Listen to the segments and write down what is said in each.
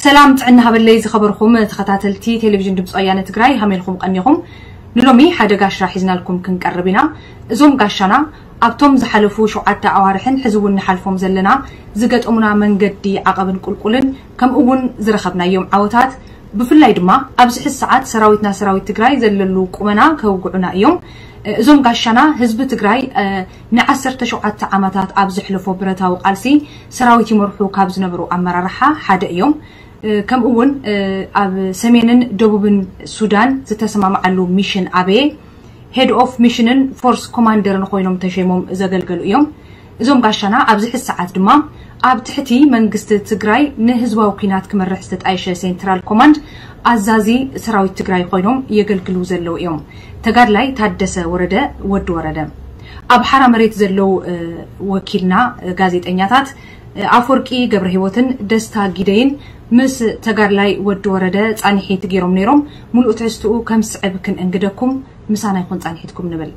ሰላም ጥዕና ሃበለይ ዝኸበርኩም ተኸታተልቲ ቴሌቪዥን ድምፂ ወያነ ትግራይ ሃመልኩም ቀኒኹም። ንሎሚ ሓደ ጋሻ ሒዝናልኩም ክንቀርብ ኢና። እዞም ጋሻና ኣብቶም ዝሓለፉ ሸውዓተ ኣዋርሕን ሕዚ እውን ንሓልፎም ዘለና ዝገጠሙና መንገዲ ዓቐብን ቁልቁልን ከምኡ እውን ዝረኸብናዮም ዓወታት፣ ብፍላይ ድማ ኣብዚ ሕዚ ሰዓት ሰራዊትና ሰራዊት ትግራይ ዘለሉ ቁመና ከውግዑና እዮም። እዞም ጋሻና ህዝቢ ትግራይ ንዓሰርተ ሸውዓተ ዓመታት ኣብ ዘሕለፎ ብረታዊ ቃልሲ ሰራዊት ይመርሑ ካብ ዝነበሩ ኣመራርሓ ሓደ እዮም። ከምኡ እውን ኣብ ሰሜንን ደቡብን ሱዳን ዝተሰማምዓሉ ሚሽን ኣበየ ሄድ ኦፍ ሚሽንን ፎርስ ኮማንደርን ኮይኖም ተሸይሞም ዘገልገሉ እዮም። እዞም ጋሻና ኣብዚ ሕዚ ሰዓት ድማ ኣብ ትሕቲ መንግስቲ ትግራይ ንህዝባዊ ኩናት ክመርሕ ዝተጣየሸ ሴንትራል ኮማንድ ኣዛዚ ሰራዊት ትግራይ ኮይኖም የገልግሉ ዘለዉ እዮም። ተጋድላይ ታደሰ ወረደ፣ ወዲ ወረደ። ኣብ ሓራ መሬት ዘለዉ ወኪልና ጋዜጠኛታት ኣፈወርቂ ገብረ ህይወትን ደስታ ጊደይን ምስ ተጋድላይ ወዲ ወረደ ፃንሒት ገይሮም ነይሮም። ሙሉእ ትሕዝትኡ ከም ስዕብ ክንእንግደኩም፣ ምሳና ይኹን ፃንሒትኩም ንብል።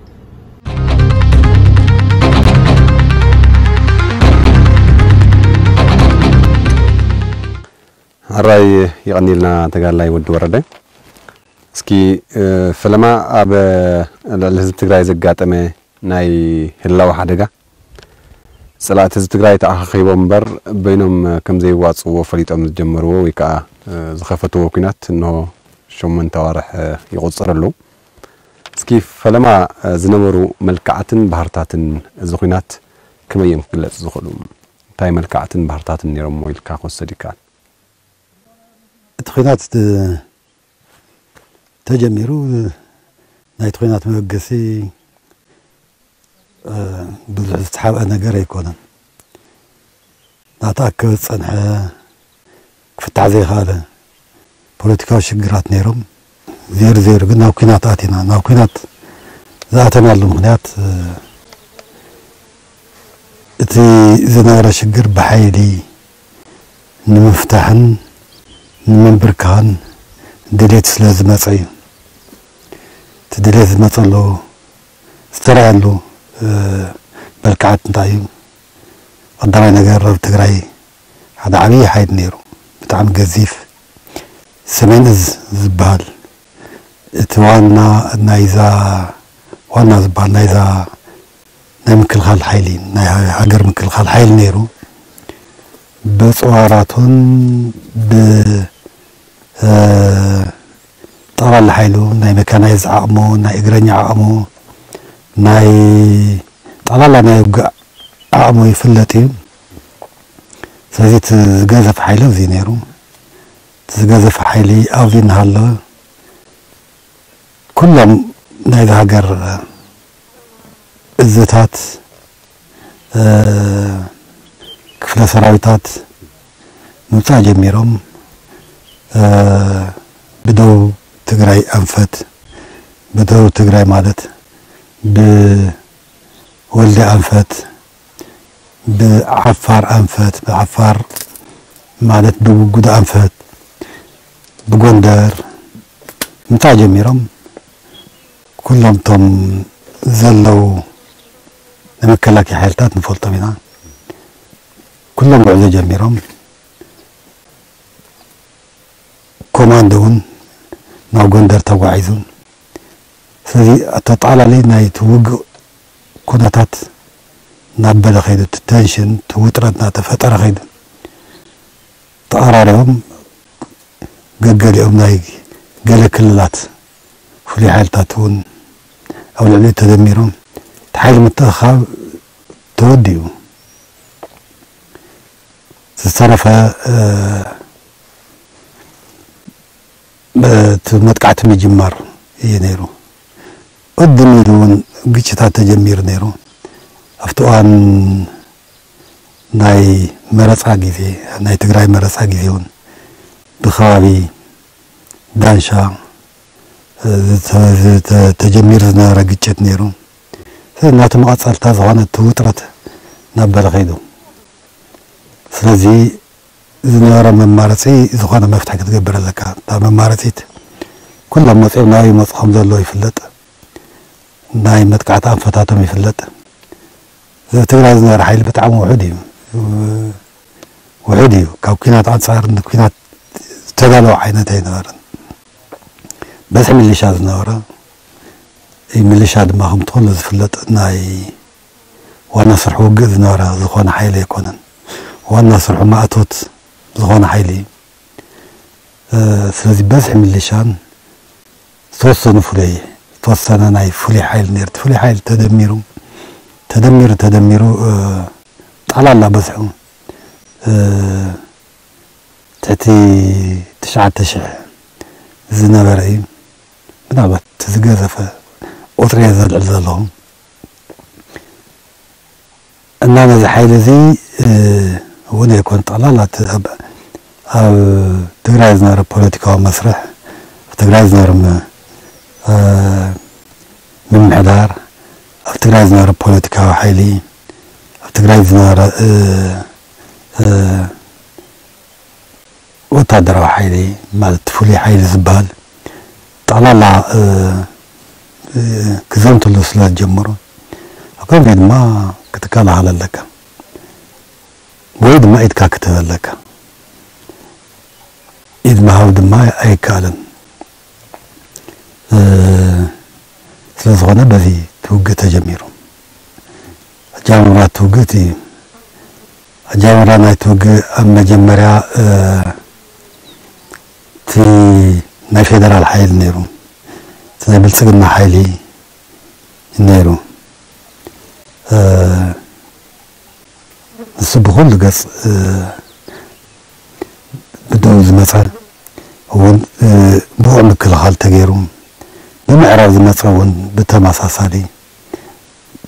ሕራይ ይቐኒልና ተጋድላይ ወዲ ወረደ። እስኪ ፈለማ ኣብ ልዕሊ ህዝቢ ትግራይ ዘጋጠመ ናይ ህላወ ሓደጋ፣ ፀላእቲ ህዝቢ ትግራይ ተኣኻኺቦም እምበር በይኖም ከም ዘይዋፅእዎ ፈሊጦም ዝጀመርዎ ወይ ከዓ ዝኸፈትዎ ኩናት እንሆ ሸሞንተ ኣዋርሕ ይቑፅር ኣሎ። እስኪ ፈለማ ዝነበሩ መልክዓትን ባህርታትን እዚ ኩናት ከመይ እዮም ክግለፁ ዝኽእሉ? እንታይ መልክዓትን ባህርታትን ነይሮሞ ኢልካ ክወሰድ ይከኣል? እቲ ኩናት ተጀሚሩ ናይቲ ኩናት መበገሲ ብዙሕ ዝተሓብአ ነገር ኣይኮነን። እናተኣከበ ዝፀንሐ ክፍታሕ ዘይከኣለ ፖለቲካዊ ሽግራት ነይሮም። ዜሩ ዜሩ ግን ናብ ኩናት ኣቲና። ናብ ኩናት ዝኣተናሉ ምኽንያት እቲ ዝነበረ ሽግር ብሓይሊ ንምፍታሕን ንምንብርካኽን ድሌት ስለ ዝመፀ እዩ። እቲ ድሌት ዝመፀሉ ዝተረኣየሉ መልክዓት እንታይ እዩ? ቀዳማይ ነገር ኣብ ትግራይ ሓደ ዓብዪ ሓይሊ ነይሩ፣ ብጣዕሚ ገዚፍ ሰሜን እዝ ዝበሃል እቲ ዋና ናይዛ ዋና ዝበሃል ናይዛ ናይ ምክልኻል ሓይሊ ናይ ሃገር ምክልኻል ሓይሊ ነይሩ። ብፅዋራቱን ብጠቕላላ ሓይሉ ናይ መካናይዝ ዓቕሙ ናይ እግረኛ ዓቕሙ ናይ ጠቕላላ ናይ ውግእ ዓቕሙ ይፍለጥ እዩ። ስለዚ እቲ ዝገዘፈ ሓይሊ ኣብዚ ነይሩ። እቲ ዝገዘፈ ሓይሊ ኣብዚ እናሃለወ ኩሎም ናይዚ ሃገር እዝታት ክፍለ ሰራዊታት ምምፃእ ጀሚሮም ብደቡብ ትግራይ ኣንፈት ብደቡብ ትግራይ ማለት ብወልዲ ኣንፈት ብዓፋር ኣንፈት ብዓፋር ማለት ብጉዶ ኣንፈት ብጎንደር ምምፃእ ጀሚሮም ኩሎም እቶም ዘለዉ ናይ መከላከያ ሓይልታት ንፈልጦም ኢና። ኩሎም ጉዕዞ ጀሚሮም ኮማንዶ እውን ናብ ጎንደር ተጓዒዙ። ስለዚ ኣተጣላሊ ናይቲ ውግእ ኩነታት እናበለ ከይዱ እቲ ቴንሽን እቲ ውጥረት እናተፈጠረ ከይዱ ተቐራሪቦም ገገሊኦም ናይ ገለ ክልላት ፍሉይ ሓይልታት እውን ኣብ ልዕሊኡ ተደሚሮም እቲ ሓይሊ ምትእኻብ ተወዲኡ ዝተረፈ እቲ መጥቃዕቲ ምጅማር እዩ ነይሩ። ቅድም ኢሉ እውን ግጭታት ተጀሚሩ ነይሩ። ኣብቲ እዋን ናይ መረፃ ግዜ ናይ ትግራይ መረፃ ግዜ እውን ብከባቢ ዳንሻ ተጀሚሩ ዝነበረ ግጭት ነይሩ። ስለዚ ናቲ መቐፀልታ ዝኾነ እቲ ውጥረት እናበለ ከይዱ። ስለዚ ዝነበረ መማረፂ ዝኾነ መፍትሒ ክትገብር ኣለካ። እታ መማረፂት ኩሎም መፂኦም ናበይ ይመፁ ከም ዘለዎ ይፍለጥ። ናይ መጥቃዕቲ ኣንፈታቶም ይፍለጥ። እዚ ትግራይ ዝነበረ ሓይሊ ብጣዕሚ ውሑድ እዩ። ውሑድ እዩ። ካብ ኩናት ኣንፃር ንኩናት ዝተዳለወ ዓይነት ኣይነበረን። በዝሒ ሚሊሻ ዝነበረ፣ እ፣ ሚሊሻ ድማ ከምቲ ኩሉ ዝፍለጥ ናይ ዋና ስርሑ ውግእ ዝነበረ ዝኾነ ሓይሊ ኣይኮነን። ዋና ስርሑ ማእቶት ዝኾነ ሓይሊ እዩ። እ፣ ስለዚ በዝሒ ሚሊሻን ዝተወሰኑ ፍሉይ፣ ዝተወሰነ ናይ ፍሉይ ሓይሊ ነይሩ። እቲ ፍሉይ ሓይሊ ተደሚሩ፣ ተደሚሩ፣ ተደሚሩ፣ እ፣ ጠቕላላ በዝሑ፣ እ፣ ትሕቲ ትሽዓተ ሽሕ ዝነበረ እዩ። ምናልባት እቲ ዝገዘፈ ቁጽሪ እየ ዘልዕል ዘለኹ። እና ነዚ ሓይሊ እዚ፣ እ፣ እውን ኣይኮን ጠቕላላ እቲ ኣብ፣ ኣብ ትግራይ ዝነበረ ፖለቲካዊ መስርሕ፣ ኣብ ትግራይ ዝነበረ ም-፣ እ፣ ምምሕዳር፣ ኣብ ትግራይ ዝነበረ ፖለቲካዊ ሓይሊ፣ ኣብ ትግራይ ዝነበረ፣ እ፣ እ፣ ወታደራዊ ሓይሊ፣ ማለት ፍሉይ ሓይሊ ዝበሃል ጠቕላላ፣ እ፣ እ፣ ክዘምትሉ ስለ ዝጀመሩ፣ ኣብ ከምዚ ድማ ክትከላኸል ኣለካ፣ ወይ ድማ ኢድካ ክትህብ ኣለካ። ኢድ ምሃብ ድማ ኣይከኣልን። እ፣ ስለ ዝኾነ በዚ እቲ ውግእ ተጀሚሩ። ኣጀማምራ እቲ ውግእ እቲ እዩ። ኣጀማምራ ናይቲ ውግእ ኣብ መጀመርያ፣ እ፣ እቲ ናይ ፌደራል ሓይሊ ነይሩ። እቲ ናይ ብልጽግና ሓይሊ ነይሩ። እ፣ ንሱ ብኹሉ ገጽ፣ እ፣ ብደቡብ ዝመጸ እውን፣ እ፣ ብቑዕ ምክልኻል ተገይሩ፣ ብምዕራብ ዝመጸ እውን ብተመሳሳሊ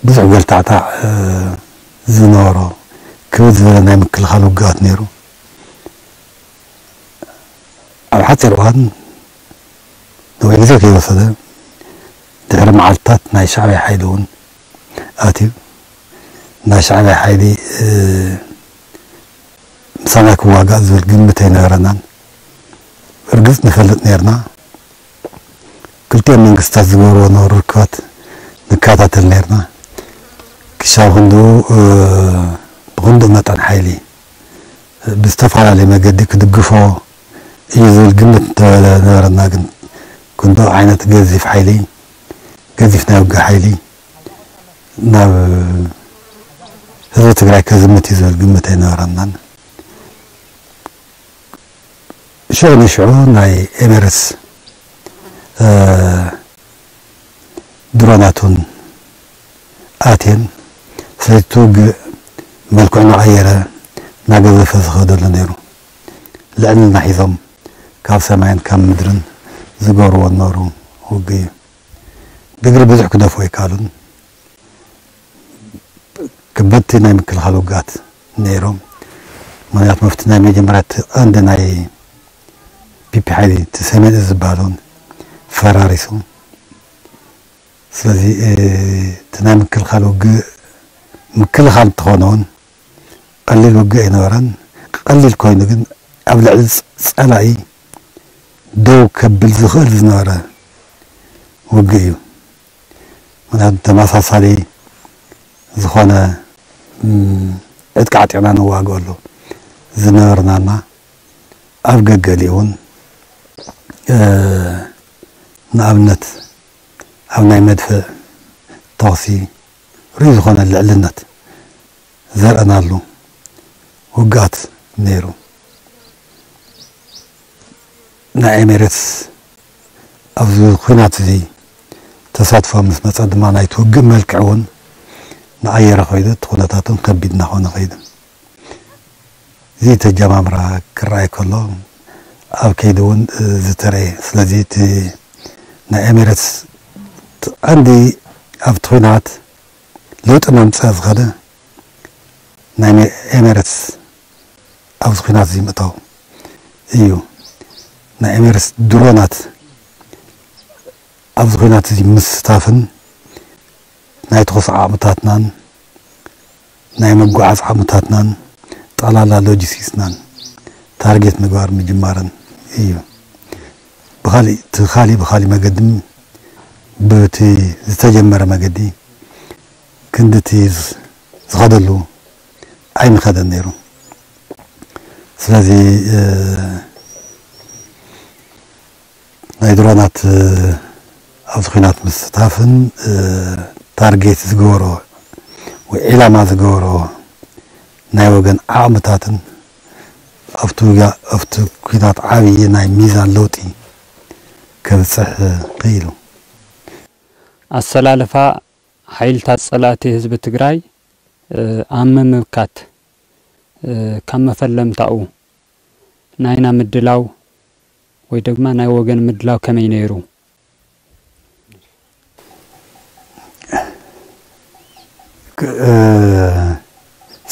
ብዙሕ ገልታዕታዕ፣ እ፣ ዝነበሮ ክብድ ዝበለ ናይ ምክልኻል ውግኣት ነይሩ። ኣብ ሓፂር እዋን ነዊሕ ግዜ ከይወሰደ ድሕሪ መዓልትታት ናይ ሻዕብያ ሓይሊ እውን ኣትዩ። ናይ ሻዕብያ ሓይሊ፣ እ፣ ምሳና ክዋጋእ ዝብል ግምት ኣይነበረናን። እርግፅ ንፈልጥ ነርና። ክልቲኦም መንግስታት ዝገብርዎ ነበሩ ርክባት ንከታተል ነርና። ክሻብ ክንድኡ፣ እ፣ ብክንድኡ መጠን ሓይሊ ብዝተፈላለየ መገዲ ክድግፎ እዩ ዝብል ግምት እንተነበረና፣ ግን ክንድኡ ዓይነት ገዚፍ ሓይሊ፣ ገዚፍ ናይ ውግእ ሓይሊ ናብ ህዝቢ ትግራይ ከዝምት እዩ ዝብል ግምት ኣይነበረናን። ሽዑ ንሽዑ ናይ ኤሜሬትስ፣ እ፣ ድሮናት እውን ኣትየን። ስለዚ እቲ ውግእ መልክዑ እናቐየረ እናገዘፈ ዝኸደሉ ነይሩ። ልዕልና ሒዞም ካብ ሰማይን ካብ ምድርን ዝገብርዎ ዝነበሩ ውግእ እዩ። ብእግሪ ብዙሕ ክደፍኡ ኣይከኣሉን። ከበድቲ ናይ ምክልኻል ውግኣት ነይሮም። ምኽንያቱ መፍቲ ናይ መጀመርያ እቲ ቀንዲ ናይ ፒፒ ሓይሊ እቲ ሰሜን እዝ ዝበሃል እውን ፈራሪሱ። ስለዚ፣ እ፣ እቲ ናይ ምክልኻል ውግእ ምክልኻል እንተኾነ እውን ቀሊል ውግእ ኣይነበረን። ቀሊል ኮይኑ ግን ኣብ ልዕሊ ጸ-፣ ጸላኢ ደው ከብል ዝኽእል ዝነበረ ውግእ እዩ። ምኽንያቱ ተመሳሳሊ ዝኾነ፣ እም፣ ዕጥቂ ዓጢቕና ንዋግኣሉ ዝነበርናና ኣብ ገገሊኡ እውን፣ እ፣ ንኣብነት ኣብ ናይ መድፍዕ ተኹሲ ርኡይ ዝኾነ ልዕልነት ዘርእናሉ ውግኣት ነይሩ። ናይ ኤሜሬትስ ኣብዚ ኲናት እዚ ተሳትፎ ምስ መጸ ድማ ናይቲ ውግእ መልክዕ እውን እናቐየረ ከይዱ፣ እቲ ኩነታት እውን ከቢድ እናኾነ ከይዱ። እዚ ተጀማምራ ክረኣይ ከሎ ኣብ ከይዲ እውን ዝተረእየ። ስለዚ እቲ ናይ ኤሜሬትስ እቲ ቀንዲ ኣብቲ ኲናት ለውጢ መምፅእ ዝኸደ ናይ ኤሜ-፣ ኤሜሬትስ ኣብዚ ኲናት እዚ ምእታው እዩ። ናይ ኤሜሬትስ ድሮናት ኣብዚ ኲናት እዚ ምስታፍን ናይ ተኹሲ ዓቕምታትናን ናይ ምጉዓዝ ዓቕምታትናን ጠቕላላ ሎጂስቲክስናን ታርጌት ምግባር ምጅማርን እዩ። ብኻሊእ፣ እቲ ኻሊእ፣ ብኻሊእ መገዲ፣ ብቲ ዝተጀመረ መገዲ ክንድቲ ዝ-፣ ዝኸደሉ ኣይምኸደን ነይሩ። ስለዚ፣ እ፣ ድሮናት ኣብዚ ኲናት ምስታፍን ታርጌት ዝገበሮ ወይ ዒላማ ዝገበሮ ናይ ወገን ዓቕምታትን ኣብቲ ውግእ ኣብቲ ኲናት ዓብዪ ናይ ሚዛን ለውጢ ከብፅሕ ክኢሉ። ኣሰላልፋ ሓይልታት ፀላእቲ ህዝቢ ትግራይ ኣብ ምምካት ካብ መፈለምታኡ ናይና ምድላው ወይ ድማ ናይ ወገን ምድላው ከመይ ነይሩ?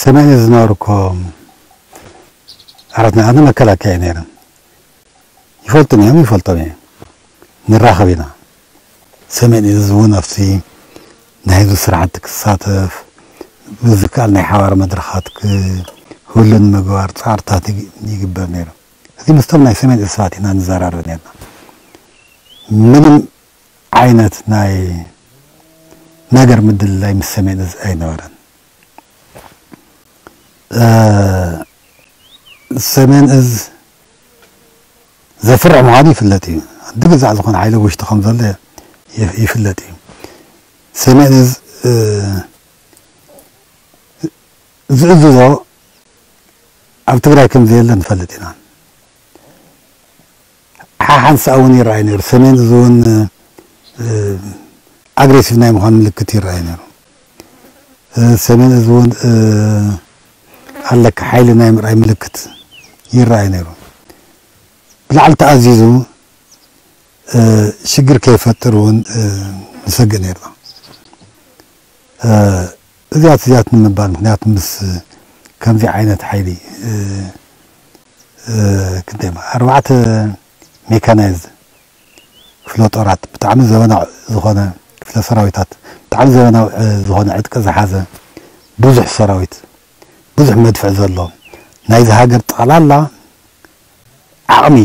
ሰሜን ዝነበሩ እኮ ኣራት ናይ ኣነ መከላከያ ነይረን። ይፈልጡን እዮም፣ ይፈልጦም እዮም። ንራኸብ ኢና። ሰሜን እዚ እውን ኣብቲ ናይ ህዝቢ ስራሕቲ ክሳተፍ ብዝከኣል ናይ ሓባር መድረኻት ክህሉ ንምግባር ፃዕርታት ይግበር ነይሩ። እዚ ምስቶም ናይ ሰሜን እዚ ሰባት ኢና ንዘራረብ ነርና። ምንም ዓይነት ናይ ነገር ምድልላይ ምስ ሰሜን እዚ ኣይነበረን። ሰሜን እዚ ዘፍርሕ ምዃኑ ይፍለጥ እዩ። ድግዛዕ ዝኾነ ሓይሊ ውሽጢ ከም ዘሎ ይፍለጥ እዩ። ሰሜን እዚ ዝእዝዞ ኣብ ትግራይ ከም ዘየለ ንፈልጥ ኢና። ሓሓንሳእ እውን ይረኣይ ነይሩ። ሰሜን እዚ እውን ኣግሬሲቭ ናይ ምዃን ምልክት ይረኣይ ነይሩ። ሰሜን እዚ እውን ኣለካ ሓይሊ ናይ ምርኣይ ምልክት ይረኣይ ነይሩ። ብላዕሊ ተኣዚዙ ሽግር ከይፈጥር እውን ንሰግእ ነይርና። እዚኣት እዚኣት ንምባል ምክንያቱ ምስ ከምዚ ዓይነት ሓይሊ ክንደይ ኣርባዕተ ሜካናይዝድ ክፍለ ጦራት ብጣዕሚ ዘበናዊ ዝኾነ ክፍለ ሰራዊታት ብጣዕሚ ዘበናዊ ዝኾነ ዕጥቂ ዝሓዘ ብዙሕ ሰራዊት ብዙሕ መድፍዕ ዘሎ ናይዚ ሃገር ጠቕላላ ዓቕሚ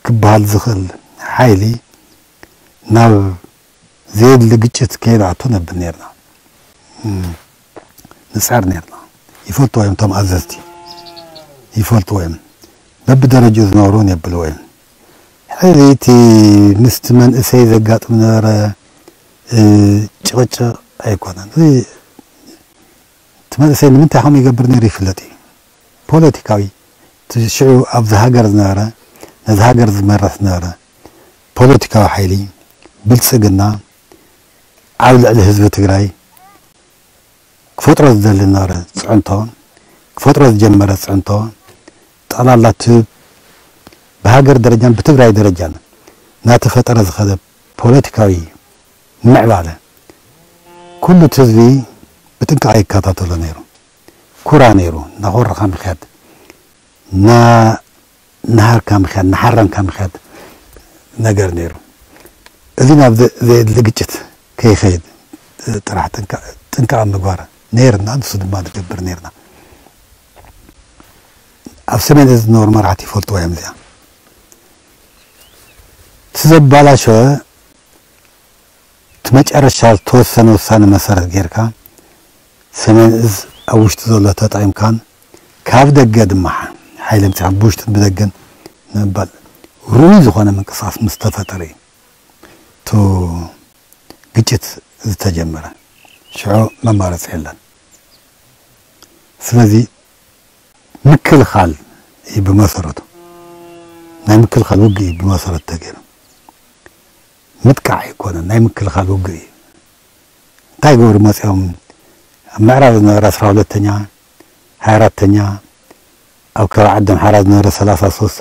ክበሃል ዝኽእል ሓይሊ ናብ ዘየድሊ ግጭት ከይንኣቱ ነብል ነርና። ንጸር ነርና። ይፈልጥዎ እዮም እቶም ኣዘዝቲ። ይፈልጥዎ እዮም። በብደረጅኡ ዝነበሩ እውን የብልዎ እዮም። ሕዚ እቲ ምስቲ መንእሰይ ዘጋጥም ነበረ ጭቕጭቕ ኣይኮነን። እቲ መንእሰይ ንምንታይ ከምኡ ይገብር ነይሩ ይፍለጥ እዩ። ፖለቲካዊ እቲ ሽዑ ኣብዚ ሃገር ዝነበረ ነዚ ሃገር ዝመርሕ ዝነበረ ፖለቲካዊ ሓይሊ ብልፅግና ኣብ ልዕሊ ህዝቢ ትግራይ ክፈጥሮ ዝደሊ ዝነበረ ፅዕንቶ ክፈጥሮ ዝጀመረ ፅዕንቶ ጠቕላላ እቲ ብሃገር ደረጃን ብትግራይ ደረጃን እናተፈጠረ ዝኸደ ፖለቲካዊ ምዕባለ ኩሉ እቲ ህዝቢ ብጥንቃቐ ይከታተሎ ነይሩ። ኩራ ነይሩ። እናኾረኻ ምኽያድ፣ እናሃርካ ምኽያድ፣ እናሓረምካ ምኽያድ ነገር ነይሩ። እዚ ናብ ዘየድሊ ግጭት ከይኸይድ ጥራሕ ጥንቃቐ ምግባር ነይርና፣ ንሱ ድማ ንገብር ነይርና። ኣብ ሰሜን እዚ ዝነበሩ መራሕቲ ይፈልጥዋ እዮም እዚኣ። እቲ ዘባላሸወ እቲ መጨረሻ ዝተወሰነ ውሳነ መሰረት ጌርካ ሰሜን እዝ ኣብ ውሽጢ ዘሎ ተጠቒምካን ካብ ደገ ድማ ሓይሊ ኣምፂኻ ብውሽጥን ብደገን ንምባል ርኡይ ዝኾነ ምንቅስቃስ ምስ ተፈጠረ እዩ እቲ ግጭት ዝተጀመረ። ሽዑ መማረፂ የለን። ስለዚ ምክልኻል እዩ ብመሰረቱ ናይ ምክልኻል ውግእ እዩ ብመሰረቱ ተገይሩ። ምጥቃዕ ኣይኮነን፣ ናይ ምክልኻል ውግእ እዩ። እንታይ ይገብሩ መፂኦም ኣብ ምዕራብ ዝነበረ ኣስራ ሁለተኛ ሃያ ኣራተኛ ኣብ ከባቢ ዓዲ ኣምሓራ ዝነበረ ሰላሳ ሶስት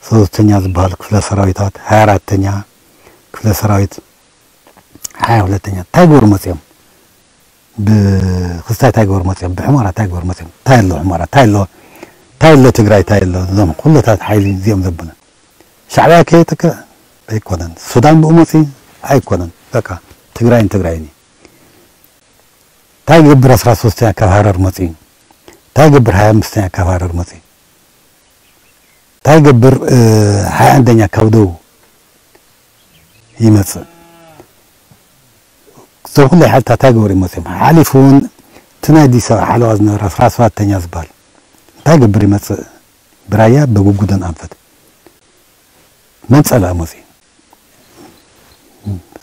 ሶስተኛ ዝበሃል ክፍለ ሰራዊታት ሃያ ኣራተኛ ክፍለ ሰራዊት ሃያ ሁለተኛ እንታይ ይገብሩ መፂኦም ብክስታይ እንታይ ይገብሩ መፂኦም ብሕሞራ እንታይ ይገብሩ መፂኦም እንታይ ኣሎ ሕሞራ እንታይ ኣሎ እንታይ ኣሎ ትግራይ እንታይ ኣሎ እዞም ኩለታት ሓይሊ እዚኦም ዘብሉ ሻዕብያ ከየጥቅዕ ኣይኮነን ሱዳን ብኡ መፂ ኣይኮነን በቃ ትግራይን ትግራይን እዩ እንታይ ይገብር ኣስራ ሶስተኛ ካብ ሃረር መፂ እንታይ ይገብር ሃያ ኣምስተኛ ካብ ሃረር መፂ እንታይ ይገብር ሃያ ኣንደኛ ካብ ደቡብ ይመፅእ እዞም ኩለይ ሓይልታት እንታይ ገበሩ ይመፅኦም ሓሊፉ እውን እቲ ናይ ኣዲስ ኣበባ ሓለዋ ዝነበረ ኣስራ ሰባተኛ ዝበሃል እንታይ ገብር ይመፅእ ብራያ በጉጉደን ኣንፈት መን ጸላኢ መጽዩ?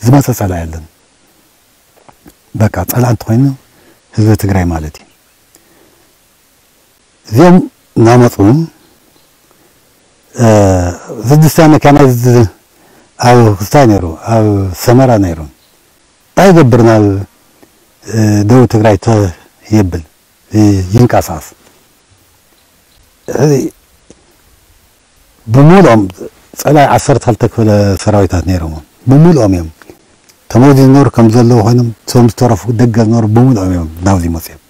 ዝመጸ ጸላኢ የለን። በቃ ጸላኢ እንተኾይኑ ህዝቢ ትግራይ ማለት እዩ። እዚኦም እናመፁ ዝድስታ መኪና ኣብ ክስታይ ነይሩ፣ ኣብ ሰመራ ነይሩ። እንታይ ይገብር ናብ ደቡብ ትግራይ ተየብል ይንቀሳቀስ። ሕዚ ብምሉኦም ጸላይ ዓሰርተ ክልተ ክፍለ ሰራዊታት ነይሮም። ብምሉኦም እዮም ተመዚ ዝነበሩ ከም ዘለዉ ኮይኖም፣ እቶም ዝተረፉ ደገ ዝነበሩ ብምሉኦም እዮም ናብዚ መፅዮም።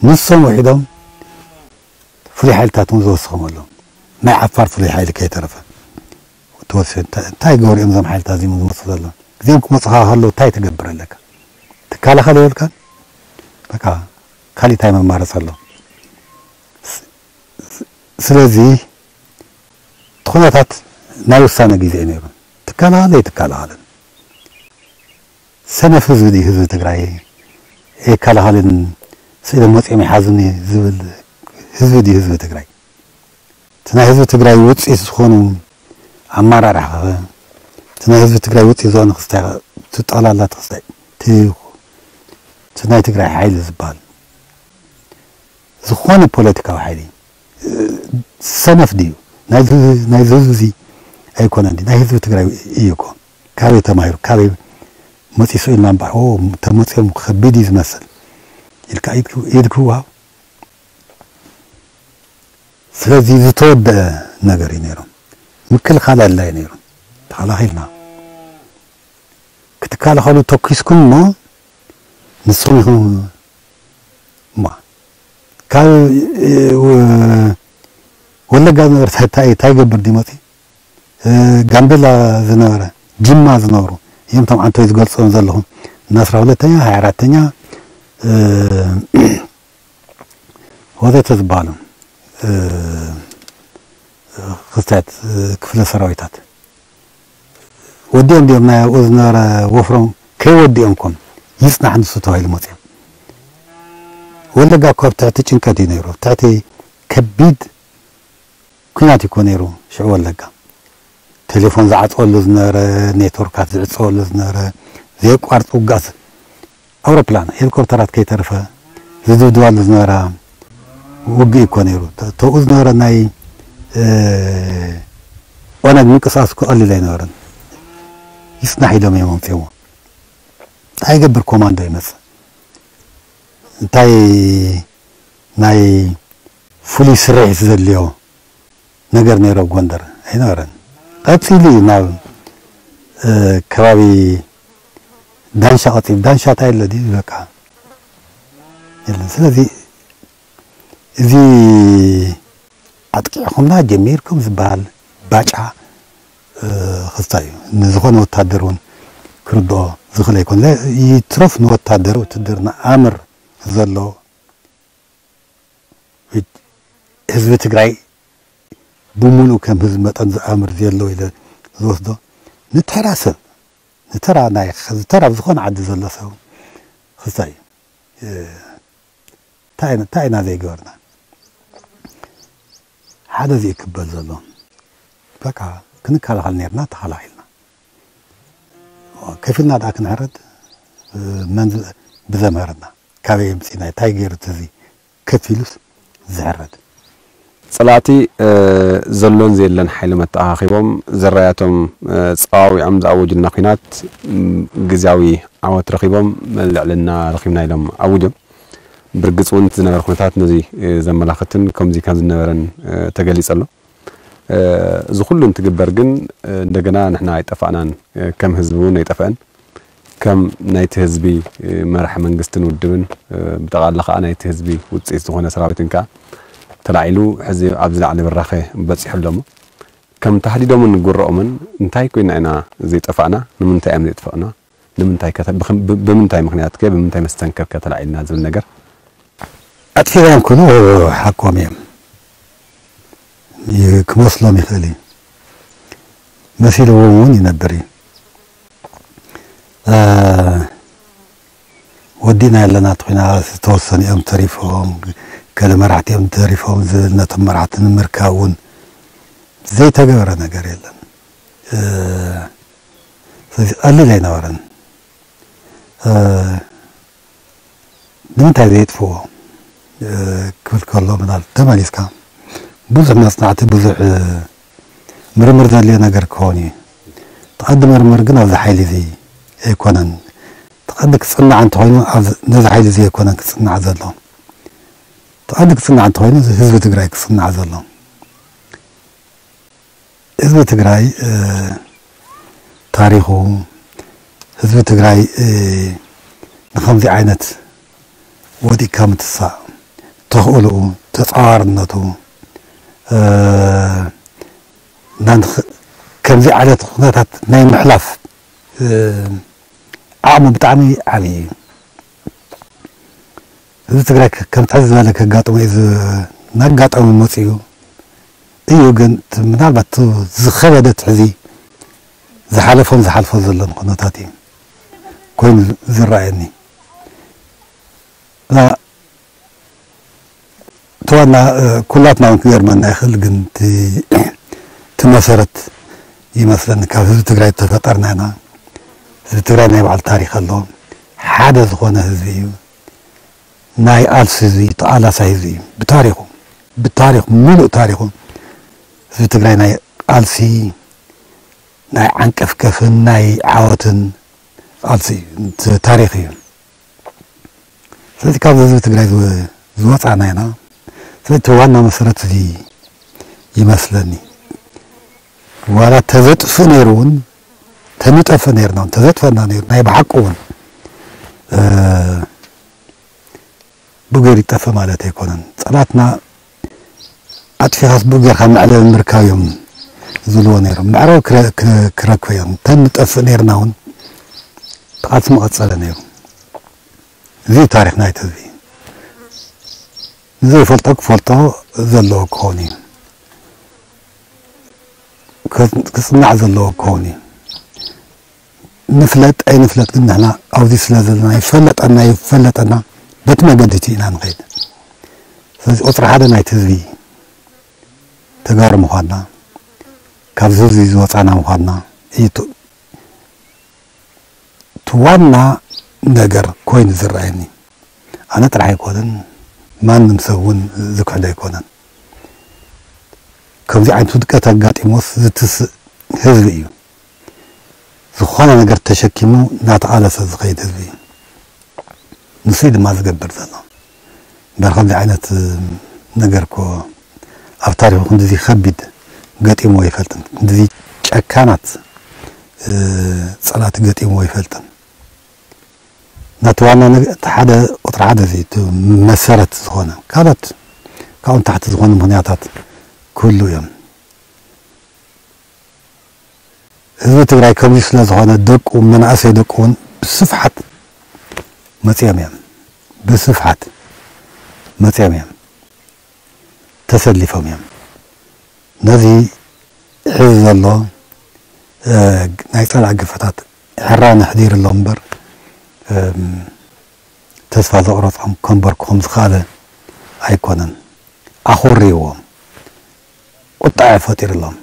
ንሶም ውሒዶም ፍሉይ ሓይልታት እውን ዝወስኾም ኣለዉ። ናይ ዓፋር ፍሉይ ሓይሊ ከይተረፈ ተወሰ። እንታይ ገበሩ እዮም እዞም ሓይልታት እዚኦም ዝመፁ ዘለዉ? እዚኦም ክመፁኻ ከለዉ እንታይ ትገብር ኣለካ? ትከላኸል የብልካን። በቃ ካሊእ እንታይ መማረፂ ኣሎ? ስለዚ እቲ ኩነታት ናይ ውሳነ ግዜ እዩ ነይሩ። ትከላኸል ኣይትከላኸልን። ሰነፍ ህዝቢ ድዩ ህዝቢ ትግራይ? ኣይከላኸልን፣ ስኢሎም መፂኦም ይሓዙኒ ዝብል ህዝቢ ድዩ ህዝቢ ትግራይ? እቲ ናይ ህዝቢ ትግራይ ውፅኢት ዝኾኑ ኣመራርሓ፣ እቲ ናይ ህዝቢ ትግራይ ውፅኢት ዝኾነ ክስታይ፣ እቲ ጠቕላላ እቲ ክስታይ፣ እቲ ናይ ትግራይ ሓይሊ ዝበሃል ዝኾነ ፖለቲካዊ ሓይሊ ሰነፍ ድዩ? ናይዚ ህዝቢ እዚ ኣይኮነን ድዩ? ናይ ህዝቢ ትግራይ እዩ እኮ። ካበይ ተማሂሩ? ካበይ መፂሱ ኢልና እምበር፣ ኦ፣ ተመፅኦም ከቢድ እዩ ዝመስል ኢልካ ኢድ ክወሃብ። ስለዚ ዝተወደአ ነገር እዩ ነይሩ። ምክልኻል ኣድላይ ነይሩ። ተኸላኺልና ክትከላኸሉ ተኪስኩም እሞ ንስኹም ኢኹም እሞ ካብ ወለጋ ዝነበረ እንታይ ይገብር ድዩ መፂ ጋምቤላ ዝነበረ ጅማ ዝነበሩ እዮም። እቶም ዓንቶይ ዝገልፅዎም ዘለኹም እና ኣስራ ሁለተኛ ሃያ ኣራተኛ ወዘተ ዝበሃሉ ክስታት ክፍለ ሰራዊታት ወዲኦም ድዮም ናይ ኣብኡ ዝነበረ ወፍሮም ከይወዲኦም ኮም ይፅናሕ ንሱ ተባሂሉ መፅኦም። ወለጋ እኮ ኣብ ትሕቲ ጭንቀት እዩ ነይሩ። ኣብ ትሕቲ ከቢድ ኩናት እኮ ነይሩ ሽዑ ወለጋ። ቴሌፎን ዝዓፀወሉ ዝነበረ፣ ኔትወርካት ዝዕፀወሉ ዝነበረ፣ ዘየቋርፅ ውጋእ፣ ኣውሮፕላን ሄሊኮፕተራት ከይተረፈ ዝድብድባሉ ዝነበራ ውግእ እኮ ነይሩ። ተብኡ ዝነበረ ናይ ኦነግ ምንቅስቃስ እኮ ቀሊል ኣይነበረን። ይፅናሕ ኢሎም እዮም ኣምፅኦሞ። እንታይ ይገብር ኮማንዶ ይመፅእ? እንታይ ናይ ፍሉይ ስርሒት ዘድልዮ ነገር ነይሩ ኣብ ጎንደር ኣይነበረን። ቀፂሉ እዩ ናብ ከባቢ ዳንሻ ቀፂሉ። ዳንሻ እንታይ ኣሎ ድዩ በቃ የለን። ስለዚ እዚ ኣጥቂዕኹምና ጀሚርኩም ዝበሃል ባጫ ክስታ እዩ። ንዝኾነ ወታደር እውን ክርድኦ ዝኽእል ኣይኮነ። ይትረፍ ንወታደር ውትድርና ኣምር ዘሎ ህዝቢ ትግራይ ብምሉእ ከም ህዝቢ መጠን ዝኣምር ዘሎ ኢለ ዝወስዶ ንተራ ሰብ ንተራ ናይ ዝተራ ኣብ ዝኾነ ዓዲ ዘሎ ሰብ ክስታ እዩ። እንታይ ኢና ዘይገበርና? ሓደ እዚ ክበል ዘሎ በቃ ክንከላኸል ነርና፣ ተኸላኺልና። ከፊልና ደኣ ክንሕረድ መን ብዘምሀረና? ካበይ ኣምፂእና? እንታይ ገይሩ እቲ እዚ ከፊሉስ ዝሕረድ? ፀላእቲ ዘሎን ዘየለን ሓይሊ መተኣኻኺቦም ዘራያቶም ፀዋዊዖም ዝኣወጁልና ኲናት ግዝያዊ ዓወት ረኺቦም ልዕልና ረኺብና ኢሎም ኣውጆም። ብርግፅ እውን ዝነበረ ኩነታት ነዚ ዘመላኽትን ከምዚ ከም ዝነበረን ተገሊፀ ኣሎ። እዚ ኩሉ እንትግበር ግን እንደገና ንሕና ኣይጠፋእናን፣ ከም ህዝቢ እውን ኣይጠፍአን። ከም ናይቲ ህዝቢ መራሒ መንግስትን ውድብን ብጠቓላ ከዓ ናይቲ ህዝቢ ውፅኢት ዝኾነ ሰራዊትን ከዓ ተላዒሉ ሕዚ ኣብ ዝለዓለ ብራኸ በፂሑ ኣሎ እሞ ከም ተሃዲዶምን ጉረኦምን እንታይ ኮይና ኢና ዘይጠፋእና? ንምንታይ እዮም ዘይጠፋእና? ንምንታይ ከ ተ- ብኸም- ብ- ብምንታይ ምኽንያት ከ ብምንታይ መስተንክር ከ ተላዒልና ዝብል ነገር ኣጥፊኦም ክብሉ ሓቆም እዮም። ይ- ክመስሎም ይኽእል እዩ። መሲልዎም እውን ይነብር እዩ። እ፣ ወዲእና ኣለና እቲ ኹናት ዝተወሰኑ እዮም ተሪፎም፣ ገለ መራሕቲ እዮም ተሪፎም ዝብል ነቶም መራሕቲ ንምርካብ እውን ዘይተገበረ ነገር የለን። ስለዚ ቀሊል ኣይነበረን። ንምንታይ ዘየጥፍዎ ክብል ከሎ፣ ምናል ተመሊስካ ብዙሕ መፅናዕቲ፣ ብዙሕ ምርምር ዘድልዮ ነገር ክኸውን እዩ። ተቐዲ ምርምር ግን ኣብዚ ሓይሊ እዚ ኣይኮነን። ተቐዲ ክፅናዕ እንተኾይኑ፣ ነዚ ሓይሊ እዚ ኣይኮነን ክፅናዕ ዘሎ። ተቐዲ ክፅናዕ እንተኾይኑ፣ ህዝቢ ትግራይ ክፅናዕ ዘሎ። ህዝቢ ትግራይ ታሪኹ፣ ህዝቢ ትግራይ ንኸምዚ ዓይነት ወዲቅካ ምትሳእ ተኽእልኡ፣ ተፃዋርነቱ፣ ከምዚ ዓይነት ኩነታት ናይ ምሕላፍ ዓቕሙ ብጣዕሚ ዓብዪ እዩ። ህዝቢ ትግራይ ከምቲ ሕዚ ዝበለ ከጋጥሞ እዩ፣ እናጋጠመ መፅኡ እዩ። ግን ምናልባት ዝኸበደ ትሕዚ ዝሓለፎን ዝሓልፎ ዘሎን ኩነታት እዩ ኮይኑ ዝረኣየኒ። እቲ ዋና ኩላትና እውን ክገርመና ይኽእል፣ ግን እቲ መሰረት ይመስለኒ ካብ ህዝቢ ትግራይ ዝተፈጠርና ኢና። ህዝቢ ትግራይ ናይ ባዕሉ ታሪክ ኣለዎ። ሓደ ዝኾነ ህዝቢ እዩ። ናይ ቃልሲ ህዝቢ፣ ተቓላሳይ ህዝቢ እዩ። ብታሪኹ፣ ብታሪኽ፣ ምሉእ ታሪኹ ህዝቢ ትግራይ ናይ ቃልሲ፣ ናይ ዓንቀፍቀፍን ናይ ዓወትን ቃልሲ እዩ፣ ታሪኽ እዩ። ስለዚ ካብ ህዝቢ ትግራይ ዝወፃና ኢና። ስለዚ እቲ ዋና መሰረት እዚ ይመስለኒ። ዋላ ተዘጥፍእ ነይሩ እውን፣ ተንጠፍእ ነይርና እውን፣ ተዘጥፈና ነይሩ ናይ ብሓቁ እውን ብኡ ገይሩ ይጠፍእ ማለት ኣይኮነን። ፀላትና ኣጥፊኻስ ብኡ ጌርካ መዕለቢ ምርካብ እዮም ዝብልዎ ነይሮም። መዕለቢ ክረክበ እዮም። ተንጠፍእ ነይርና እውን ተቓልሲ መቐፀለ ነይሩ። እዚ ታሪክ ናይቲ ህዝቢ። ንዘይፈልጦ ክፈልጦ ዘለዎ ክኸውን እዩ። ክፅናዕ ዘለዎ ክኸውን እዩ። ንፍለጥ ኣይንፍለጥ ግን ንሕና ኣብዚ ስለ ዘለና ይፈለጠና ይፈለጠና በቲ መገዲ እቲ ኢና ንኸይድ። ስለዚ ቁፅሪ ሓደ ናይቲ ህዝቢ ተጋሩ ምዃንና፣ ካብዚ ህዝቢ ዝወፃና ምዃንና እዩ እቲ ዋና ነገር ኮይኑ ዝረኣየኒ። ኣነ ጥራሕ ኣይኮነን፣ ማንም ሰብ እውን ዝክሕዶ ኣይኮነን። ከምዚ ዓይነት ውድቀት ኣጋጢሞስ ዝትስእ ህዝቢ እዩ። ዝኾነ ነገር ተሸኪሙ እናተቓለሰ ዝኸይድ ህዝቢ እዩ። ንሱ እዩ ድማ ዝገብር ዘሎ። እምበር ከምዚ ዓይነት ነገር እኮ ኣብ ታሪኹ ክንድዚ ከቢድ ገጢምዎ ኣይፈልጥን። ክንድዚ ጨካናት ፀላእቲ ገጢምዎ ኣይፈልጥን። ናቲ ዋና እቲ ሓደ ቁፅሪ ሓደ እዚ እቲ መሰረት ዝኾነ፣ ካልኦት ካብኡ ንታሕቲ ዝኾኑ ምኽንያታት ክህሉ እዮም። ህዝቢ ትግራይ ከምዚ ስለ ዝኾነ ደቁ፣ መናእሰይ ደቁ እውን ብስፍሓት መፂኦም እዮም። ብስፍሓት መፂኦም እዮም። ተሰሊፎም እዮም። ነዚ ሕዚ ዘሎ ናይ ፀላእ ግፈታት ሕራነ ኣሕዲሩ ኣሎ እምበር ተስፋ ዘቑረፆም ከንበርክኾም ዝኸኣለ ኣይኮነን። ኣኾርይዎም፣ ቁጣዐ ፈጢሩሎም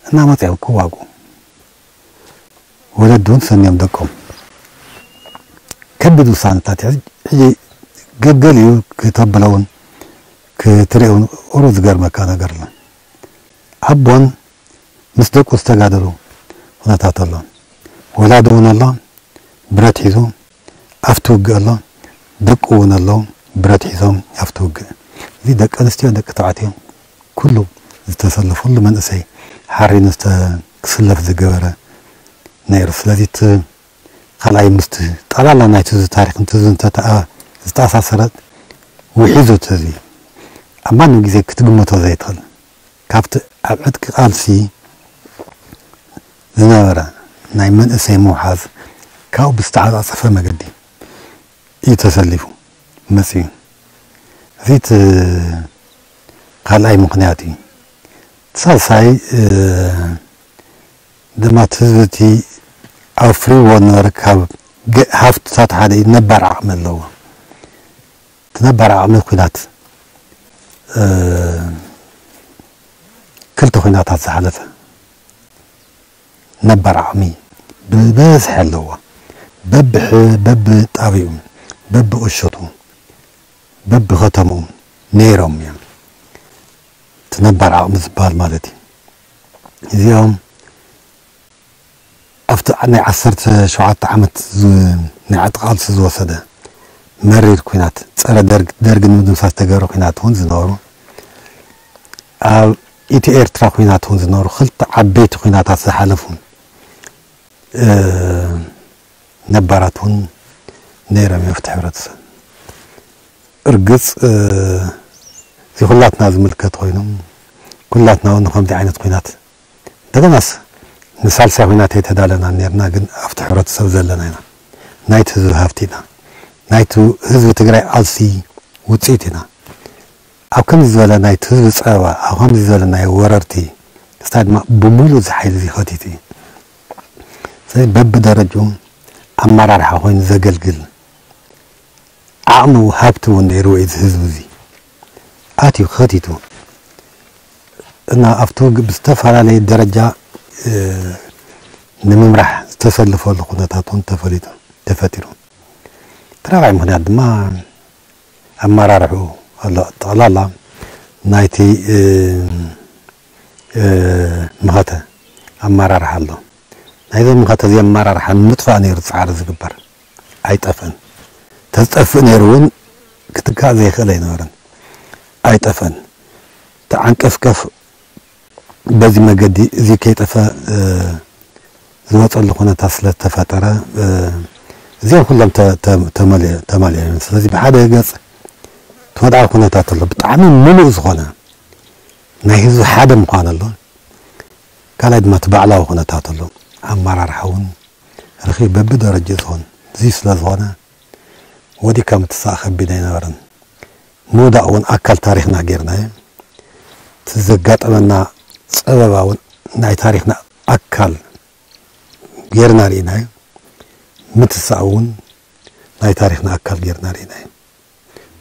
እና መፂኦም ክዋጉ ወለዲ እውን ሰንዮም ደቆም ከቢድ ውሳነታት ሕዚ ገገሊኡ ክተብሎ እውን ክትሪኦ እውን ቁሩብ ዝገርመካ ነገር ኣሎ። ኣቦን ምስ ደቁ ዝተጋደሉ ኩነታት ኣሎ። ወላዲ እውን ኣሎ ብረት ሒዙ ኣብቲ ውግእ ኣሎ። ደቁ እውን ኣሎ ብረት ሒዞም ኣብቲ ውግእ። እዚ ደቂ ኣንስትዮ ደቂ ተባዕትዮ ኩሉ ዝተሰለፈሉ መንእሰይ ሓሪኑ ክስለፍ ዝገበረ ነይሩ። ስለዚ እቲ ካልኣይ ምስቲ ጠቕላላ ናይቲ እዚ ታሪኽ እንትዝንተተኣ ዝተኣሳሰረ ውሒዙ እቲ ህዝቢ ኣብ ማንም ግዜ ክትግምቶ ዘይትኽእል ካብቲ ኣብ ዕጥቂ ቃልሲ ዝነበረ ናይ መንእሰይ ምውሓዝ ካብኡ ብዝተዓፃፀፈ መገዲ እዩ ተሰሊፉ መፅዩ። እዚ እቲ ካልኣይ ምኽንያት እዩ። እቲ ሳልሳይ ድማ እቲ ህዝቢ እቲ ኣፍሪዎ ዝነበረ ካብ ሃፍትታት ሓደ እዩ፣ ነባር ዓቕሚ ኣለዎ። እቲ ነባር ዓቕሚ ኲናት ክልተ ኲናታት ዝሓለፈ ነባር ዓቕሚ ብበዝሒ ኣለዎ። በብሕ በብጣቢኡ፣ በብእሸቱ፣ በብኸተምኡ ነይሮም እዮም። እቲ ነባር ዓቕሚ ዝበሃል ማለት እዩ። እዚኦም ኣብቲ ናይ ዓሰርተ ሸውዓተ ዓመት ዝ- ናይ ዕጥቂ ቃልሲ ዝወሰደ መሪር ኩናት፣ ጸረ ደርግ፣ ደርግ ንምድምሳስ ዝተገብረ ኩናት እውን ዝነበሩ፣ ኣብ ኢትዮ ኤርትራ ኩናት እውን ዝነበሩ፣ ክልተ ዓበይቲ ኩናታት ዝሓለፉ፣ እ፣ ነባራት እውን ነይሮም እዮም ኣብቲ ሕብረተሰብ። እርግጽ፣ እ፣ እዚ ኩላትና ዝምልከት ኮይኑ፣ ኩላትና እውን ንከምዚ ዓይነት ኩናት፣ እንደገናስ ንሳልሳይ ኩናት ኣይተዳለናን ነርና፣ ግን ኣብቲ ሕብረተሰብ ዘለና ኢና። ናይቲ ህዝቢ ሃብቲ ኢና። ናይቲ ህዝቢ ትግራይ ቃልሲ ውፅኢት ኢና። ኣብ ከምዚ ዝበለ ናይቲ ህዝቢ ፀበባ፣ ኣብ ከምዚ ዝበለ ናይ ወረርቲ ክስታይ ድማ ብምሉእ እዚ ሓይሊ እዚ ከቲቱ እዩ። ስለዚ በብደረጅኡ ኣመራርሓ ኮይኑ ዘገልግል ዓቕሚ ሃብቲ እውን ነይርዎ እዩ እዚ ህዝቢ እዚ። ኣትዩ ከቲቱ እና ኣብቲ ውግእ ብዝተፈላለየ ደረጃ፣ እ፣ ንምምራሕ ዝተሰለፈሉ ኩነታት እውን ተፈሊጡ፣ ተፈጢሩ። እቲ ራብዓይ ምኽንያት ድማ ኣመራርሕኡ ኣሎ። ጠቕላላ ናይቲ፣ እ፣ እ፣ መኸተ ኣመራርሓ ኣሎ። ናይዞም መኸተ እዚ ኣመራርሓ ንምጥፋእ ነይሩ ጻዕሪ ዝግበር። ኣይጠፍእን። ተዝጠፍእ ነይሩ እውን ክትካእ ዘይኽእል ኣይነበረን። ኣይጠፍእን። ተዓንቀፍቀፍ በዚ መገዲ እዚ ከይጠፈ፣ እ፣ ዝወፀሉ ኩነታት ስለ ዝተፈጠረ፣ እ፣ እዚኦም ኩሎም ተ-፣ ተ-፣ ተመሊ-፣ ተማሊኦም እዮም። ስለዚ ብሓደ ገፅ እቲ ወድዓዊ ኩነታት ኣሎ፣ ብጣዕሚ ምሉእ ዝኾነ ናይ ህዝቢ ሓደ ምዃን ኣሎ። ካልኣይ ድማ እቲ ባዕላዊ ኩነታት ኣሎ። ኣመራርሓ እውን ርኺብ በብደረጃ ዝኾን እዚ ስለ ዝኾነ ወዲእካ ምትሳእ ከቢድ ኣይነበረን። ምውዳቕ እውን ኣካል ታሪኽና ጌርናዮ። እቲ ዘጋጠመና ጸበባ እውን ናይ ታሪኽና ኣካል ጌርና ርኢናዮ። ምትሳእ እውን ናይ ታሪኽና ኣካል ጌርና ርኢናዮ።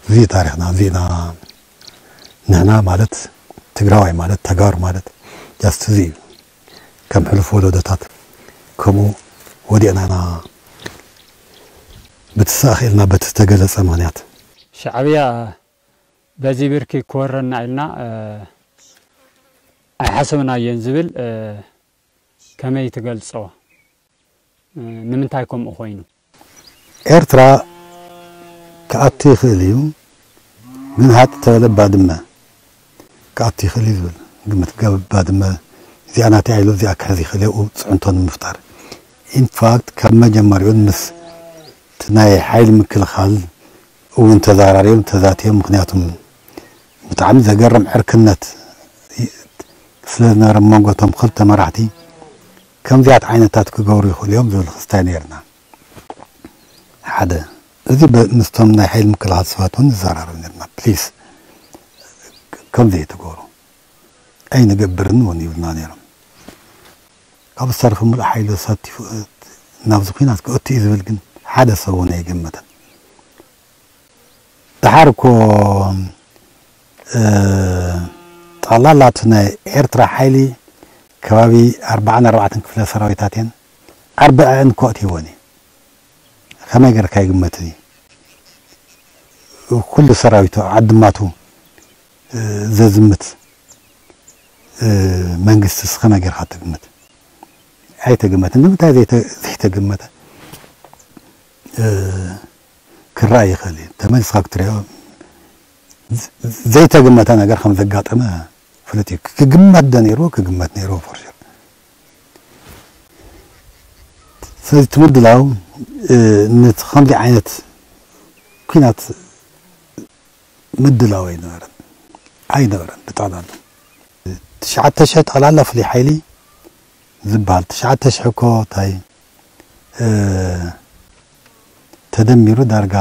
እዚ ታሪኽና፣ እዚና ንሕና ማለት ትግራዋይ ማለት ተጋሩ ማለት just እዚ እዩ። ከም ሕሉፍ ወለዶታት ከምኡ ወዲቕና ኢና ብትሳእ ክኢልና በቲ ዝተገለጸ ምኽንያት። ሻዕብያ በዚ ብርኪ ክወረና ኢልና፣ እ፣ ኣይሓሰብናዮን ዝብል፣ እ፣ ከመይ ትገልጾ? እ፣ ንምንታይ ከምኡ ኮይኑ? ኤርትራ ክኣቱ ይኽእል እዩ፣ ግን ሃጥ ተበለ ባድመ ክኣቱ ይኽእል እዩ ዝብል ግምት። ገብ ባድመ እዚኣ ናተይ ኢሉ እዚኣ ክሕዝ ይኽእል እዩ፣ ጽዕንቶ ንምፍጣር። ኢንፋክት ካብ መጀመሪኡን ምስ እቲ ናይ ሓይሊ ምክልኻል እውን ተዘራሪቦም ተዛትዮም። ምኽንያቱም ብጣዕሚ ዘገርም ዕርክነት ስለ ዝነበረ መንጎቶም ክልተ መራሕቲ ከምዚኣት ዓይነታት ክገብሩ ይኽእሉ እዮም ዝብል ክስታይ ነይርና። ሓደ እዚ በ-፣ ምስቶም ናይ ሓይሊ ምክልኻል ሰባት እውን ንዘራረብ ነርና። ፕሊስ ከምዚ ኣይትገብሩ ኣይንገብርን እውን ይብሉና ነይሮም። ካብ ዝተረፈ ሙሉእ ሓይሊ ኣሳቲፉ ናብዚ ኩናት ክእቱ እዩ ዝብል ግን ሓደ ሰብ እውን ኣይገመተን። ደሓር እኮ፣ እ፣ ጠቕላላ እቲ ናይ ኤርትራ ሓይሊ ከባቢ ኣርባዓን ኣርባዕተን ክፍለ ሰራዊታት እየን ኣርባዕን እኮ ኣእትይወን እዩ። ከመይ ጌርካ ይግመት እዚ? ኩሉ ሰራዊቱ ዓድማቱ፣ እ፣ ዘዝምት፣ እ፣ መንግስቲ እስከ ነገር ትግምት ኣይተገመተን። ንምንታይ ዘይተ-፣ ዘይተገመተ፣ እ፣ ክረኣይ ይኽእል እዩ። ተመሊስካ ክትሪኦ፣ ዝ-፣ ዘይተገመተ ነገር ከም ዘጋጠመ ፍሉጥ እዩ። ክግመት ዶ ነይርዎ? ክግመት ነይርዎ፣ ፎር ሹር። ስለዚ እቲ ምድላው፣ እ፣ ነቲ ከምዚ ዓይነት ኲናት ምድላው ኣይነበረን፣ ኣይነበረን ብጠቕላላ። ትሽዓተ ሽሕ ጠቕላላ ፍሉይ ሓይሊ ዝበሃል፣ ትሽዓተ ሽሕ እኮ እንታይ፣ እ፣ ተደሚሩ ዳርጋ፣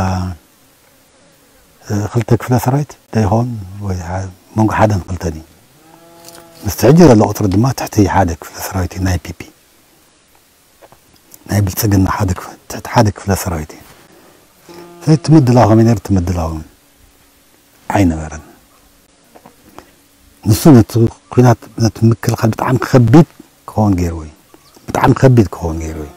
እ፣ ክልተ ክፍለ ሰራዊት ዶ ይኸውን? ወይ ሓ-፣ መንጎ ሓደን ክልተን እዩ። ምስቲ ሕጂ ዘሎ ቁፅሪ ድማ ትሕቲ ሓደ ክፍለ ሰራዊት እዩ፣ ናይ ፒፒ። ናይ ብልጽግና ሓደ ክፍ-፣ ትሕቲ ሓደ ክፍለ ሰራዊት እዩ። ስለዚ እቲ ምድላው ከመይ ነይሩ? እቲ ምድላው ኣይነበረን። ንሱ ነቲ ኲናት፣ ነቲ ምክልኻል ብጣዕሚ ከቢድ ክኸውን ገይርዎ እዩ። ብጣዕሚ ከቢድ ክኸውን ነይሩ እዩ።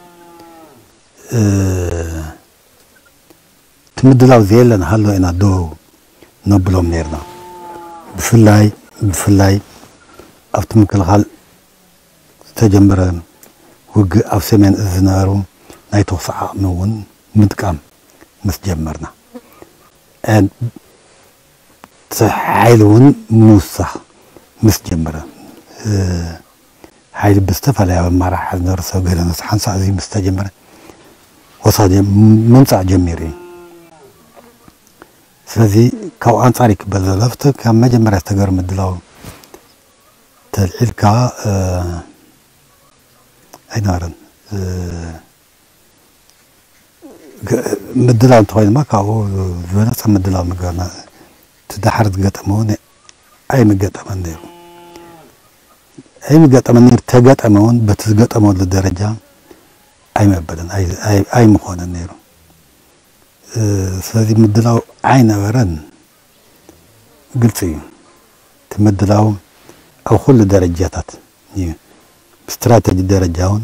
እቲ ምድላው ዘየለ ንሃሎ ኢና ደው ነብሎም ነርና። ብፍላይ ብፍላይ ኣብቲ ምክልኻል ዝተጀመረ ውግእ ኣብ ሰሜን እዝ ዝነበሩ ናይ ተኹሲ ዓቕሚ እውን ምጥቃም ምስ ጀመርና፣ እቲ ሓይሊ እውን ምውሳኽ ምስ ጀመረ፣ ሓይሊ ብዝተፈላለየ ኣመራርሓ ዝነበረ ሰብ ገለ ነሱ ሓንሳእ እዚ ምስ ተጀመረ ወሳደ ምምፃእ ጀሚሩ እዩ። ስለዚ ካብኡ ኣንፃር ይክበል ዘሎ ኣብቲ ካብ መጀመርያ ዝተገበረ ምድላው ተልዒልካ ኣይነበረን። ምድላው እንተኾይኑማ ካብኡ ዝበለፀ ምድላው ምግበርና። እቲ ዳሓር ዝገጠመ እውን ኣይምገጠመን ነይሩ። ኣይምገጠመን ነይሩ። ተገጠመ እውን በቲ ዝገጠመሉ ደረጃ ኣይመበለን ኣይምኾነን ነይሩ። ስለዚ ምድላው ኣይነበረን። ግልፂ እዩ። እቲ ምድላው ኣብ ኩሉ ደረጃታት እዩ። ብስትራተጂ ደረጃ እውን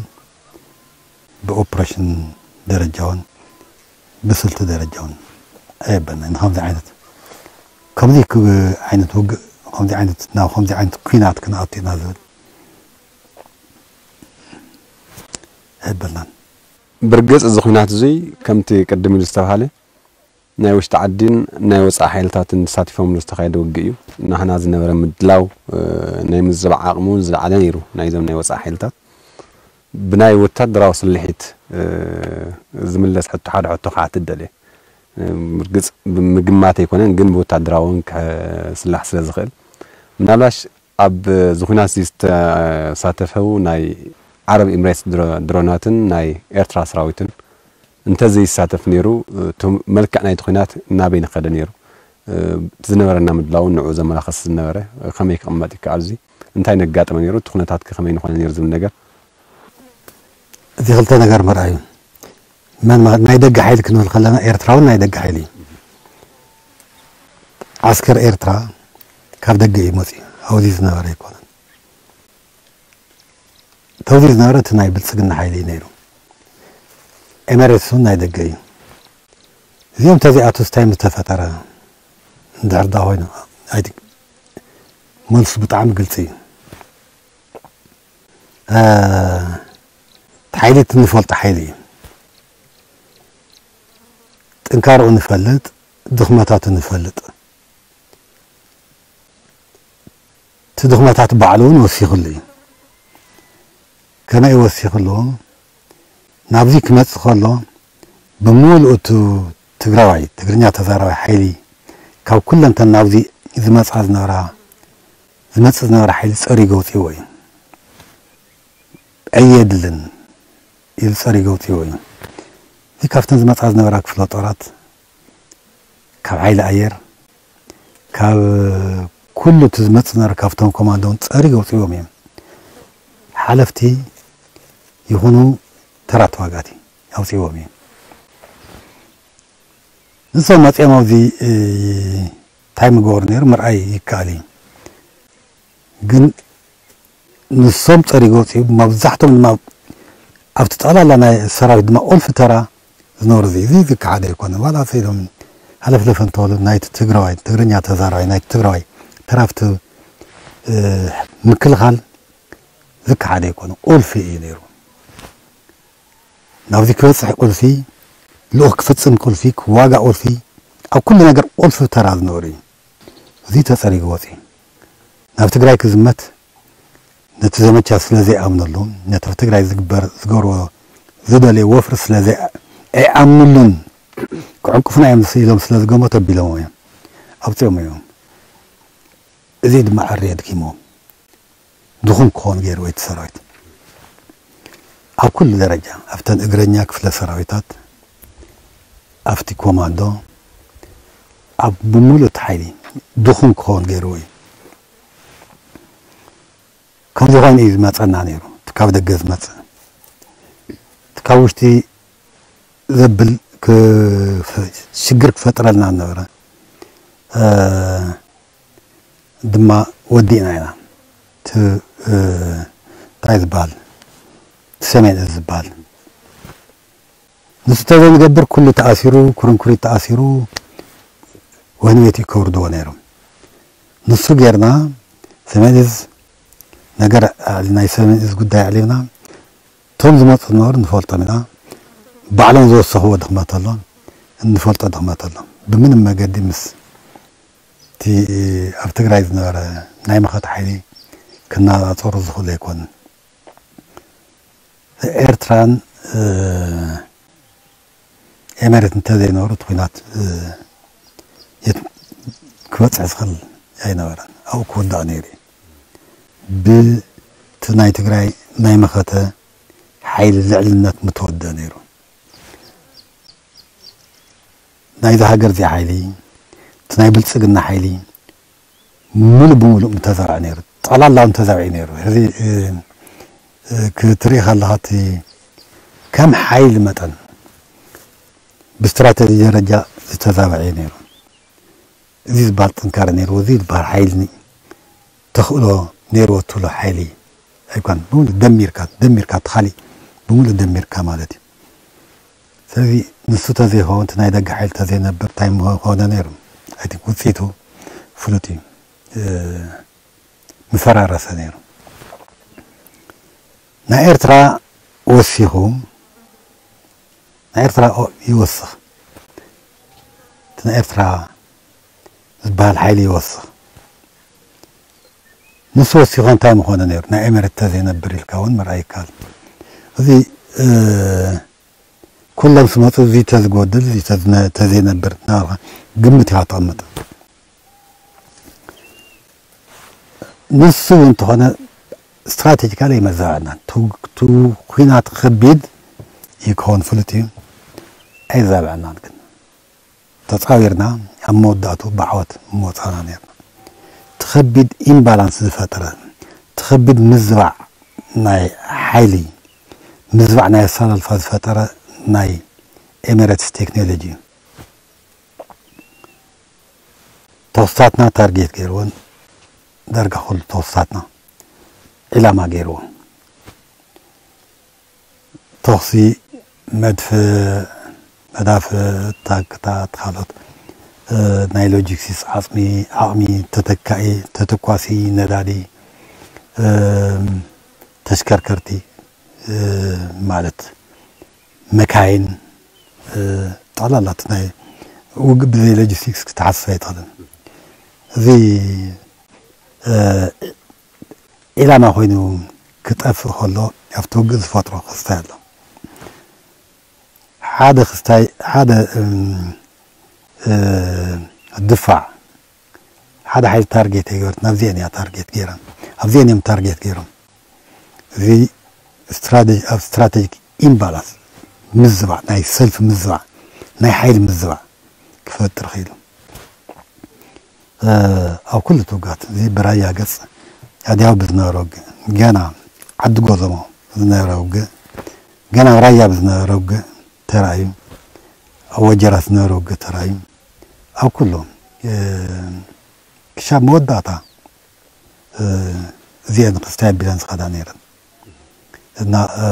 ብኦፕሬሽን ደረጃ እውን ብስልቲ ደረጃ እውን ኣየበልና ንከምዚ ዓይነት ከምዚ ዓይነት ውግእ ከምዚ ዓይነት ናብ ከምዚ ዓይነት ኩናት ክንኣቱ ኢና ዝብል ኣይበልናን። ብርግፅ እዚ ኩናት እዙይ ከምቲ ቅድም ኢሉ ዝተባሃለ ናይ ውሽጢ ዓዲን ናይ ወፃኢ ሓይልታትን ተሳቲፎምሉ ዝተኻየደ ውግእ እዩ። ናህና ዝነበረ ምድላው ናይ ምዝባዕ ዓቕሚ እውን ዝለዓለ ነይሩ። ናይዞም ናይ ወፃኢ ሓይልታት ብናይ ወታደራዊ ስልሒት ዝምለስ ሕቶ ሓደ ሕቶ ክሓትት ደልየ። ብርግፅ ብምግማት ኣይኮነን ግን ብወታደራዊ እውን ክስላሕ ስለ ዝኽእል ምናልባሽ ኣብ እዚ ኩናት እዚ ዝተሳተፈው ናይ ዓረብ ኢምሬትስ ድሮናትን ናይ ኤርትራ ሰራዊትን እንተዘይሳተፍ ነይሩ እቲ መልክዕ ናይቲ ኩናት ናበይ ንኸደ ነይሩ? ዝነበረና ምድላውን ንዕኡ ዘመላኸስ ዝነበረ ከመይ ክቕመጥ ይከኣል? እዚ እንታይ ነጋጠመ ነይሩ? እቲ ኩነታት ከመይ ንኾነ ነይሩ ዝብል ነገር እዚ ክልተ ነገር ምርኣዩ ናይ ደገ ሓይሊ ክንብል ከለና ኤርትራውን ናይ ደገ ሓይሊ እዩ። ዓስከር ኤርትራ ካብ ደገ እዩ መፅዩ። ኣብዚ ዝነበረ ኣይኮነን። ተውዚ ዝነበረ እቲ ናይ ብልፅግና ሓይሊ እዩ ነይሩ። ኤመሬትስ እውን ናይ ደገ እዩ። እዚኦም ተዚኣቱ ስታይ ምስ ተፈጠረ እንድሕር ዳ ኮይኑ መልሱ ብጣዕሚ ግልፂ እዩ። ሓይሊ እቲ ንፈልጦ ሓይሊ እዩ። ጥንካርኡ ንፈልጥ፣ ድኽመታቱ ንፈልጥ። እቲ ድኽመታት ባዕሉ እውን ወሲኽሉ እዩ። ከመይ ወሲኽሉ? ናብዚ ክመፅእ ከሎ ብምሉኡ እቲ ትግራዋይ ትግርኛ ተዛራባይ ሓይሊ ካብ ኩለንተን ናብዚ ዝመፃ ዝነበራ ዝመፅእ ዝነበረ ሓይሊ ፀሪጉ ኣውፂእዎ እዩ። ኣየድልን ኢሉ ፀሪጉ ኣውፂእዎ እዩ። እዚ ካብተን ዝመፃ ዝነበራ ክፍለ ጦራት ካብ ሓይሊ ኣየር ካብ ኩሉ እቲ ዝመፅእ ዝነበረ ካብቶም ኮማንዶ እውን ፀሪጉ ኣውፂእዎም እዮም። ሓለፍቲ ይኹኑ ተራ ተዋጋእቲ ኣውፂእዎም እዮም። ንሶም መፂኦም ኣብዚ እንታይ ምግበሩ ነይሩ ምርኣይ ይከኣል እዩ። ግን ንሶም ፀሪጎ ወፂኡ መብዛሕቶም ድማ ኣብቲ ጠቕላላ ናይ ሰራዊት ድማ ቁልፊ ተራ ዝነበሩ እዚ እዚ ዝከሓደ ኣይኮነ ዋላ ሰኢሎም ሃለፍለፈ እንተበሉ ናይቲ ትግራዋይ ትግርኛ ተዛራዋይ ናይቲ ትግራዋይ ተራፍቲ ምክልኻል ዝከሓደ ኣይኮነ ቁልፊ እዩ ነይሩ ናብዚ ክበፅሕ ቁልፊ ልኡኽ ክፍፅም ቁልፊ ክዋጋእ ቁልፊ ኣብ ኩሉ ነገር ቁልፊ ተራ ዝነበሩ እዩ እዚ ተፀሪጉ ወፂኡ ናብ ትግራይ ክዝመት ነቲ ዘመቻ ስለ ዘይኣምነሉ ነቲ ኣብ ትግራይ ዝግበር ዝገብርዎ ዝደልዮ ወፍሪ ስለ ኣይኣምኑሉን ክዕንቅፉና እዮም ኢሎም ስለ ዝገመቱ ኣቢሎሞ እዮም ኣውፂኦም እዮም እዚ ድማ ዕሪ ኣድኪሞም ድኹም ክኾን ገይርዎ እቲ ሰራዊት ኣብ ኩሉ ደረጃ ኣብተን እግረኛ ክፍለ ሰራዊታት ኣብቲ ኮማንዶ ኣብ ብምሉእ እቲ ሓይሊ ድኹም ክኸውን ገይርዎ እዩ ከምዚ ኮይኑ እዩ ዝመፀና ነይሩ እቲ ካብ ደገ ዝመፅእ እቲ ካብ ውሽጢ ዘብል ሽግር ክፈጥረልና ነበረ ድማ ወዲእና ኢና እቲ እንታይ ዝበሃል ሰሜን እዝ ዝበሃል። ንሱ ተዘይንገብር ኩሉ ተኣሲሩ፣ ኩርንኩሪት ተኣሲሩ፣ ወህኒ ቤት እዩ ከውርድዎ ነይሮም። ንሱ ጌርና፣ ሰሜን እዝ ነገር ኣዕሊ-፣ ናይ ሰሜን እዝ ጉዳይ ኣዕሊምና፣ እቶም ዝመፁ ዝነበሩ ንፈልጦም ኢና። ባዕሎም ዝወሰኽዎ ድኽመት ኣሎ፣ እንፈልጦ ድኽመት ኣሎ። ብምንም መገዲ ምስ እቲ ኣብ ትግራይ ዝነበረ ናይ መኸተ ሓይሊ ክነፃፀሩ ዝኽእሉ ኣይኮኑን። ኤርትራን፣ እ፣ ኤመሬት እንተዘይነበሩ እቲ ኲናት፣ እ፣ የት ክበፅሕ ዝኽእል ኣይነበረን። ኣብኡ ክውዳእ ነይሩ እዩ። ብቲ ናይ ትግራይ ናይ መኸተ ሓይሊ ልዕልነት ምተወደአ ነይሩ። ናይዚ ሃገር እዚ ሓይሊ፣ እቲ ናይ ብልጽግና ሓይሊ፣ ምሉእ ብምሉእ ምተዘርዐ ነይሩ። ጠቕላላውን ተዘርዒ ነይሩ። ሕዚ፣ እ፣ እ፣ ክትርኢ ከለኻ እቲ ከም ሓይሊ መጠን ብስትራተጂ ደረጃ ዝተዛበዐ እዩ ነይሩ። እዚ ዝበሃል ጥንካረ ነይርዎ፣ እዚ ዝበሃል ሓይሊ ተኽእሎ ነይርዎ ትብሎ ሓይሊ ኣይኮን። ብምሉእ ደሚርካ፣ ደሚርካ እቲ ካሊእ ብምሉእ ደሚርካ ማለት እዩ። ስለዚ ንሱ ተዘይኸውን፣ እቲ ናይ ደገ ሓይሊ ተዘይነብር፣ እንታይ ምኾነ ነይሩ? ኣይ ቲንክ ውፅኢቱ ፍሉጥ እዩ። እ፣ ምፈራረሰ ነይሩ። ናይ ኤርትራ ወሲኹ፣ ናይ ኤርትራ ኦ-፣ ይወስኽ። እቲ ናይ ኤርትራ ዝበሃል ሓይሊ ይወስኽ። ንሱ ወሲኹ እንታይ ምኾነ ነይሩ? ናይ ኤመሬት ተዘይነብር ኢልካ እውን ምርኣይ ይከኣል። እዚ፣ እ፣ ኩሎም ስመፁ እዚ ተዝጎድል፣ እዚ ተዝነ-፣ ተዘይነብር እናበልካ ግምት ኢኻ ተቐምጥ። ንሱ እውን እንተኾነ ስትራቴጂካሊ ኣይመዛበዐናን። ቱ-፣ ቱ ኲናት ከቢድ እዩ ክኸውን ፍሉጥ እዩ። ኣይዛበዐናን ግን ተፃዊርና ኣብ መወዳእቱ ብዓወት ምወፃና ነርና። እቲ ከቢድ ኢምባላንስ ዝፈጠረ፣ እቲ ከቢድ ምዝባዕ ናይ ሓይሊ፣ ምዝባዕ ናይ ኣሰላልፋ ዝፈጠረ ናይ ኤሚሬትስ ቴክኖሎጂ እዩ። ተኹስታትና ታርጌት ገይርዎን ዳርጋ ኩሉ ተኹስታትና ዒላማ ገይርዎ። ተኹሲ መድፍዕ፣ መዳፍዕ፣ ታንክታት፣ ካልኦት፣ እ፣ ናይ ሎጂስቲክስ ዓፅሚ፣ ዓቕሚ፣ ተተካኢ፣ ተተኳሲ፣ ነዳዲ፣ እ፣ ተሽከርከርቲ፣ እ፣ ማለት መካይን፣ እ፣ ጠቕላላ እቲ ናይ ውግእ ብዘይ ሎጂስቲክስ ክትሓስብ ኣይትኽእልን። እዚ፣ እ፣ ዒላማ ኮይኑ ክጠፍእ ከሎ ኣብቲ ውግእ ዝፈጥሮ ክስታይ ኣሎ። ሓደ ክስታይ፣ ሓደ፣ እም፣ እ፣ ድፋዕ፣ ሓደ ሓይሊ ታርጌት ኣይገበረት፣ ናብዚአን እያ ታርጌት ገይራ፣ ኣብዚአን እዮም ታርጌት ገይሮም። እዚ ስትራቴጂ፣ ኣብ ስትራቴጂክ ኢምባላንስ ምዝባዕ፣ ናይ ሰልፊ ምዝባዕ፣ ናይ ሓይሊ ምዝባዕ ክፈጥር ኽኢሉ። እ፣ ኣብ ኩሉ ትውጋት፣ እዚ ብራያ ገጽ ኣድያው ብዝነበረ ውግእ፣ ገና ዓዲ ጎዘሞ ዝነበረ ውግእ፣ ገና ኣብ ራያ ብዝነበረ ውግእ ተራእዩ፣ ኣብ ወጀራት ዝነበረ ውግእ ተራእዩ፣ ኣብ ኩሉ፣ እ፣ ክሻብ መወዳእታ፣ እ፣ እዚአን ክስታይ ኣቢለን ዝኸዳ ነይረን። እና፣ እ፣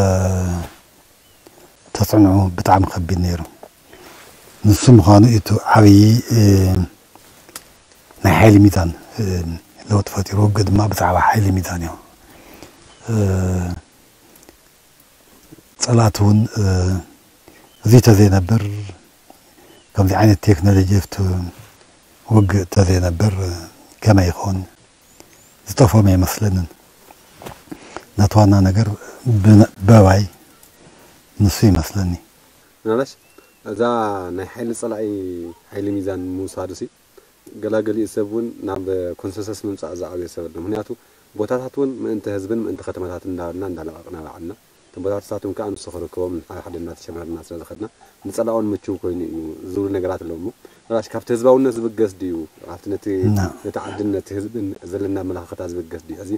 ተፅዕንዑ ብጣዕሚ ከቢድ ነይሩ። ንሱ ምዃኑ እቲ ዓብዪ፣ እ፣ ናይ ሓይሊ ሚዛን፣ እ፣ ለውጢ ፈጢሩ። ውግእ ድማ ብዛዕባ ሓይሊ ሚዛን እዩ። እ፣ ፀላእቲ እውን፣ እ፣ እዚ ተዘይነብር፣ ከምዚ ዓይነት ቴክኖሎጂ ኣብቲ ውግእ ተዘይነብር፣ እ፣ ከመይ ይኸውን? ዝጠፍኦም ኣይመስለንን። ነቲ ዋና ነገር ብነ-፣ በባይ ንሱ ይመስለኒ። ምናልባሽ እዛ ናይ ሓይሊ ጸላኢ ሓይሊ ሚዛን ምውሳዱ ሲ፣ ገላገሊኡ ሰብ እውን ናብ ኮንሰንሰስ ምምጻእ ዝኣበየ ሰብ ኣሎ። ምኽንያቱ ቦታታት እውን ምእንቲ ህዝብን ምእንቲ ከተማታትን እንዳበልና እንዳለቐቕና ባዕልና፣ እቶም ቦታታት ንሳቶም ከኣ ንሱ ክርከቦም ንሓደ ሓደ እናተሸማርና ስለ ዝኸድና፣ ንጸላኦን ምችው ኮይኑ እዩ ዝብሉ ነገራት ኣለዉ እሞ፣ ምናልባሽ ካብቲ ህዝባውነት ዝብገስ ድዩ? ካብቲ ነቲ፣ ና። ነቲ ዓድን ነቲ ህዝብን ዘለና ኣመለኻኽታ ዝብገስ ድዩ? ሕዚ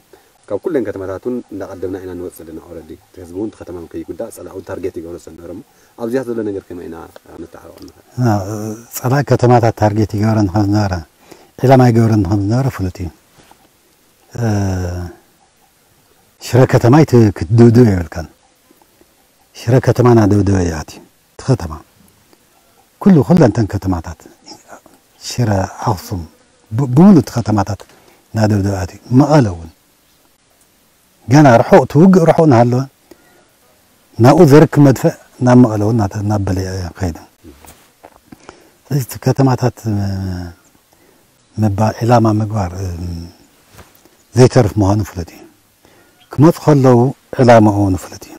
ካብ ኩለን ከተማታት እውን እንዳቐደምና ኢና ንወጽእ ዘለና። ኦረዲ እቲ ህዝቢ እውን እቲ ከተማ ከይጉዳእ ጸላኢ እውን ታርጌት ይገብሮ ስለ ዝነበረ እሞ፣ ኣብዚኣ ዘሎ ነገር ከመይ ኢና ነተዓባብዖ ንኽእል? ና፣ ጸላኢ ከተማታት ታርጌት ይገብረን ከም ዝነበረ፣ ዒላማ ይገብረን ከም ዝነበረ ፍሉጥ እዩ። እ፣ ሽረ ከተማ ይት-፣ ክትድብድብ የብልካን። ሽረ ከተማ ናደብደበ እዩ ኣትዩ። እቲ ከተማ ኩሉ፣ ኩለን እተን ከተማታት፣ ሽረ፣ ኣኽሱም፣ ብ-፣ ብምሉእ እቲ ከተማታት ናደብደበ ኣትዩ። መቐለ እውን ገና ርሑቕ፣ እቲ ውግእ ርሑቕ እናሃለወ ናብኡ ዘርክብ መድፍዕ ናብ መቐለ እውን እናተ-፣ እናበለ ከይዱ። ስለዚ እቲ ከተማታት፣ እ፣ ምባ-፣ ዒላማ ምግባር፣ እ፣ ዘይተርፍ ምዃኑ ፍሉጥ እዩ። ክመፁ ከለዉ ዕላማኡ እውን ፍሉጥ እዩ።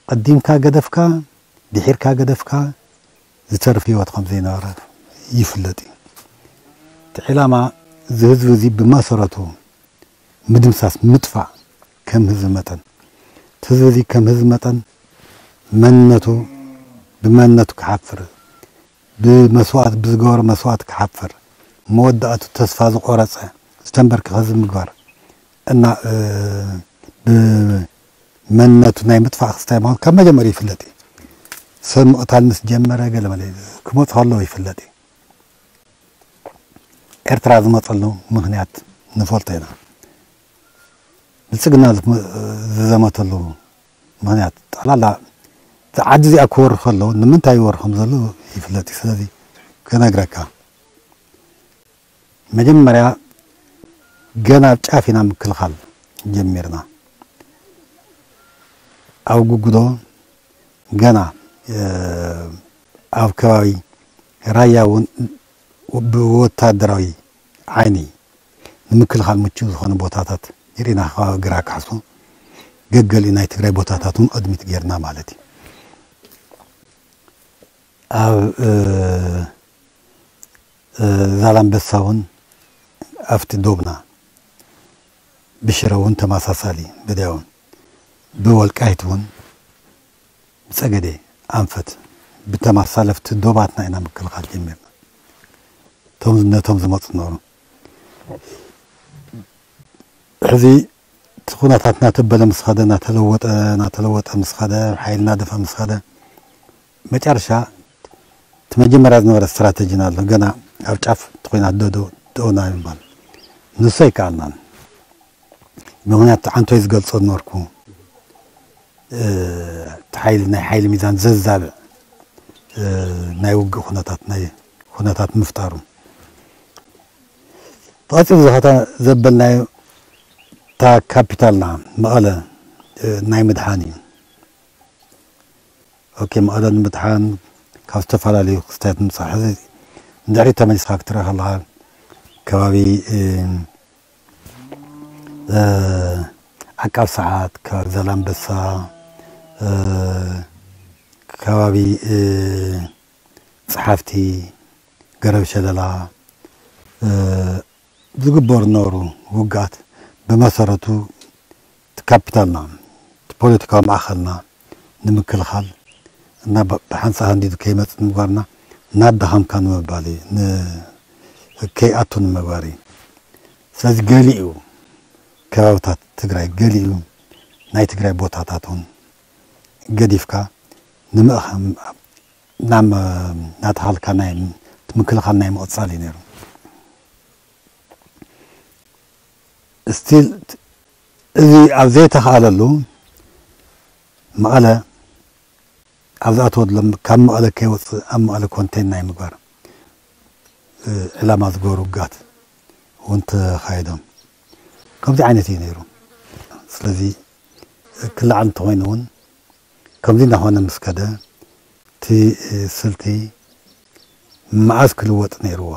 ቀዲምካ ገደፍካ፣ ድሒርካ ገደፍካ ዝተርፍ ህይወት ከም ዘይነበረ ይፍለጥ እዩ። እቲ ዕላማ እዚ ህዝቢ እዚ ብመሰረቱ ምድምሳስ፣ ምጥፋእ፣ ከም ህዝቢ መጠን፣ እቲ ህዝቢ እዚ ከም ህዝቢ መጠን መንነቱ፣ ብመንነቱ ክሓፍር፣ ብመስዋእቲ፣ ብዝገበሮ መስዋእቲ ክሓፍር፣ መወዳእቱ ተስፋ ዝቆረጸ፣ ዝተንበርከኸ ህዝቢ ምግባር እና፣ እ፣ ብመንነቱ ናይ ምጥፋእ ክስታይ ምዃኑ ካብ መጀመርያ ይፍለጥ እዩ። ሰብ ምቕታል ምስ ጀመረ ገለ መለ ክመፁ ከለዉ ይፍለጥ እዩ። ኤርትራ ዝመፀሉ ምኽንያት ንፈልጦ ኢና። ብልፅግና ዝመ-፣ ዝዘመተሉ ምኽንያት ጠቕላላ፣ እዛ ዓዲ እዚኣ ክወሩ ከለዉ ንምንታይ ይወሩ ከም ዘለዉ ይፍለጥ እዩ። ስለዚ ክነግረካ፣ መጀመርያ ገና ኣብ ጫፍ ኢና ምክልኻል ጀሚርና። ኣብ ጉጉዶ ገና፣ እ፣ ኣብ ከባቢ ራያ እውን ብወታደራዊ ዓይኒ ንምክልኻል ምቹው ዝኾነ ቦታታት ርኢና፣ ከባቢ ግራ ካሕሱ፣ ገገሊኡ ናይ ትግራይ ቦታታት እውን ቅድሚት ጌርና ማለት እዩ። ኣብ፣ እ፣ እ፣ ዛላምበሳ እውን ኣብቲ ዶብና፣ ብሽረ እውን ተመሳሳሊ፣ በዲያ እውን፣ ብወልቃይት እውን፣ ብፀገዴ፣ ኣንፈት፣ ብተመሳሰለፍቲ ዶባትና ኢና ምክልኻል ጀሚርና። እቶም፣ ነቶም ዝመፁ ነበሩ። ሕዚ እቲ ኩነታት እናተበለ ምስ ኸደ፣ እናተለወጠ፣ እናተለወጠ ምስ ኸደ፣ ሓይሊ እናደፍአ ምስ ኸደ፣ መጨረሻ እቲ መጀመርያ ዝነበረ ስትራተጂና ኣሎ። ገና ኣብ ጫፍ እቲ ኹናት ዶ፣ ዶ፣ ደኦና ይባል። ንሱ ኣይከኣልናን። ምኽንያቱ ዓንቶይ ዝገልጾ ዝነበርኩ፣ እ፣ እቲ ሓይሊ፣ ናይ ሓይሊ ሚዛን ዘዛብዕ፣ እ፣ ናይ ውግእ ኩነታት፣ ናይ ኩነታት ምፍጣሩ። ብቐጺሉ ዝኸተ-፣ ዘበልናዮ እታ ካፒታልና መቐለ፣ እ፣ ናይ ምድሓን እዩ። ኦኬ፣ መቐለ ንምድሓን ካብ ዝተፈላለዩ ክስታያት ንምጻእ። ሕዚ ንድሕሪት ተመሊስካ ክትርኢ ከለኻ፣ ከባቢ፣ እ፣ እ፣ ዓቃብ ሰዓት፣ ከባቢ ዛላምበሳ፣ እ፣ ከባቢ፣ እ፣ ጸሓፍቲ፣ ገረብ ሸለላ፣ እ፣ ዝግበሩ ዝነበሩ ውግኣት ብመሰረቱ እቲ ካፒታልና፣ እቲ ፖለቲካዊ ማእኸልና ንምክልኻል እና ብ-፣ ብሓንሳእ ሃንዲዱ ከይመጽእ ንምግባርና እናዳኸምካ ንምባል እዩ፣ ን-፣ ከይኣቱ ንምግባር እዩ። ስለዚ ገሊኡ ከባብታት ትግራይ፣ ገሊኡ ናይ ትግራይ ቦታታት እውን ገዲፍካ ንምእኸ-፣ ናብ፣ እናተኻልካ ናይ፣ እቲ ምክልኻል ናይ ምቕጻል እዩ ነይሩ። ስቲል እዚ ኣብ ዘይተኻእለሉ መቐለ ኣብ ዝኣተወሎም ካብ መቐለ ከይወፅእ ኣብ መቐለ ኮንቴን ናይ ምግባር፣ እ፣ ዕላማ ዝገበሩ ውግኣት እውን ተኻይዶም። ከምዚ ዓይነት እዩ ነይሩ። ስለዚ ክለዓል እንተኾይኑ እውን ከምዚ እናኾነ ምስ ከደ እቲ ስልቲ መዓዝ ክልወጥ ነይርዎ?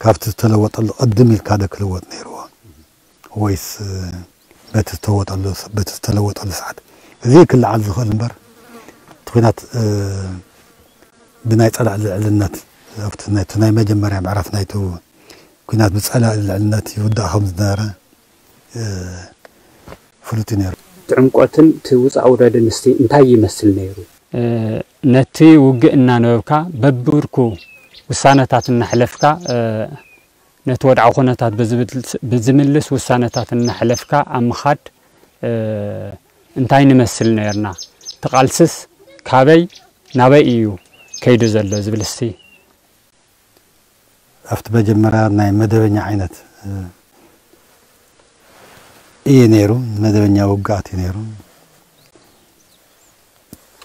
ካብቲ ዝተለወጠሉ ቅድም ኢልካ ዶ ክልወጥ ነይርዎ? ወይስ በቲ ዝተወጠሉ፣ በቲ ዝተለወጠሉ ሰዓት? እዚ ክለዓል ዝኽእል እምበር፣ እቲ ኲናት፣ እ፣ ብናይ ጸላኢ ልዕልነት፣ ኣብቲ ናይ፣ እቲ ናይ መጀመርያ ምዕራፍ ናይቲ ኲናት ብጸላኢ ልዕልነት ይውዳእ ከም ዝነበረ፣ እ፣ ፍሉጥ እዩ ነይሩ። እቲ ዕምቆትን እቲ ውጻእ ውረድን እስቲ እንታይ ይመስል ነይሩ? እ፣ ነቲ ውግእ እናነበብካ፣ በብብርኩ ውሳነታት እናሕለፍካ፣ እ፣ ነቲ ወድዓዊ ኩነታት ብዝብል-፣ ብዝምልስ ውሳነታት እናሕለፍካ ኣብ ምኻድ፣ እ፣ እንታይ ንመስል ነይርና? እቲ ቃልስስ ካበይ ናበይ እዩ ከይዱ ዘሎ ዝብል እስቲ? ኣብቲ መጀመርያ ናይ መደበኛ ዓይነት፣ እ፣ እዩ ነይሩ፣ መደበኛ ውግኣት እዩ ነይሩ።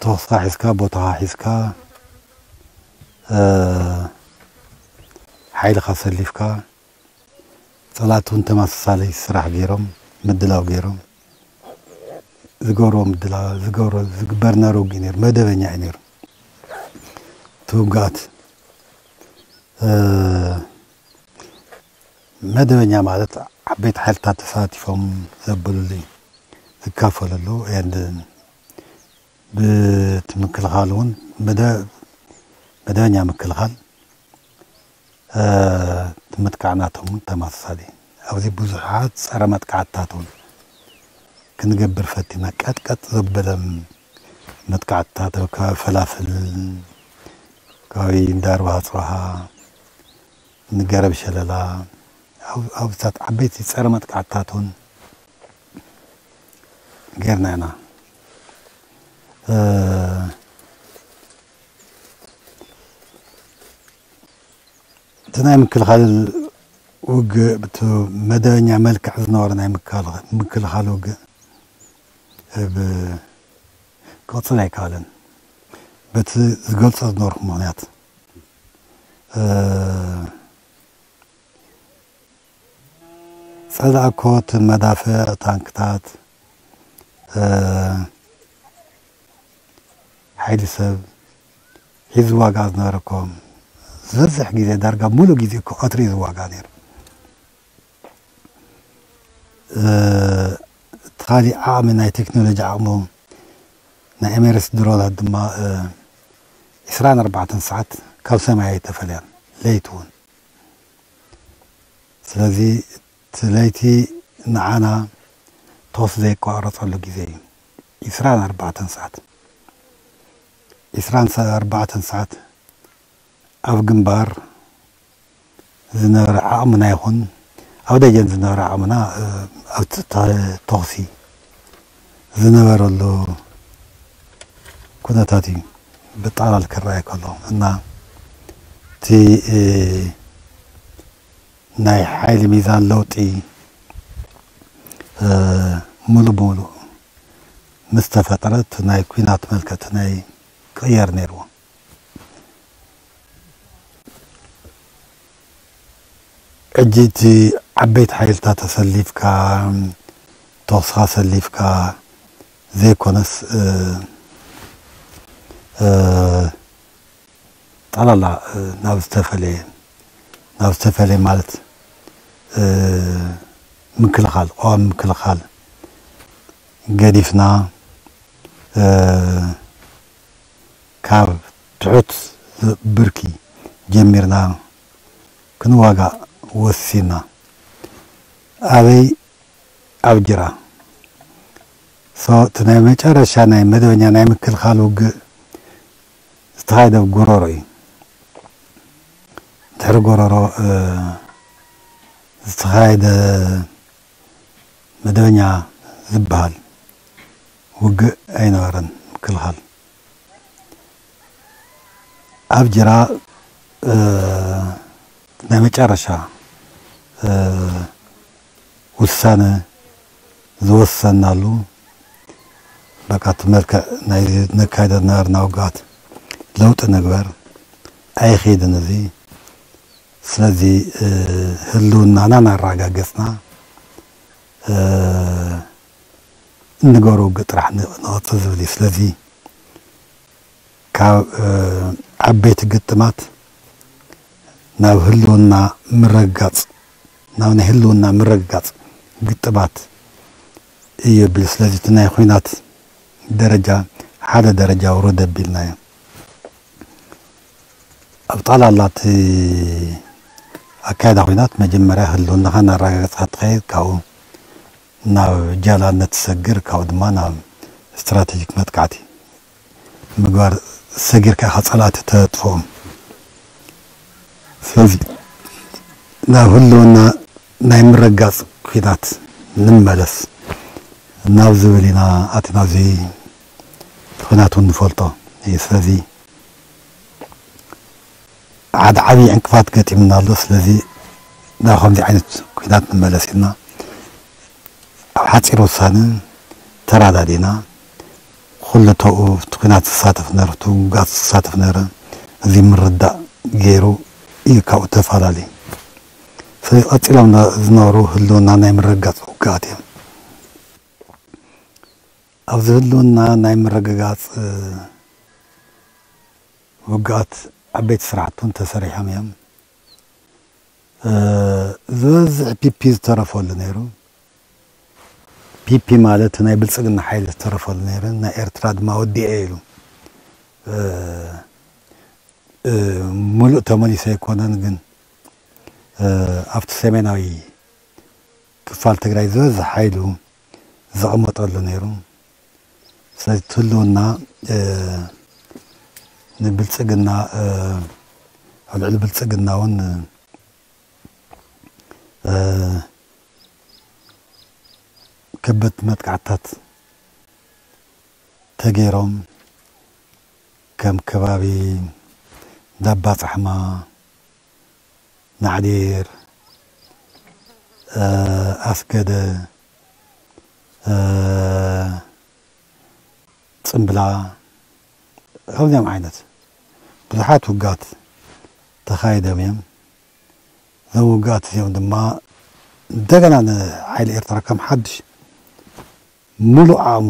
ተኹስካ ሒዝካ፣ ቦታኻ ሒዝካ፣ እ፣ ሓይልኻ ሰሊፍካ፣ ጸላእቲ እውን ተመሳሳሊ ስራሕ ገይሮም፣ ምድላው ገይሮም፣ ዝገብርዎ ምድላ-፣ ዝገብሮ፣ ዝግበር ነሩ ውግእ ነይሩ፣ መደበኛ እዩ ነይሩ። እቲ ውግኣት፣ እ፣ መደበኛ ማለት ዓበይቲ ሓይልታት ተሳቲፎም ዘብሉሉ እዩ፣ ዝካፈልሉ፣ and ብቲ ምክልኻል እውን መደ-፣ መደበኛ ምክልኻል፣ እ፣ እቲ ምጥቃዕ ናቶም እውን ተመሳሳሊ። ኣብዚ ብዙሓት ጸረ መጥቃዕትታት እውን ክንገብር ፈቲና። ቀጥቀጥ ዘበለ መጥቃዕትታት ኣብ ከባቢ ፈላፍል፣ ከባቢ እንዳ ኣርባሃ ጽባሃ፣ ንገረብ ሸለላ፣ ኣብ-፣ ኣብታት ዓበይቲ ጸረ መጥቃዕትታት እውን ጌርና ኢና። እ፣ እቲ ናይ ምክልኻል ውግእ፣ ብቲ መደበኛ መልክዕ ዝነበረ ናይ ምካል-፣ ምክልኻል ውግእ ብ-፣ ክቕጽል ኣይከኣለን። በቲ ዝገልጾ ዝነበርኩ ምኽንያት፣ እ፣ ጸላእ እኮ እቲ መዳፍዕ፣ ታንክታት፣ እ፣ ሓይሊ ሰብ ሒዙ ዝዋጋእ ዝነበረ እኮ፣ ዝበዝሕ ግዜ፣ ዳርጋ ሙሉእ ግዜ እኮ ቀትሪ እዩ ዝዋጋእ ነይሩ። እ፣ እቲ ካሊእ ዓቕሚ፣ ናይ ቴክኖሎጂ ዓቕሙ፣ ናይ ኤሜሬትስ ድሮናት ድማ፣ እ፣ ዒስራን ኣርባዕተን ሰዓት ካብ ሰማይ ኣይተፈለያን፣ ለይቲ እውን። ስለዚ እቲ ለይቲ ንዓና ተኹሲ ዘይቋረጸሉ ግዜ እዩ። ዒስራን ኣርባዕተን ሰዓት፣ ዒስራን ኣርባዕተን ሰዓት ኣብ ግንባር ዝነበረ ዓቕምና ይኹን ኣብ ደጀን ዝነበረ ዓቕምና፣ እ፣ ኣብቲ ተ-፣ ተኹሲ ዝነበረሉ ኩነታት እዩ ብጠቕላል ክረኣይ ከሎ። እና እቲ፣ እ፣ ናይ ሓይሊ ሚዛን ለውጢ፣ እ፣ ሙሉእ ብሙሉእ ምስ ተፈጠረ፣ እቲ ናይ ኲናት መልክዕ፣ እቲ ናይ ቅየር ነይርዎ። ሕጂ እቲ ዓበይቲ ሓይልታት ተሰሊፍካ፣ ተኹስኻ ሰሊፍካ ዘይኮነስ፣ እ፣ እ፣ ጠቕላላ፣ እ፣ ናብ ዝተፈለየ፣ ናብ ዝተፈለየ ማለት፣ እ፣ ምክልኻል፣ ቀዋሚ ምክልኻል ገዲፍና፣ እ፣ ካብ ትሑት ብርኪ ጀሚርና ክንዋጋእ ወሲና። ኣበይ? ኣብ ጅራ። ሶ፣ እቲ ናይ መጨረሻ ናይ መደበኛ ናይ ምክልኻል ውግእ ዝተኻየደ ኣብ ጎረሮ እዩ። ድሕሪ ጎረሮ፣ እ፣ ዝተኻየደ መደበኛ ዝበሃል ውግእ ኣይነበረን ምክልኻል። ኣብ ጅራ፣ እ፣ ናይ መጨረሻ፣ እ፣ ውሳነ ዝወሰናሉ፣ በቃ፣ እቲ መልክዕ ናይ ነካይዶ ዝነበርና ውግኣት ለውጢ ንግበር፣ ኣይኸይድን እዚ። ስለዚ፣ እ፣ ህልውናና እናረጋገጽና፣ እ፣ እንገብሮ ውግእ ጥራሕ ን-፣ ንቐጽል ዝብል እዩ። ስለዚ ካብ፣ እ፣ ዓበይቲ ግጥማት ናብ ህልውና ምርግጋጽ፣ ናብ ናይ ህልውና ምርግጋጽ ግጥማት እዩ ኣቢሉ። ስለዚ እቲ ናይ ኲናት ደረጃ ሓደ ደረጃ ውረድ ኣቢልናዮ። ኣብ ጠቕላላ እቲ ኣካይዳ ኲናት መጀመርያ ህልውናኻ እናረጋገጽካ ትኸይድ፣ ካብኡ ናብ ጃላነት ትሰግር፣ ካብኡ ድማ ናብ ስትራቴጂክ መጥቃዕቲ ምግባር፣ ሰጊርካ ኢኻ ጸላእቲ ተጥፍኦም። ስለዚ ናብ ህልውና ናይ ምርግጋጽ ኲናት ንመለስ ናብ ዝብል ኢና ኣቲና፣ ኣብዚ ኲናት እውን ንፈልጦ እዩ። ስለዚ ሓደ ዓብዪ ዕንቅፋት ገጢሙና ኣሎ። ስለዚ ናብ ከምዚ ዓይነት ኲናት ንመለስ ኢልና ኣብ ሓፂር ውሳነ ተራዳዲና፣ ኩሉ ተኡ እቲ ኩናት ዝሳተፍ ነረ፣ እቲ ውግኣት ዝሳተፍ ነረ፣ እዚ ምርዳእ ገይሩ እዩ ካብኡ ተፈላለዩ። ስለዚ ቀፂሎም ነ- ዝነበሩ ህልውና ናይ ምርግጋፅ ውግኣት እዮም። ኣብዚ ህልውና ናይ ምርግጋፅ ውግኣት ዓበይቲ ስራሕቲ እውን ተሰሪሖም እዮም። ዝበዝሕ ፒፒ ዝተረፈሉ ነይሩ። ፒፒ ማለት ናይ ብልፅግና ሓይሊ ዝተረፈሉ ነይሩ። ናይ ኤርትራ ድማ ወዲኤ ኢሉ። ሙሉእ ተመሊሱ ኣይኮነን፣ ግን ኣብቲ ሰሜናዊ ክፋል ትግራይ ዝበዝሕ ሓይሉ ዘቐመጠሉ ነይሩ። ስለዚ እቲ ህልውና ንብልፅግና፣ ኣብ ልዕሊ ብልፅግና እውን ከበድቲ መጥቃዕትታት ተገይሮም፣ ከም ከባቢ ዳባ ፃሕማ፣ ናዕዲር፣ ኣስገደ፣ ፅምብላ፣ ከምዚኦም ዓይነት ብዙሓት ውጋት ተኻይዶም እዮም። እዞም ውጋት እዚኦም ድማ እንደገና ንሓይሊ ኤርትራ ከም ሓድሽ ሙሉእ ዓቕሙ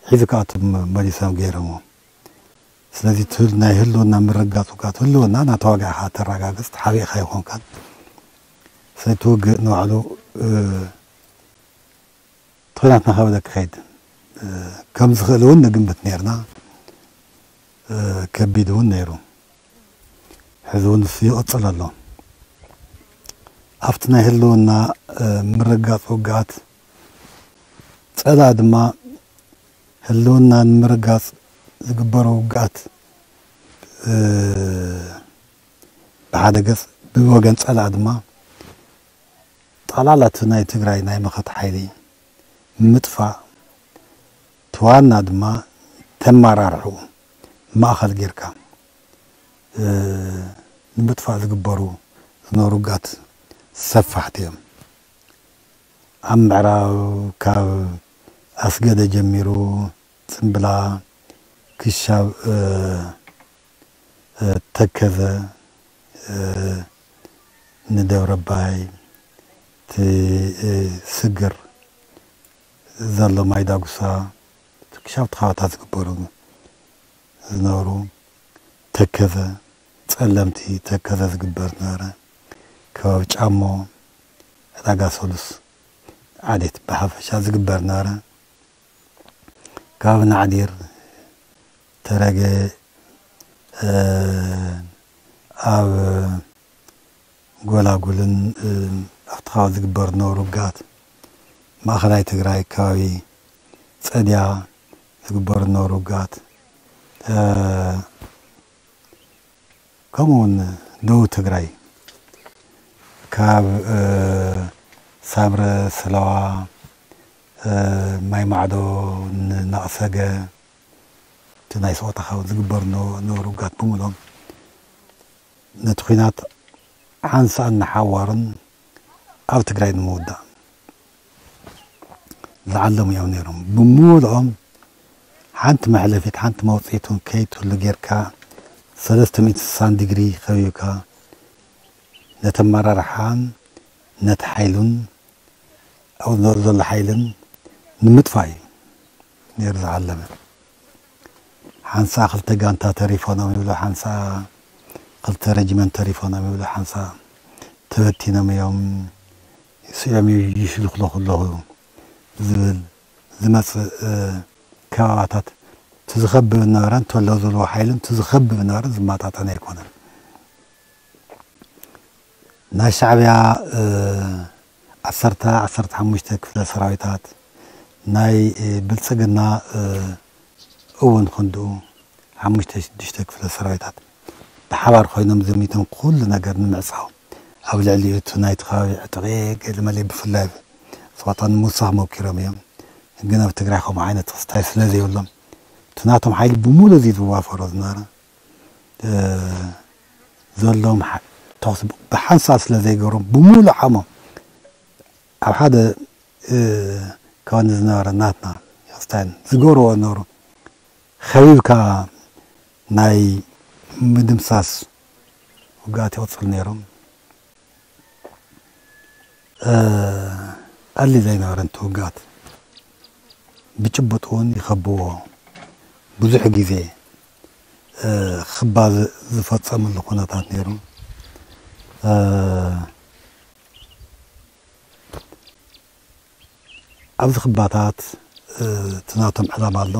ሒዙ ከኣቱ መሊሶም ገይሮምዎ። ስለዚ እቲ ናይ ህልውና ምርጋፅ ውጋት ህልውና ናተዋጋእኻ ተረጋግፅ፣ ተሓቢእካ ኣይኮንካን። ስለዚ እቲ ውግእ ንባዕሉ እቲ ኩናት እናኸበደ ክኸይድ ከም ዝኽእል እውን ንግምት ነይርና። ከቢድ እውን ነይሩ። ሕዚ እውን እሱ ይቕፅል ኣሎ። ኣብቲ ናይ ህልውና ምርጋፅ ውግኣት ፀላእ ድማ ህልውና ንምርጋፅ ዝግበሩ ውግኣት ብሓደ ገፅ፣ ብወገን ፀላእ ድማ ጠቕላላ እቲ ናይ ትግራይ ናይ መኸተ ሓይሊ ምጥፋእ፣ እቲ ዋና ድማ ተመራርሑ ማእኸል ጌርካ ንምጥፋእ ዝግበሩ ዝነበሩ ውግኣት ሰፋሕቲ እዮም። ኣብ ምዕራብ ካብ ኣስገደ ጀሚሩ ፅምብላ ክሻብ ተከዘ፣ ንደብረ ኣባይ፣ እቲ ስግር ዘሎ ማይ ዳጉሳ፣ ክሻብ እቲ ከባቢታት ዝግበሩ ዝነበሩ፣ ተከዘ፣ ፀለምቲ ተከዘ ዝግበር ነበረ። ከባቢ ጫሞ፣ ዕዳጋ ሰሉስ፣ ዓዴት ብሓፈሻ ዝግበር ነበረ። ከባቢ ናዕዲር፣ ተረገ፣ ኣብ ጎላጉልን ኣብቲ ከባቢ ዝግበር ዝነበሩ ውግኣት፣ ማእኸላይ ትግራይ ከባቢ ፀድያ ዝግበር ዝነበሩ ውግኣት፣ ከምኡ እውን ደቡብ ትግራይ ካብ ሳምረ፣ ሰለዋ፣ ማይ ማዕዶ፣ ንናቕሰገ፣ እቲ ናይ ሰቆጣ ከባቢ ዝግበር ዝነበሩ ውግኣት ብምሎም ነቲ ኲናት ሓንሳእን ንሓዋሩን ኣብ ትግራይ ንምውዳእ ዝዓለሙ እዮም ነይሮም። ብምሉኦም ሓንቲ መሕለፊት ሓንቲ መውፅኢት እውን ከይትህሉ ጌርካ ሰለስተ ሚእቲ ስሳን ዲግሪ ከቢብካ ነቲ ኣመራርሓን ነቲ ሓይሉን ኣብኡ ዝነበረ ዘሎ ሓይልን ንምጥፋእ እዩ ነይሩ ዝዓለመ። ሓንሳ ክልተ ጋንታ ተሪፎኖም ይብሉ፣ ሓንሳ ክልተ ረጅመንት ተሪፎኖም ይብሉ፣ ሓንሳ ተበቲኖም እዮም፣ ስዒሮም ይሽልኽለኹ ኣለኹ ዝብል ዝመፅእ ከባባታት እቲ ዝኸብብ ነበረ እንተሎ ዝብልዎ ሓይልን እቲ ዝኸብብ ነበረ ዝመጣጠን ኣይኮነን። ናይ ሻዕብያ ዓሰርተ ዓሰርተ ሓሙሽተ ክፍለ ሰራዊታት፣ ናይ ብልፅግና እውን ክንድኡ ሓሙሽተ ሽዱሽተ ክፍለ ሰራዊታት ብሓባር ኮይኖም ዘሚቶም ኩሉ ነገር ንምዕፃው ኣብ ልዕሊኡ እቲ ናይቲ ከባቢ ዕጥቂ ገለመለ ብፍላይ ፆታ ንምውሳኽ ሞኪሮም እዮም። ግን ኣብ ትግራይ ከምኡ ዓይነት ክስታይ ስለ ዘይብሎም እቲ ናቶም ሓይሊ ብምሉእ እዚ ዝዋፈሮ ዝነበረ ዘለዎም ተኹሲ ብሓንሳእ ስለ ዘይገሮም ብምሉእ ዓቕሞም ኣብ ሓደ ከባቢ ዝነበረ ናትና ስታይን ዝገብርዎ ነበሩ። ከቢብካ ናይ ምድምሳስ ውግኣት ይቕጽል ነይሮም። እ፣ ቀሊል ኣይነበረን እቲ ውግኣት። ብጭቡጥ እውን ይኸብዎ። ብዙሕ ግዜ፣ እ፣ ክባ ዝ-፣ ዝፈጸምሉ ኩነታት ነይሩ። እ፣ ኣብዚ ክባታት፣ እ፣ እቲ ናቶም ዕላማ ኣሎ።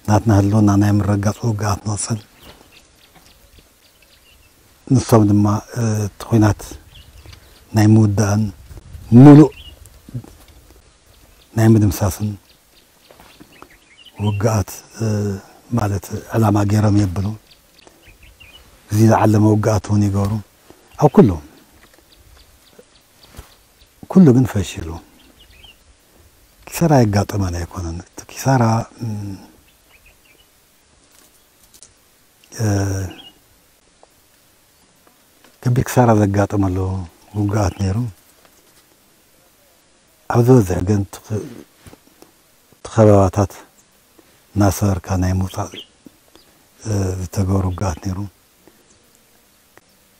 ናትና ህልውና ናይ ምርግጋጽ ውግኣት ንቕጽል። ንሶም ድማ፣ እ፣ እቲ ኲናት ናይ ምውዳእን ምሉእ ናይ ምድምሳስን ውግኣት፣ እ፣ ማለት ዕላማ ገይሮም የብሉ። እዚ ዝዓለመ ውግኣት እውን ይገብሩ። ኣብ ኩሉ፣ ኩሉ ግን ፈሺሉ። ኪሳራ የጋጠመን ኣይኮነን። እቲ ኪሳራ፣ እም፣ እ፣ ከቢድ ኪሳራ ዘጋጠመሉ ውግኣት ነይሩ። ኣብ ዝበዝሕ ግን እቲ ኽ-፣ እቲ ኸበባታት እናሰበርካ ናይ ምውፃእ፣ እ፣ ዝተገበረ ውግኣት ነይሩ።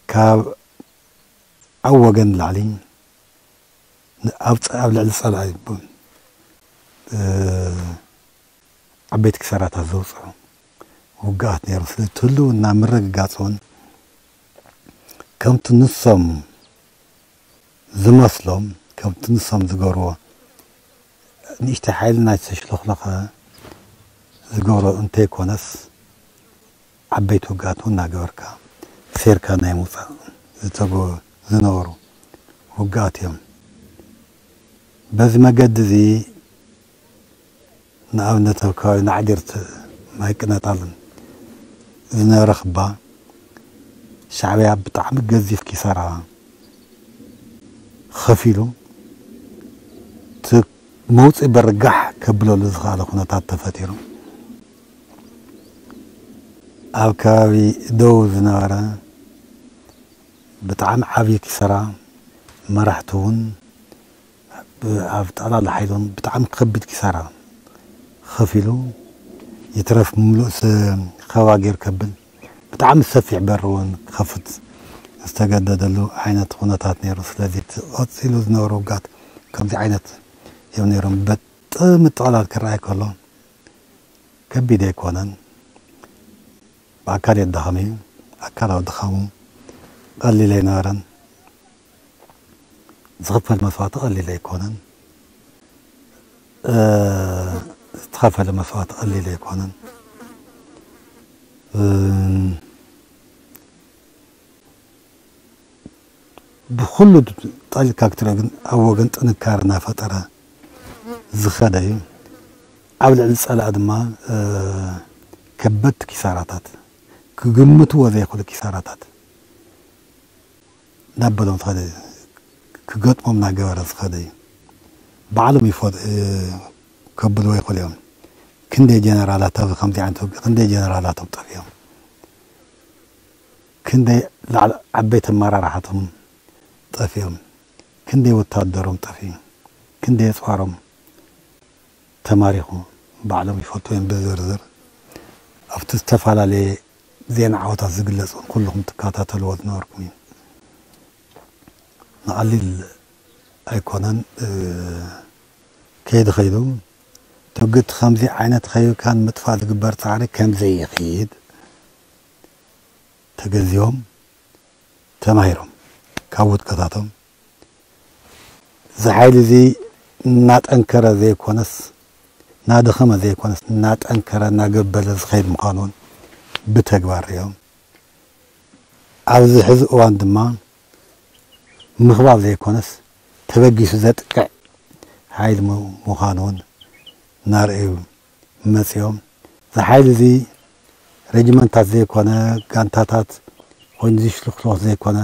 ካብ ኣብ ወገን ላዕሊ ን-፣ ኣብ ጸ-፣ ኣብ ልዕሊ ጸላኢ፣ እ፣ ዓበይቲ ክሳራታት ዘውፅዑ ውግኣት ነይሩ። ስለዚ እቲ ህልውና ምርግጋፅ እውን ከምቲ ንሶም ዝመስሎም፣ ከምቲ ንሶም ዝገብርዎ፣ ንእሽተይ ሓይሊ ናይ ዝተሽለኽለኸ ዝገብሮ እንተይኮነስ፣ ዓበይቲ ውግኣት እውን እናገበርካ ሴርካ ናይ ምውፃእ ዝተገ-፣ ዝነበሩ ውግኣት እዮም። በዚ መገዲ እዚ ንኣብነት ኣብ ከባቢ ናዕዲርት ማይ ቅነጣል ዝነበረ ክባ ሻዕብያ ብጣዕሚ ገዚፍ ኪሳራ ከፊሉ እቲ መውፅኢ በሪ ጋሕ ከብለሉ ዝኸኣለ ኩነታት ተፈጢሩ። ኣብ ከባቢ ደቡብ ዝነበረ ብጣዕሚ ዓብዪ ኪሳራ፣ መራሕቲ እውን ብ-፣ ኣብ ጠቕላላ ሓይሊ እውን ብጣዕሚ ከቢድ ኪሳራ ከፊሉ፣ ይትረፍ ምሉእ ስ-፣ ከበባ ገይሩ ከብል ብጣዕሚ ሰፊሕ በሪ እውን ክኸፍት ዝተገደደሉ ዓይነት ኩነታት ነይሩ። ስለዚ እቲ ቀፂሉ ዝነበሩ ውጋት ከምዚ ዓይነት እዮም ነይሮም። በጥምጥቕላል ክረኣይ ከሎ ከቢድ ኣይኮነን። ብኣካል የዳኸም እዩ። ኣካላዊ ድኻሙ ቀሊል ኣይነበረን። ዝኽፈል መስዋእቲ ቀሊል ኣይኮነን። እ፣ ዝተኸፈለ መስዋእቲ ቀሊል ኣይኮነን። እ፣ ብኹሉ ጠሊካ ክትሪኦ ግን ኣብ ወገን ጥንካረ እናፈጠረ ዝኸደ እዩ። ኣብ ልዕሊ ጸላኢ ድማ፣ እ፣ ከበድቲ ኪሳራታት፣ ክግምትዎ ዘይኽእሉ ኪሳራታት እናበሎም ዝኸደ፣ ክገጥሞም እናገበረ ዝኸደ እዩ። ባዕሎም ይፈል-፣ እ፣ ከብልዎ ይኽእሉ እዮም። ክንደይ ጀነራላት ኣብ ከምዚ ዓይነት ውግእ፣ ክንደይ ጀነራላቶም ጠፊኦም፣ ክንደይ ላዕሊ ዓበይቲ ኣመራርሓቶም ጠፊኦም፣ ክንደይ ወታደሮም ጠፊኡ፣ ክንደይ ኣፅዋሮም ተማሪኹ፣ ባዕሎም ይፈልጡ እዮም ብዝርዝር። ኣብቲ ዝተፈላለየ ዜና ዓወታት ዝግለጽ እውን ኩልኹም ትከታተልዎ ዝነበርኩም እዩ። ንቐሊል ኣይኮነን፣ እ፣ ከይዲ ከይዱ ትውግእቲ ከምዚ ዓይነት ከይብካን ምጥፋእ ዝግበር ጻዕሪ ከም ዘይኽይድ ተገንዚቦም፣ ተማሂሮም ካብ ውድቀታቶም፣ እዚ ሓይሊ እዚ እናጠንከረ ዘይኮነስ፣ እናደኸመ ዘይኮነስ፣ እናጠንከረ እናገበለ ዝኸይድ ምዃኑ እውን ብተግባር ሪኦም። ኣብዚ ሕዚ እዋን ድማ ምኽባብ ዘይኮነስ፣ ተበጊሱ ዘጥቅዕ ሓይሊ ሙ-፣ ምዃኑ እውን እናረኣዩ መጺኦም። እዚ ሓይሊ እዚ ረጅመንታት ዘይኮነ፣ ጋንታታት ኮይኑ ዝሽልኽሎኽ ዘይኮነ፣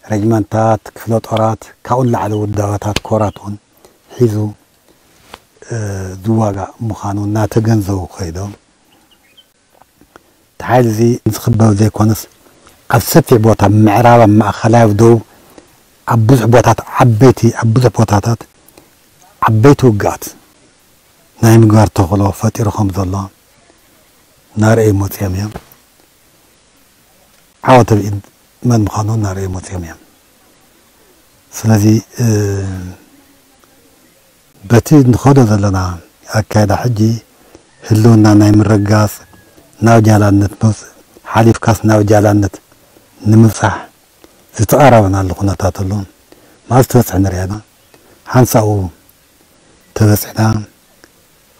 ረጅመንታት፣ ክፍለ ጦራት፣ ካብኡ ንላዕሊ ውዳበታት፣ ኮራት እውን ሒዙ፣ እ፣ ዝዋጋእ ምዃኑ እናተገንዘቡ ከይዶም፣ እቲ ሓይሊ እዚ ዝኽበብ ዘይኮነስ፣ ኣብ ሰፊሕ ቦታ፣ ምዕራብ፣ ኣብ ማእኸላይ፣ ኣብ ደቡብ፣ ኣብ ብዙሕ ቦታት ዓበይቲ፣ ኣብ ብዙሕ ቦታታት ዓበይቲ ውግኣት ናይ ምግባር ተኽእሎ ፈጢሩ ከም ዘሎ እናረኣዩ መፅዮም እዮም። ዓወት ኣብ ኢድ መን ምዃኑ እናረኣዩ መፅዮም እዮም። ስለዚ በቲ ንኸዶ ዘለና ኣካይዳ ሕጂ ህልውና ናይ ምርግጋፅ ናብ ጃላነት ሓሊፍካስ ናብ ጃላነት ንምብፃሕ ዝተቐራረበናሉ ኩነታት ኣሎ። መዓዝ ትበፅሕ ንሪኣ ኢና። ሓንሳኡ ተበፂሕና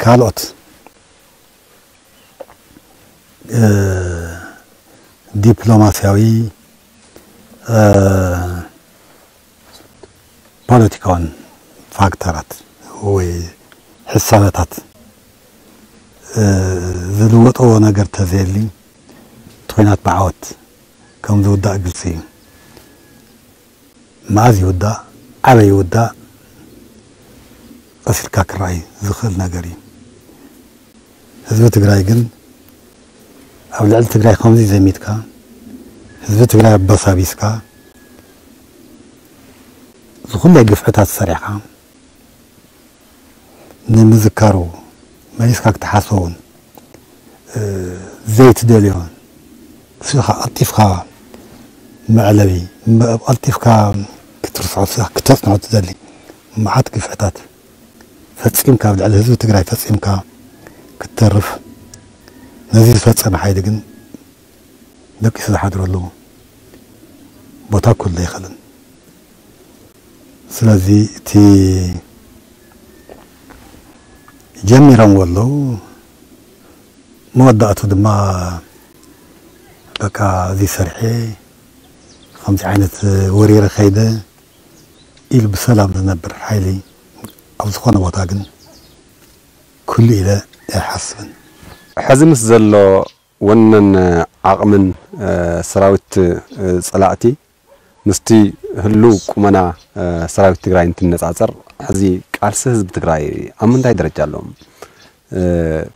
ካልኦት ዲፕሎማስያዊ ፖለቲካውን ፋክተራት ወይ ሕሳበታት ዝልወጥዎ ነገር ተዘየሊ እቲ ኹናት ብዓወት ከም ዝውዳእ ግልፂ እዩ። መኣዝ ይውዳእ፣ ኣበይ ይውዳእ ቀስ ኢልካ ክረኣይ ዝኽእል ነገር እዩ። ህዝቢ ትግራይ ግን ኣብ ልዕሊ ትግራይ ከምዚ ዘሚትካ ህዝቢ ትግራይ ኣበሳቢስካ ዝኹለይ ግፍዕታት ሰሪሕካ ንምዝካሩ መሊስካ ክትሓስቦ እውን ዘይትደልዮ ስኻ ቀልጢፍካ መዕለቢ ቀልጢፍካ ክትርስዖ ስኻ ክተፅንዖ ትደሊ መዓት ግፍዕታት ፈፂምካ ኣብ ልዕሊ ህዝቢ ትግራይ ፈፂምካ ክትተርፍ ነዚ ዝፈፀመ ሓይሊ ግን ደቂሱ ዝሓድረሉ ቦታ ክህሉ ኣይኽእልን። ስለዚ እቲ ጀሚሮምዎ ኣለዉ መወዳእቱ ድማ በቃ እዚ ሰርሐ ከምዚ ዓይነት ወሪረ ከይደ ኢሉ ብሰላም ዝነብር ሓይሊ ኣብ ዝኾነ ቦታ ግን ክህሉ ኢለ ኣይሓስብን። ሕዚ ምስ ዘሎ ወነን ዓቕምን ሰራዊት ጸላእቲ ምስቲ ህሉው ቁመና ሰራዊት ትግራይ እንትነጻጸር ሕዚ ቃልሲ ህዝቢ ትግራይ ኣብ ምንታይ ደረጃ ኣሎ?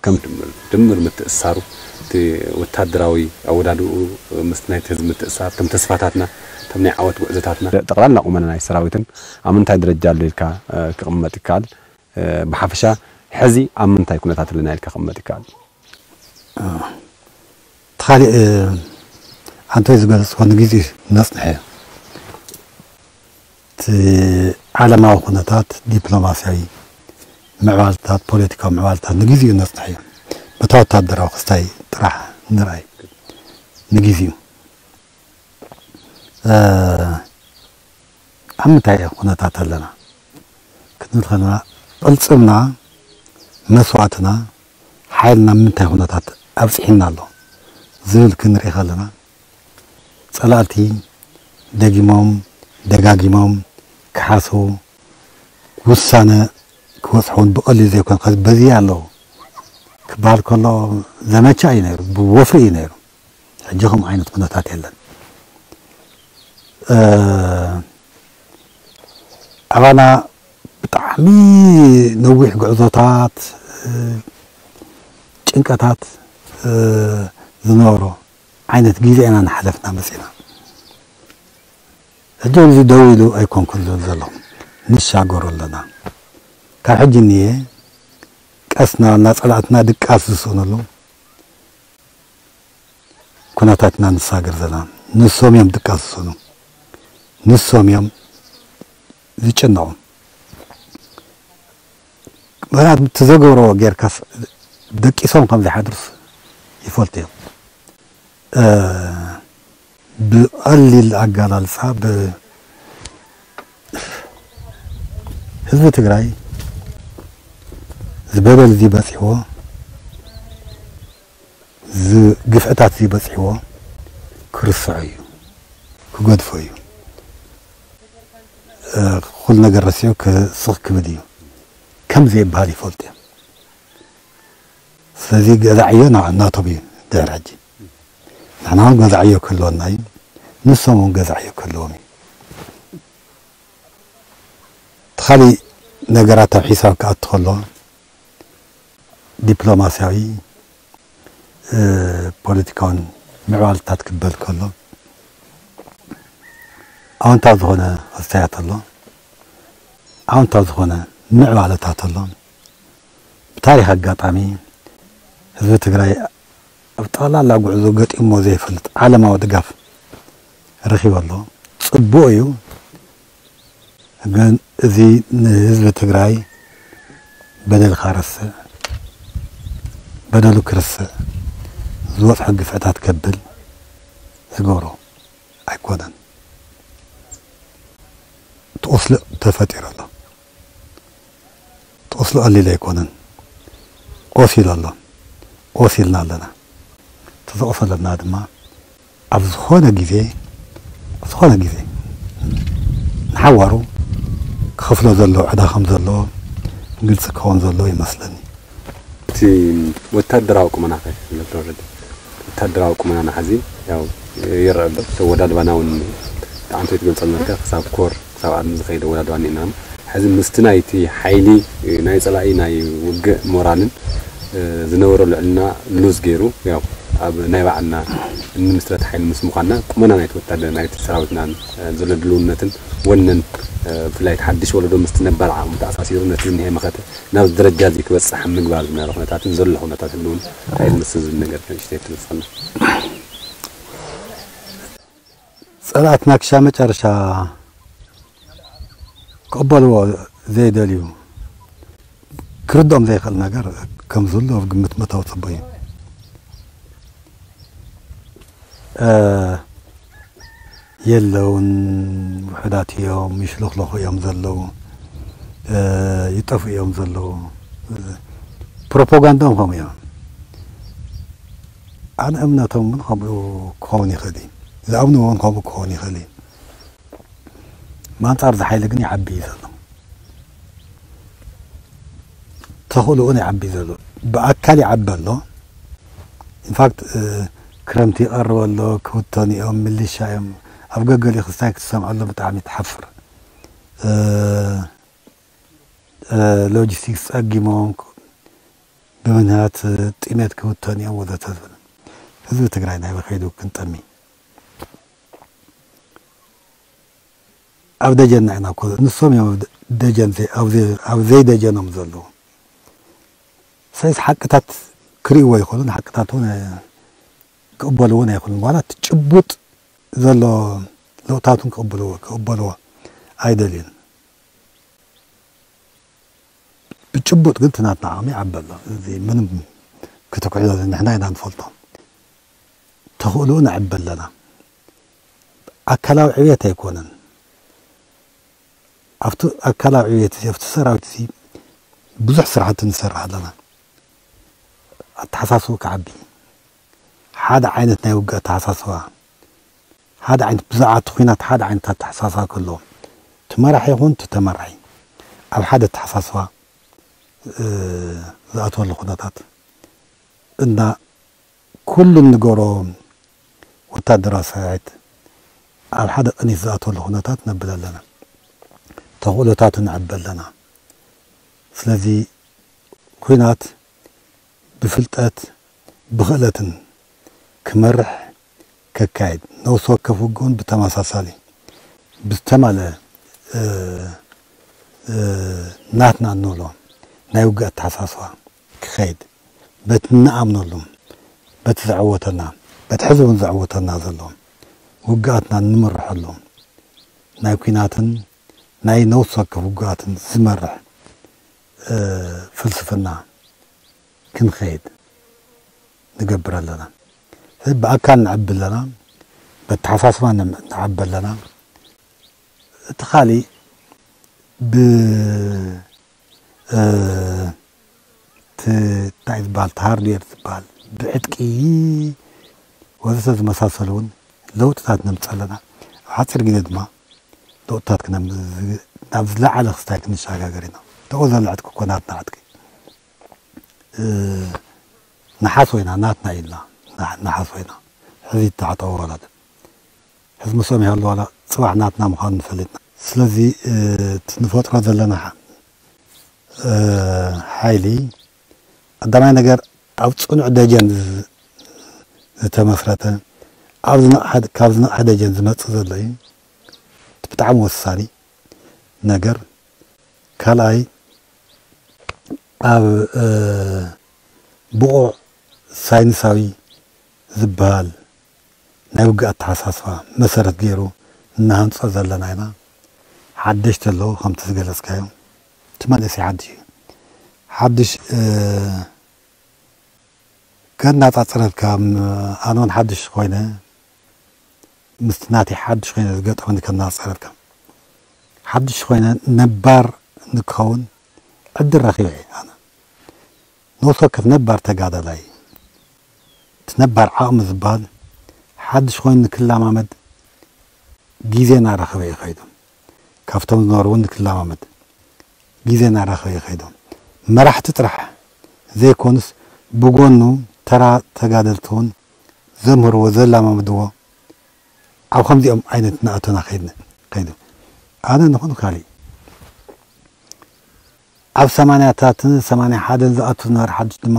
ከም ድምር ምትእስሳሩ እቲ ወታደራዊ ኣወዳድኡ ምስ ናይቲ ህዝቢ ምትእስሳር እቶም ተስፋታትና እቶም ናይ ዓወት ጉዕዞታትና ጠቕላላ ቁመና ናይ ሰራዊትን ኣብ ምንታይ ደረጃ ኣሎ ኢልካ ክቕመጥ ይከኣል? ብሓፈሻ ሕዚ ኣብ ምንታይ ኩነታት ኣለና ኢልካ ክቕመጥ ይከኣል? እቲ ካሊእ ኣንቶይ ዝገለፅዎ ንግዜ ነፅንሐ እቲ ዓለማዊ ኩነታት ዲፕሎማስያዊ ምዕባልታት ፖለቲካዊ ምዕባልታት ንግዜኡ ነፅንሐ እዩ። በታ ወታደራዊ ክስታይ ጥራሕ ንርኣይ ንግዜኡ ኣብ ምንታይ ኩነታት ኣለና ክንብል ከለና ቅልፅምና መስዋእትና ሓይልና ምንታይ ኩነታት ኣብፂሕና ኣሎ ዝብል ክንርኢ ከለና ፀላእቲ ደጊሞም ደጋጊሞም ክሓስቡ ውሳነ ክበፅሑ እውን ብቐሊሉ ዘይኮነ ከዚ በዚ ኣለዉ ክበሃል ከሎ ዘመቻ እዩ ነይሩ፣ ብወፍሪ እዩ ነይሩ። ሕጂ ከምኡ ዓይነት ኩነታት የለን። ኣባና ብጣዕሚ ነዊሕ ጉዕዞታት፣ ጭንቀታት ዝነበሮ ዓይነት ግዜ ኢና እናሓለፍና መፂና። ሕጂ እዚ ደው ኢሉ ኣይኮንኩን ዝብል ዘለኹ፣ ንሻገሮ ኣለና። ካብ ሕጂ እኒኤ ቀስ እናበልና ፀላእትና ድቃስ ዝስእንሉ ኩነታት ኢና ንሳገር ዘለና። ንሶም እዮም ድቃስ ዝስእኑ፣ ንሶም እዮም ዝጭነቑ። ምኽንያቱ እቲ ዘገብርዎ ጌርካስ ደቂሶም ከም ዘይሓድሩስ ይፈልጡ እዮም። ብቐሊል ኣገላልፃ ህዝቢ ትግራይ ዝበደል እዚ በፂሕዎ ግፍዕታት እዚ በፂሕዎ ክርስዖ እዩ፣ ክገድፎ እዩ። ኩሉ ነገር ረሲዑ ስኽ ክብል እዩ ከም ዘይበሃል ይፈልጡ እዮም። ስለዚ ገዛዕዮ ናቶም እዩ ድሕሪ ሕጂ። ንሕና እውን ገዛዕዮ ክህልወና እዩ፣ ንሶም እውን ገዛዕዮ ክህልዎም እዩ። እቲ ካሊእ ነገራት ኣብ ሒሳብ ክኣቱ ከሎ ዲፕሎማስያዊ ፖለቲካውን ምዕባልታት ክበል ከሎ ኣወንታዊ ዝኾነ ክስታያት ኣሎ፣ ኣወንታዊ ዝኾነ ምዕባለታት ኣሎ። ብታሪኽ ኣጋጣሚ ህዝቢ ትግራይ ኣብ ጠቕላላ ጉዕዞ ገጢሞ ዘይፈልጥ ዓለማዊ ድጋፍ ረኺቡ ኣሎ። ጽቡቕ እዩ። ግን እዚ ንህዝቢ ትግራይ በደልካ ረስዕ፣ በደሉ ክርስዕ፣ ዝወፅሖ ግፍዕታት ከብል ዝገብሮ ኣይኮነን። እቲ ቁስሊ ተፈጢሩ ኣሎ። እቲ ቁስሊ ቀሊል ኣይኮነን። ቆሲሉ ኣሎ። ቆሲልና ኣለና። እቲ ዝቆሰለና ድማ ኣብ ዝኾነ ግዜ፣ ኣብ ዝኾነ ግዜ ንሓዋሩ ክኸፍሎ ዘለዎ ዕዳ ከም ዘለዎ ግልፂ ክኸውን ዘለዎ ይመስለኒ። እቲ ወታደራዊ ቁመናኸ? ወታደራዊ ቁመናና ሕዚ ያው ይረአ ኣሎ። እቲ ኣወዳድባና እውን ብጣዕሚ ትገልፀልና ክሳብ ኮር ክሳብ ዓድሚ ዝኸይድ ኣወዳድባ እኒአና። ሕዚ ምስቲ ናይቲ ሓይሊ ናይ ፀላኢ ናይ ውግእ ሞራልን ዝነበሮ ልዕልና ሉዝ ገይሩ ያው ኣብ ናይ ባዕልና እንምስረት ሓይሊ ምስ ምዃንና ቁመና ናይቲ ወታደር ናይቲ ሰራዊትናን ዘሎ ድልውነትን ወነን ብፍላይ እቲ ሓድሽ ወለዶ ምስቲ ነባር ዓቕሚ ተኣሳሲሩ ነቲ ዝኒሀ መኸተ ናብዚ ደረጃ እዚ ክበፅሕ ኣብ ምግባር ዝነበረ ኩነታትን ዘሎ ኩነታትን እውን እንታይ ዝመስል ዝብል ነገር ንእሽተይ ትገልፀልና። ፀላእትና ክሻ መጨረሻ ክቕበልዎ ዘይደልዩ ክርድኦም ዘይኽእል ነገር ከም ዝህሉ ኣብ ግምት ምእታው ፅቡቅ እዩ። የለውን፣ ውሑዳት እዮም፣ ይሽለኽለኹ እዮም ዘለዉ፣ ይጠፍኡ እዮም ዘለዉ። ፕሮፓጋንዳኦም ከምኡ እዮም። ኣነ እምነቶም እውን ከምኡ ክኸውን ይኽእል እዩ። ዝኣምንዎ እውን ከምኡ ክኸውን ይኽእል እዩ። ብኣንጻር እዚ ሓይሊ ግን ይዓቢ እዩ ዘሎ። ተኽእልኡ እውን ይዓቢ እዩ ዘሎ። ብኣካል ይዓቢ ኣሎ። ኢንፋክት ክረምቲ ይቐርብ ኣሎ፣ ክብተኑ እዮም፣ ሚሊሻ እዮም። ኣብ ገገሊኡ ክስታይ ክትሰምዐሎም ብጣዕሚ ትሓፍር። ሎጂስቲክስ ጸጊሞም ብምክንያት ጥሜት ክብተኑ እዮም ወዘተ ዝብል ህዝቢ ትግራይ ናይ በኸይዱ ክንጠሚ ኣብ ደጀንና ኢና እኮ ንሶም እዮም ደጀን ኣብ ዘይደጀኖም ዘለዉ ሰይስ ሓቅታት ክርእይዎ ይኽእሉን ሓቅታት እውን ክቕበልዎን ኣይኽእሉን ዋላ እቲ ጭቡጥ ዘሎ ለውጥታቱን ክቕበልዎ ክቕበልዎ ኣይደልዩን ብጭቡጥ ግን ትናትና ዓቕሚ ዓበሎ እዚ ምንም ክትኩዕሎ ንሕና ኢና ንፈልጦ ተኽእልኡ ንዕበ ኣለና ኣካላዊ ዕብየት ኣይኮነን ኣብቲ ኣካላዊ ዕብየት እዚ ኣብቲ ሰራዊት እዚ ብዙሕ ስራሕቲ ንሰርሕ ኣለና ኣተሓሳስቡ ክዓቢ ሓደ ዓይነት ናይ ውግእ ኣተሓሳስባ ሓደ ዓይነት ብዛዕባ እቲ ኹናት ሓደ ዓይነት ኣተሓሳስባ ክህልዎም እቲ መራሒ ይኹን እቲ ተመራሒ ኣብ ሓደ ኣተሓሳስባ ዝኣትወሉ ኩነታት እና ኩሉ እንገብሮ ወታደራዊ ሰራዊት ኣብ ሓደ ቅኒት ዝኣትወሉ ኩነታት ነብል ኣለና ተኽእሎታቱ ንዕብ ኣለና ስለዚ ኹናት ብፍልጠት ብኽእለትን ክመርሕ ከካይድ፣ ነፍሲ ወከፍ ውግእ እውን ብተመሳሳሊ ብዝተማልአ ናትና እንብሎ ናይ ውግእ ኣተሓሳስባ ክኸይድ፣ በቲ እንኣምነሉ፣ በቲ ዘዐወተና፣ በቲ ሕዚ እውን ዘዐወተና ዘሎ ውግኣትና እንምርሐሉ ናይ ኲናትን ናይ ነፍሲ ወከፍ ውግኣትን ዝመርሕ ፍልስፍና ክንኸይድ ንገብር ኣለና። ስለዚ ብኣካል ንዕቢ ኣለና፣ በተሓሳስባ ንዕቢ ኣለና። እቲ ካሊእ ብ እቲ እንታይ ዝበሃል እቲ ሃርድዌር ዝበሃል ብዕጥቂ ወዘተ ዝመሳሰሉ እውን ለውጥታት ነምፅእ ኣለና። ኣብ ሓፂር ግዜ ድማ ለውጥታት ናብ ዝለዓለ ክስታይ ክንሸጋገር ኢና። ተቆ ዘሎ ዕጥቂ እኮ ናትና ዕጥቂ ንሓስቦ ኢና ናትና ኢልና ንሓስቦ ኢና ሕዚ ይተዓጠዎ ዋላ ሕዚ ምስኦም ይሃሉ ዋላ ፅባሕ ናትና ምዃኑ ንፈልጥና ስለዚ እቲ ንፈጥሮ ዘለና ሓይሊ ቀዳማይ ነገር ኣብ ፅኑዕ ደጀን ዝተመስረተ ካብ ዝነቕሐ ደጀን ዝመፅእ ዘሎ እዩ ብጣዕሚ ወሳኒ ነገር ካልኣይ ኣብ ብቑዕ ሳይንሳዊ ዝበሃል ናይ ውግእ ኣተሓሳስባ መሰረት ገይሩ እናሃንጾ ዘለና ኢና። ሓደሽቲ ኣለዉ ከምቲ ዝገለጽካዮ። እቲ መንእሰይ ሓድሽ እዩ። ሓድሽ ከናጻጽረልካ፣ ኣነ እውን ሓድሽ ኮይነ ምስቲ ናተይ ሓድሽ ኮይነ ዝገጠመኒ ከናጻጽረልካ። ሓድሽ ኮይነ ነባር ንክኸውን ዕድል ረኺበ እየ። ኣነ ነፍሲ ወከፍ ነባር ተጋዳላይ እቲ ነባር ዓቕሚ ዝበሃል ሓድሽ ኮይኑ ንክለማመድ ግዜ እናረኸበ እዩ ከይዱ። ካብቶም ዝነበሩ እውን ንክለማመድ ግዜ እናረኸበ እዩ ከይዱ። መራሕቲ ጥራሕ ዘይኮኑስ ብጎኑ ተራ ተጋደልቲ እውን ዘምህርዎ ዘላማምድዎ ኣብ ከምዚኦም ዓይነት እናኣተና ከይድና ከይዱ። ኣነ ንኹን ካሊእ ኣብ ሰማንያታትን ሰማንያ ሓደን ዝኣቱ ዝነበረ ሓድሽ ድማ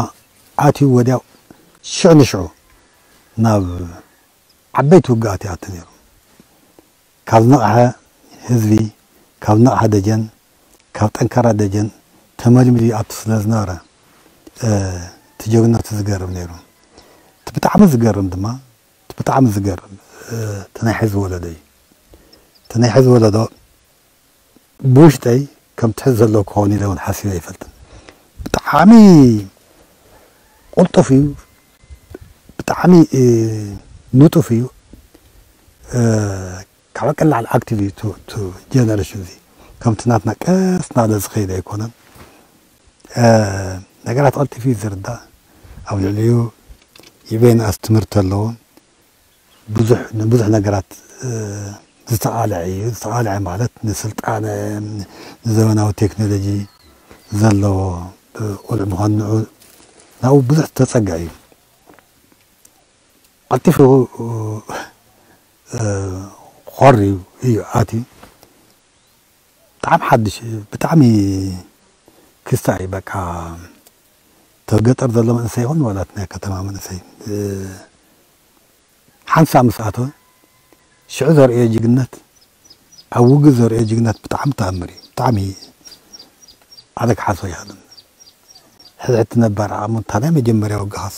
ኣትዩ ወዲያው ሽዕ ንሽዑ ናብ ዓበይቲ ውግኣት ይኣቱ ነይሩ። ካብ ዝነቕሐ ህዝቢ፣ ካብ ዝነቕሐ ደጀን፣ ካብ ጠንካራ ደጀን ተመልሚሉ ይኣቱ ስለ ዝነበረ እቲ ጀግንነቱ ዝገርም ነይሩ። እቲ ብጣዕሚ ዝገርም ድማ እቲ ብጣዕሚ ዝገርም እቲ ናይ ሕዚ ወለዶ እዩ። እቲ ናይ ሕዚ ወለዶ ብውሽጠይ ከምቲ ሕዚ ዘለዎ ክኸውን ኢለ እውን ሓሲበ ኣይፈልጥን። ብጣዕሚ ቅልጡፍ እዩ፣ ብጣዕሚ ንጡፍ እዩ። ካብ ቀላል ኣክቲቭ እዩ እቲ ጀነሬሽን እዚ። ከምቲ ናትና ቀስ እናበለ ዝኸይድ ኣይኮነን። ነገራት ቀልጢፉ እዩ ዝርዳእ። ኣብ ልዕሊኡ ይበይንኣስ ትምህርቲ ኣለዎ። ብዙሕ ንብዙሕ ነገራት ዝተቓልዐ እዩ። ዝተቓልዐ ማለት ንስልጣነ፣ ንዘመናዊ ቴክኖሎጂ ዘለዎ ቁልዕ ምዃኑ ንዑ ናብኡ ብዙሕ ተጸግዐ እዩ። ቀልጢፉ ኾር እዩ ኣትዩ። ብጣዕሚ ሓድሽ ብጣዕሚ ክስታይ በቃ ተገጠር ዘሎ መንእሰይ ይኹን ዋላ ናይ ከተማ መንእሰይ ሓንሳ ምስ ኣተወ ሽዑ ዘርእዮ ጅግነት ኣብ ውግእ ዘርእዮ ጅግነት ብጣዕሚ ተኣምር እዩ። ብጣዕሚ ኣነ ክሓሶ ይኽእልን ሕድሕቲ ነባር ዓቕሙ እታ ናይ መጀመርያ ውግኻስ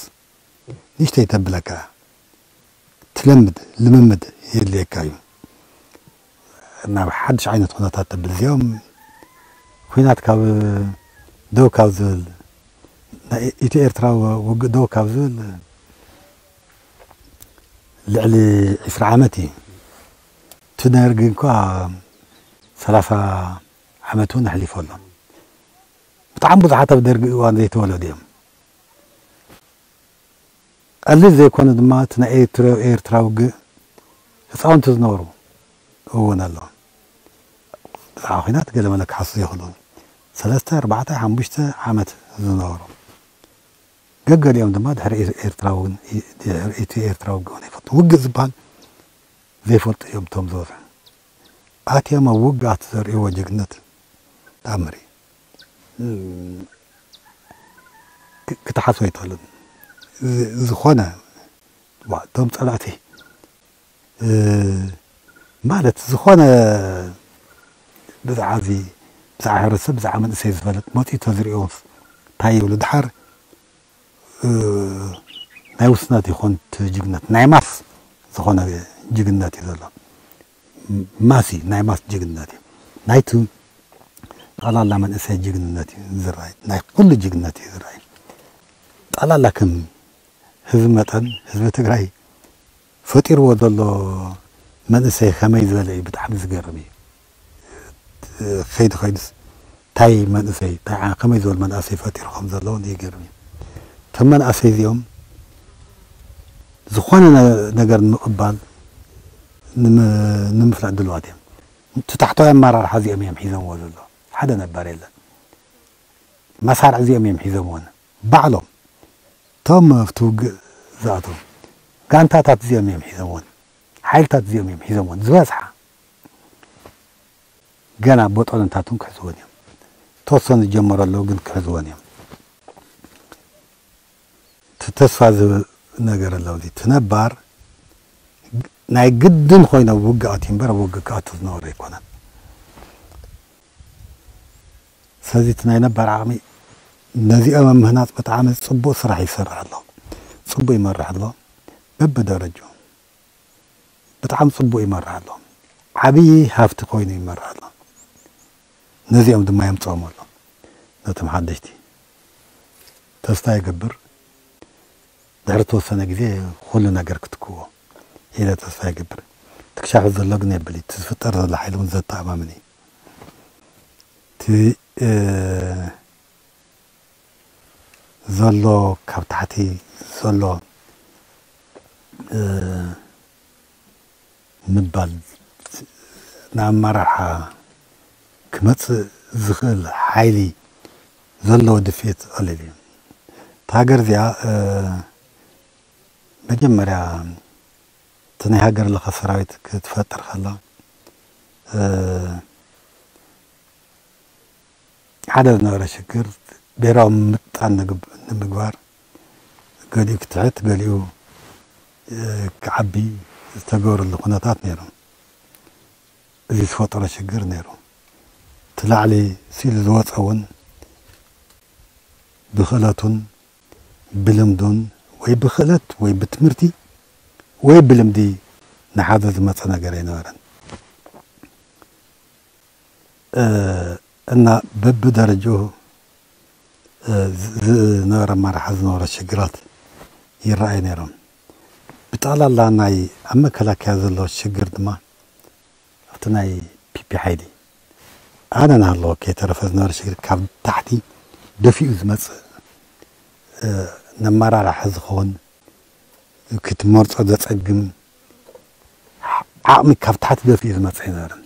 ንእሽተይ ተብለካ ትለምድ ልምምድ የድልየካ እዩ። ናብ ሓድሽ ዓይነት ኩነታት ተብል እዚኦም ኩናት ካብ ደው ካብ ዝብል ናይ ኢትዮ ኤርትራ ውግእ ደው ካብ ዝብል ልዕሊ ዕስራ ዓመት እዩ። እቲ ደርጊ እንኳ ሰላሳ ዓመት እውን ኣሕሊፎ ኣሎ። ብጣዕሚ ብዙሓት ኣብ ደርጊ እዋን ዘይተወለዱ እዮም። ቀሊል ዘይኮነ ድማ እቲ ናይ ኤርትራ ውግእ ህፃውንቲ ዝነበሩ እውን ኣሎ። ብዛዕባ ኩናት ገለ መለ ክሓሱ ይኽእሉ። ሰለስተ ኣርባዕተ ሓሙሽተ ዓመት ዝነበሩ ገገሊኦም ድማ ድሕሪ ኤርትራ እውን ድሕሪ እቲ ኤርትራ ውግእ እውን ኣይፈልጡ። ውግእ ዝበሃል ዘይፈልጡ እዮም እቶም ዝበዝሑ። ኣትዮም ኣብ ውግኣት ዘርእይዎ ጅግነት ተኣምር እዩ። ክትሓስቦ ኣይትኽእልን። ዝኾነ እቶም ጸላእቲ ማለት ዝኾነ ብዛዕባ እዚ ብዛዕባ ሕብረተሰብ ብዛዕባ መንእሰይ ዝፈልጥ መፂኡ ተዝሪኦ እንታይ ይብሉ ድሓር ናይ ውስነት ይኾን ጅግነት ናይ ማስ ዝኾነ ጅግነት እዩ ዘሎ። ማሲ ናይ ማስ ጅግንነት እዩ። ናይቲ ጠቕላላ መንእሰይ ጅግንነት እዩ ዝረኣይ። ናይ ኩሉ ጅግንነት እዩ ዝረኣይ። ጠቕላላ ከም ህዝቢ መጠን ህዝቢ ትግራይ ፈጢርዎ ዘሎ መንእሰይ ከመይ ዝበለ እዩ። ብጣዕሚ ዝገርም እዩ። ከይዱ ከይዱስ እንታይ መንእሰይ እንታይ ከመይ ዝበሉ መናእሰይ ፈጢሩ ከም ዘለውን ይገርም እዩ። እቶም መናእሰይ እዚኦም ዝኾነ ነገር ንምቕባል ንምፍላጥ ድልዋት እዮም። እቲ ታሕተዋይ ኣመራርሓ እዚኦም እዮም ሒዞምዎ ዘሎ። ሓደ ነባር የለን። መሳርዕ እዚኦም እዮም ሒዞምዎን ባዕሎም እቶም ኣብቲ ውግእ ዝኣተው ጋንታታት እዚኦም እዮም ሒዞምዎን ሓይልታት እዚኦም እዮም ሒዞምዎን ዝበዝሓ ገና ቦጦሎንታቱን ክሕዝዎን እዮም። ተወሰኑ ዝጀመሩ ኣለዉ ግን ክሕዝዎን እዮም። እቲ ተስፋ ዝህብ ነገር ኣለዉ። እዚ እቲ ነባር ናይ ግድን ኮይኖ ውግእ ኣትዩ እምበር ኣብ ውግእ ክኣቱ ዝነበረ ኣይኮነን። ስለዚ እቲ ናይ ነባር ዓቕሚ ነዚኦም ኣብ ምህናጽ ብጣዕሚ ጽቡቕ ስራሕ ይሰርሕ ኣሎ። ጽቡቕ ይመርሕ ኣሎ። በብደረጃኡ ብጣዕሚ ጽቡቕ ይመርሕ ኣሎ። ዓብዪ ሃፍቲ ኮይኑ ይመርሕ ኣሎ። ነዚኦም ድማ የምጽኦም ኣሎ። ነቶም ሓደሽቲ ተስፋ ይገብር። ድሕሪ ተወሰነ ግዜ ኩሉ ነገር ክትክዎ ኢለ ተስፋ ይገብር። ትክሻሑ ዘሎ ግን የብል። እቲ ዝፍጠር ዘሎ ሓይሊ እውን ዘተኣማምን እዩ። እቲ፣ እ፣ ዘሎ ካብ ታሕቲ ዘሎ፣ እ፣ ምባል ንኣመራርሓ ክመጽእ ዝኽእል ሓይሊ ዘለዎ ድፍኢት ቀሊል እዩ። እታ ሃገር እዚኣ፣ እ፣ መጀመርያ እቲ ናይ ሃገር ለኸ ሰራዊት ክትፈጥር ከላ፣ እ፣ ሓደ ዝነበረ ሽግር ብሄራዊ ምጣን ንግብ-፣ ንምግባር ገሊኡ ክትሕት፣ ገሊኡ፣ እ፣ ክዓቢ ዝተገበረሉ ኩነታት ነይሩ። እዚ ዝፈጠሮ ሽግር ነይሩ። እቲ ላዕሊ ስኢሉ ዝወፀ እውን ብክእለቱን ብልምዱን ወይ ብክእለት ወይ ብትምህርቲ ወይ ብልምዲ ንሓዘ ዝመፀ ነገር ኣይነበረን። እ፣ እና በብደረጅኡ፣ እ፣ ዝ-፣ ዝነበረ ኣመራርሓ ዝነበሮ ሽግራት ይረኣዩ ነይሮም። ብጠቕላላ ናይ ኣብ መከላከያ ዘሎ ሽግር ድማ ኣብቲ ናይ ፒፒ ሓይሊ ኣነ እናሃለወ ከይተረፈ ዝነበረ ሽግር ካብ ታሕቲ ደፊኡ ዝመጽእ፣ እ፣ ነመራርሒ ዝኸውን ክትመርጾ ዘጸግም ዓቕሚ ካብ ታሕቲ ደፊኡ ዝመጽእ ኣይነበረን።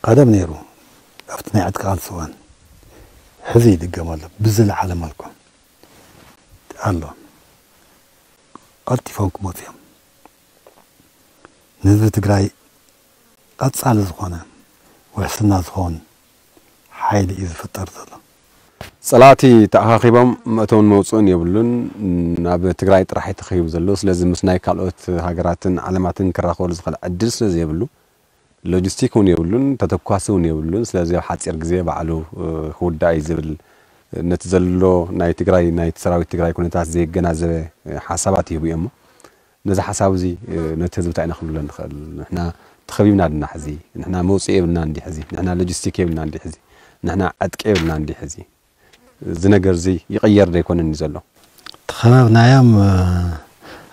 ቀደም ነይሩ ኣብቲ ናይ ዕጥቂ ቃልሲ እዋን፣ ሕዚ ይድገም ኣሎ ብዝለዓለ መልኩ ኣሎ። ቀልጢፎም ክመፁ እዮም። ንህዝቢ ትግራይ ቀፃሊ ዝኾነ ውሕስና ዝኸውን ሓይሊ እዩ ዝፍጠር ዘሎ። ጸላእቲ ተኣኻኺቦም መእተውን መውፅእን የብሉን። ናብ ትግራይ ጥራሕ እዩ ተኸቢቡ ዘሎ። ስለዚ ምስ ናይ ካልኦት ሃገራትን ዓለማትን ክራኸበሉ ዝኽእል ዕድል ስለ ዘይብሉ፣ ሎጂስቲክ እውን የብሉን፣ ተተኳሲ እውን የብሉን። ስለዚ ኣብ ሓፂር ግዜ ባዕሉ፣ እ፣ ክውዳእ እዩ ዝብል፣ ነቲ ዘሎ ናይ ትግራይ፣ ናይ ሰራዊት ትግራይ ኩነታት ዘየገናዘበ፣ እ፣ ሓሳባት ይህቡ እዮም። ነዚ ሓሳብ እዚ፣ እ፣ ነቲ ህዝቢ እንታይ ኢና ክንብሎ ንኽእል? ንሕና ተኸቢብና ድና ሕዚ? ንሕና መውፅኢ የብልና እንዲ ሕዚ? ንሕና ሎጂስቲክ የብልና እንዲ ሕዚ? ንሕና ዕጥቂ የብልና እንዲ ሕዚ? እዚ ነገር እዚ ይቕየር ዶ ኣይኮነን እዩ ዘሎ? ተኸበብናዮም፣ እ፣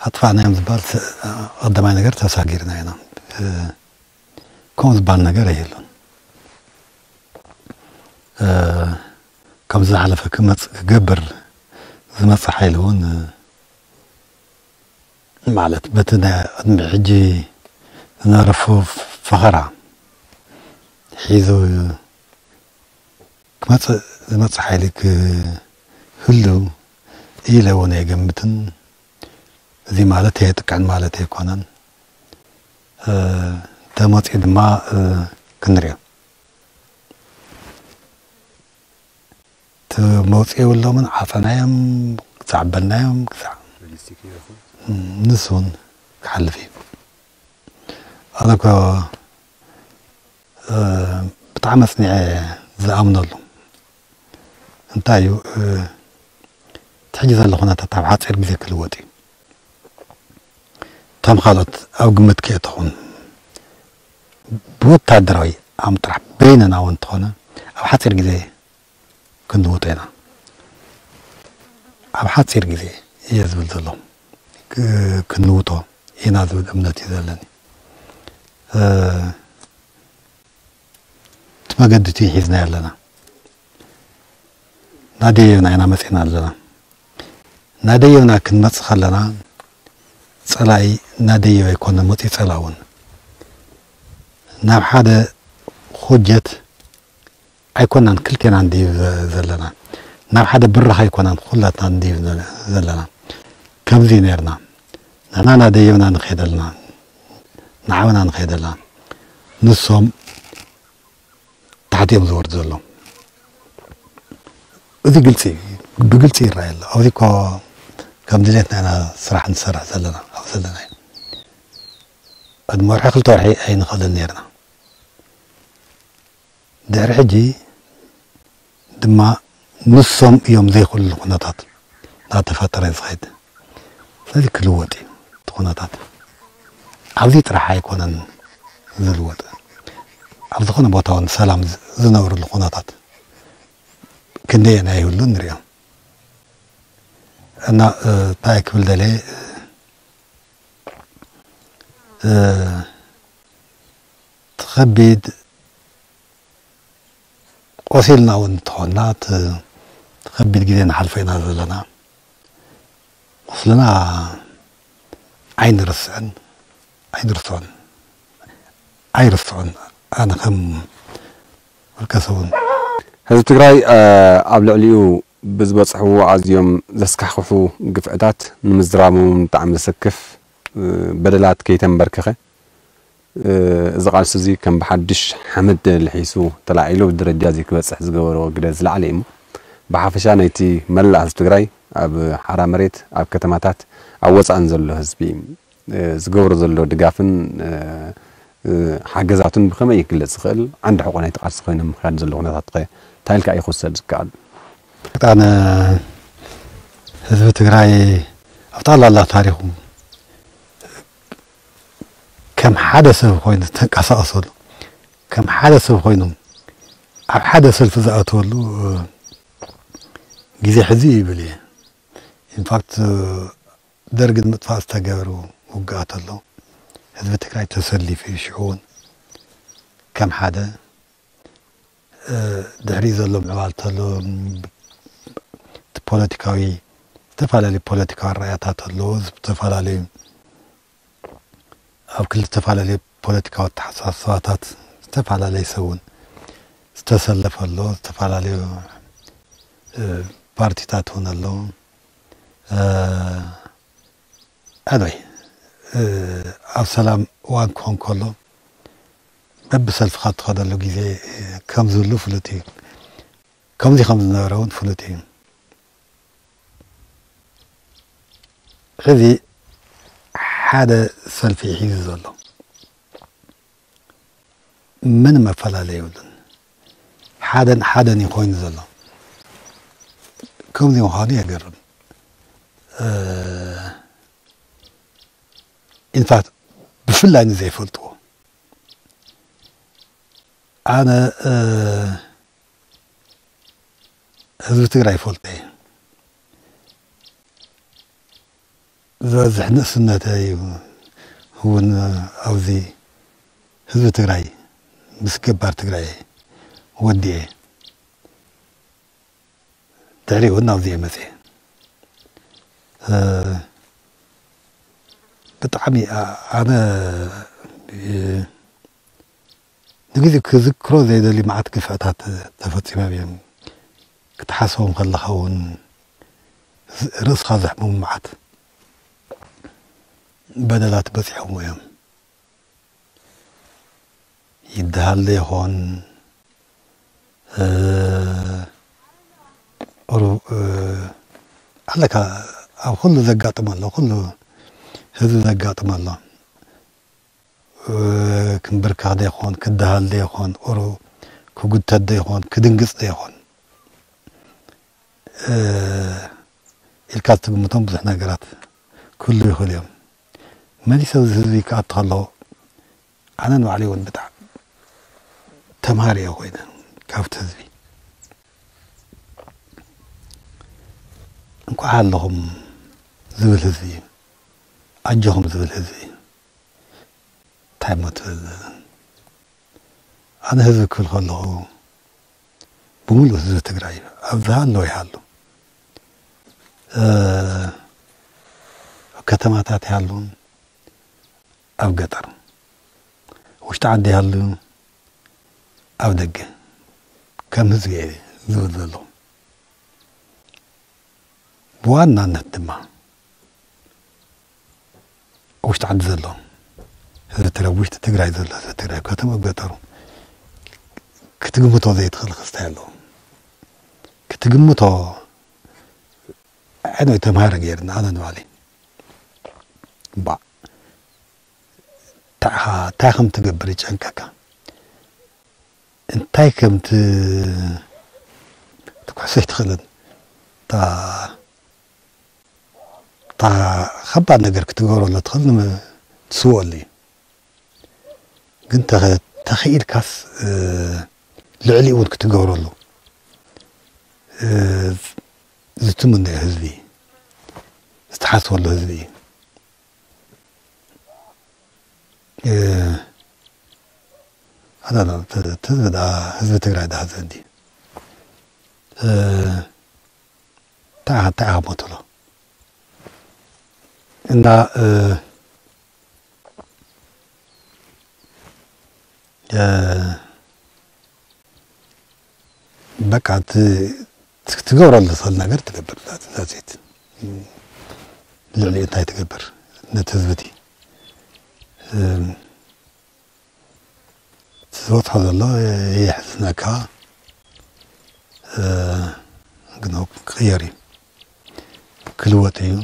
ኣጥፋእናዮም ዝበሃል ተ-፣ ቀዳማይ ነገር ተሳጊርና ኢና። እ፣ ከምኡ ዝበሃል ነገር ኣይህሉን። እ፣ ከም ዝሓለፈ ክመጽእ ክገብር ዝመጽእ ሓይሊ እውን፣ እ፣ ማለት በቲ ናይ ቅድሚ ሕጂ ዝነበረ ፍ-፣ ፈኸራ ሒዙ ክመጽእ ዝመጽእ ሓይሊ ክህሉ ኢለ እውን ኣይገምትን። እዚ ማለት የጥቅዕን ማለት ኣይኮነን። እ፣ ተመጺኡ ድማ፣ እ፣ ክንሪኦ። እቲ መውፅኢ የብሎምን፣ ዓፀናዮም፣ ክሳዕ በልናዮም፣ ክሳዕ ንሱ እውን ክሓልፍ እዩ። ኣነ እኮ፣ እ፣ ብጣዕሚ ኣፅኒዐ ዝኣምነሉ እንታይ እዩ፣ እ፣ እቲ ሕጂ ዘሎ ኩነታት ኣብ ሓፂር ግዜ ክልወጥ እዩ። እቶም ካልኦት ኣብ ግምት ከየእተኹን ብወታደራዊ ዓቕሚ ጥራሕ በይንና እውን እንተኾነ ኣብ ሓፂር ግዜ ክንልውጦ ኢና። ኣብ ሓፂር ግዜ እየ ዝብል ዘሎ። ክ-፣ ክንልውጦ ኢና ዝብል እምነት እዩ ዘለኒ። እ፣ እቲ መገዲ እቲ ሒዝናዮ ኣለና። ናደየብና ኢና መፂና ኣለና። ናደየብና ክንመፅእ ከለና ፀላኢ ናደየብ ኣይኮነ መፂኡ ፀላኢ እውን ናብ ሓደ ኮጀት ኣይኮናን ክልቴና እንድዩ ዘ-፣ ዘለና። ናብ ሓደ ብራኽ ኣይኮናን ኩላትና እንድዩ ዘ-፣ ዘለና። ከምዚ ነርና። ንሕና ናደየብና ንኸይደልና፣ ንዓብና ንኸይደልና። ንሶም ታሕቲ እዮም ዝወርዱ ዘለዉ። እዚ ግልፂ እዩ። ብግልፂ ይረኣይ ኣሎ። ኣብዚ እኮ ከም ድሌትና ኢና ስራሕ ንሰርሕ ዘለና። ኣብ ዘለና እዩ። ቅድሚ ወርሒ ክልተ ወርሒ ኣይንኽእልን ነርና። ድሕሪ ሕጂ ድማ ንሶም እዮም ዘይክእሉ ኩነታት እናተፈጠረ ዝኸይድ። ስለዚ ክልወጥ እዩ እቲ ኩነታት። ኣብዚ ጥራሕ ኣይኮነን ዝልወጥ፣ ኣብ ዝኾነ ቦታ እውን ሰላም ዝ- ዝነብርሉ ኩነታት ክንደየናይ ይህሉ ንሪኦ። እና እንታይ ክብል ደልየ፣ ትኸቢድ ቆሲልና እውን እንተኾንና፣ እቲ ከቢድ ግዜ ንሓልፎ ኢና ዘለና። ቁስልና ኣይንርስዕን ኣይንርስዖን ኣይርስዖን። ኣነ ከም ውልቀ ሰብን ህዝቢ ትግራይ ኣብ ልዕሊኡ ብዝበፅሕዎ ኣዝዮም ዘስካሕክሑ ግፍዕታት ንምዝራብ እውን ብጣዕሚ ዘሰክፍ በደላት ከይተንበርከኸ፣ እዚ ቃልሲ እዚ ከም ብሓድሽ ሓመድ ልሒሱ ተላዒሉ ብደረጃ እዚ ክበፅሕ ዝገበሮ ግደ ዝለዓለ እዩ። ብሓፈሻ ናይቲ መላእ ህዝቢ ትግራይ ኣብ ሓራ መሬት፣ ኣብ ከተማታት፣ ኣብ ወፃእን ዘሎ ህዝቢ ዝገብሮ ዘሎ ድጋፍን ሓገዛቱን ብኸመይ ክግለፅ ይኽእል? ዓንዲ ሕቆ ናይቲ ቃልሲ ኮይኖም ምኽያድ ዘሎ ኩነታት ከ እንታይ ኢልካ እዩ ክውሰድ ዝከኣል? ኣነ ህዝቢ ትግራይ ኣብ ጠቕላላ ታሪኹ ከም ሓደ ሰብ ኮይኑ ዝተንቀሳቐሰሉ፣ ከም ሓደ ሰብ ኮይኑ ኣብ ሓደ ሰልፊ ዝኣተወሉ ግዜ ሕዚ እዩ ይብል እየ። ኢንፋክት ደርግ ንምጥፋእ ዝተገብሩ ውግኣት ኣሎ። ህዝቢ ትግራይ ተሰሊፉ እዩ። ሽዑ እውን ከም ሓደ ድሕሪ ዘሎ ምዕባል ተሎ እቲ ፖለቲካዊ፣ ዝተፈላለዩ ፖለቲካዊ ኣረኣእያታት ኣለዎ። ዝተፈላለዩ ኣብ ክልተ ዝተፈላለዩ ፖለቲካዊ ኣተሓሳስባታት ዝተፈላለየ ሰብ እውን ዝተሰለፈ ኣሎ። ዝተፈላለዩ ፓርቲታት እውን ኣለዉ። ኣዶይ ኣብ ሰላም እዋን ክኾን ከሎ በብሰልፍኻ እትኸደሉ ግዜ ከም ዝህሉ ፍሉጥ እዩ። ከምዚ ከም ዝነበረ እውን ፍሉጥ እዩ። ሕዚ ሓደ ሰልፊ እዩ ሒዙ ዘሎ። ምንም መፈላለይ የብሉን። ሓደን ሓደን እዩ ኮይኑ ዘሎ። ከምዚ ምዃኑ የገርም። ኢንፋክት ብፍላይ ንዘይፈልጥዎ ኣነ ህዝቢ ትግራይ ይፈልጦ እየ። ዝበዝሕ ንእስነተይ እውን ኣብዚ ህዝቢ ትግራይ ምስ ገባር ትግራይ ወዲኤ ድሕሪኡ እውን ናብዚ እየ መፅየ። ብጣዕሚ ኣነ ንግዜ ክዝክሮ ዘይደሊ መዓት ግፍዕታት ተፈፂሞም እዮም። ክትሓስቦም ከለኻ እውን ርእስኻ ዘሕምሙ መዓት በደላት በፂሖም እዮም። ይደሃል ዶ ይኾን? ኣለካ ኣብ ኩሉ ዘጋጥም ኣሎ፣ ኩሉ ህዝቢ ዘጋጥም ኣሎ። ክንብርከኽ ዶ ይኾን፣ ክደሃል ዶ ይኾን፣ ቁሩ ክጉተት ዶ ይኾን፣ ክድንግፅ ዶ ይኾን ኢልካ ትግምቶም ብዙሕ ነገራት ክህሉ ይኽእሉ እዮም። መሊሰ ኣብዚ ህዝቢ ክኣቱ ከለኹ ኣነ ንባዕለይ እውን ብጣዕሚ ተምሃሪ እየ ኮይነ ካብቲ ህዝቢ። እንኳዕ ኣለኹም ዝብል ህዝቢ እዩ፣ ኣጆኹም ዝብል ህዝቢ እዩ። እንታይ እሞ ትብል? ኣነ ህዝቢ ክብል ከለኹ ብምሉእ ህዝቢ ትግራይ እዩ። ኣብ ዝሃለወ ይሃሉ፣ ኣብ ከተማታት ይሃሉ፣ ኣብ ገጠር፣ ውሽጢ ዓዲ ይሃሉ፣ ኣብ ደገ ከም ህዝቢ እየ ዝብል ዘለኹ። ብዋናነት ድማ ውሽጢ ዓዲ ዘሎ ህዝቢ ትግራይ፣ ውሽጢ ትግራይ ዘሎ ህዝቢ ትግራይ፣ ከተማ ገጠሩ ክትግምቶ ዘይትኽእል ክስታይ ኣለዎ። ክትግምቶ ኣነ ተምሃረ ገይርና ኣነ ንባዕለይ ባዕ እንታይ ከም ትገብር ይጨንቀካ። እንታይ ከም ት- ትኩሕ ክትወስዶ ኣይትኽእልን። እታ እታ ከባድ ነገር ክትገብረሉ ትኽእል ንመ-፣ ትስወኣሉ እዩ። ግን ተኸ-፣ ተኽኢልካስ፣ እ፣ ልዕሊኡ እውን ክትገብረሉ፣ እ፣ ዝትምነዮ ህዝቢ፣ ዝተሓስበሉ ህዝቢ እዩ። እ፣ ኣላ፣ ተ-፣ ተ-፣ ህዝቢ ደኣ፣ ህዝቢ ትግራይ ደኣ ዘንዲ፣ እ፣ እንታይ ኢኻ፣ እንታይ ኢኻ ሞትሎ? እና፣ እ፣ እ፣ በቃ፣ ት-፣ ት-፣ ትገብረሉ ትኽእል ነገር ትገብር። ዛት-፣ ዛት ኢት። ልዕሊኡ እንታይ ትገብር? ነቲ ህዝቢ እቲ፣ እ፣ እቲ ዝበፅሖ ዘሎ የሕዝነካ። እ፣ ግን ክቕየር እዩ። ክልወጥ እዩ።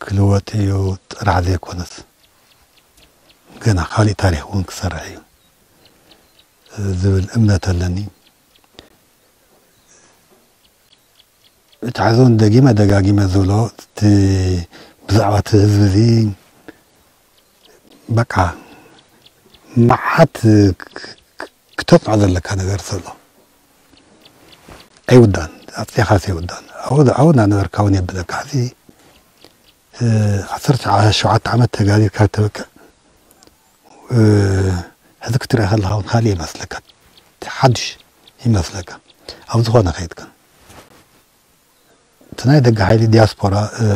ክልወጥ እዩ ጥራሕ ዘይኮነስ፣ ገና ካሊእ ታሪኽ እውን ክሰርሕ እዩ ዝብል እምነት ኣለኒ። እቲ ሕዚ እውን ደጊመ ደጋጊመ ዝብሎ፣ እቲ ብዛዕባ እቲ ህዝቢ እዚ በቃ መዓት ክ-፣ ክ-፣ ክተጽንዖ ዘለካ ነገር ዘሎ ኣይውዳእን፣ ኣጽኒዕካስ ኣይውዳእን። ኣብኡ፣ ኣብኡ እናነበርካ እውን የብለካ። ሕዚ፣ እ፣ ዓሰርተ ሸውዓተ ዓመት ተጋዲልካ ተበቅዕ፣ እ፣ ሕዚ ክትሪኦ ከለኻ እውን ካልእ ይመስለካ፣ ሓድሽ ይመስለካ። ኣብ ዝኾነ ከይድካ፣ እቲ ናይ ደገ ሓይሊ ዲያስፖራ፣ እ፣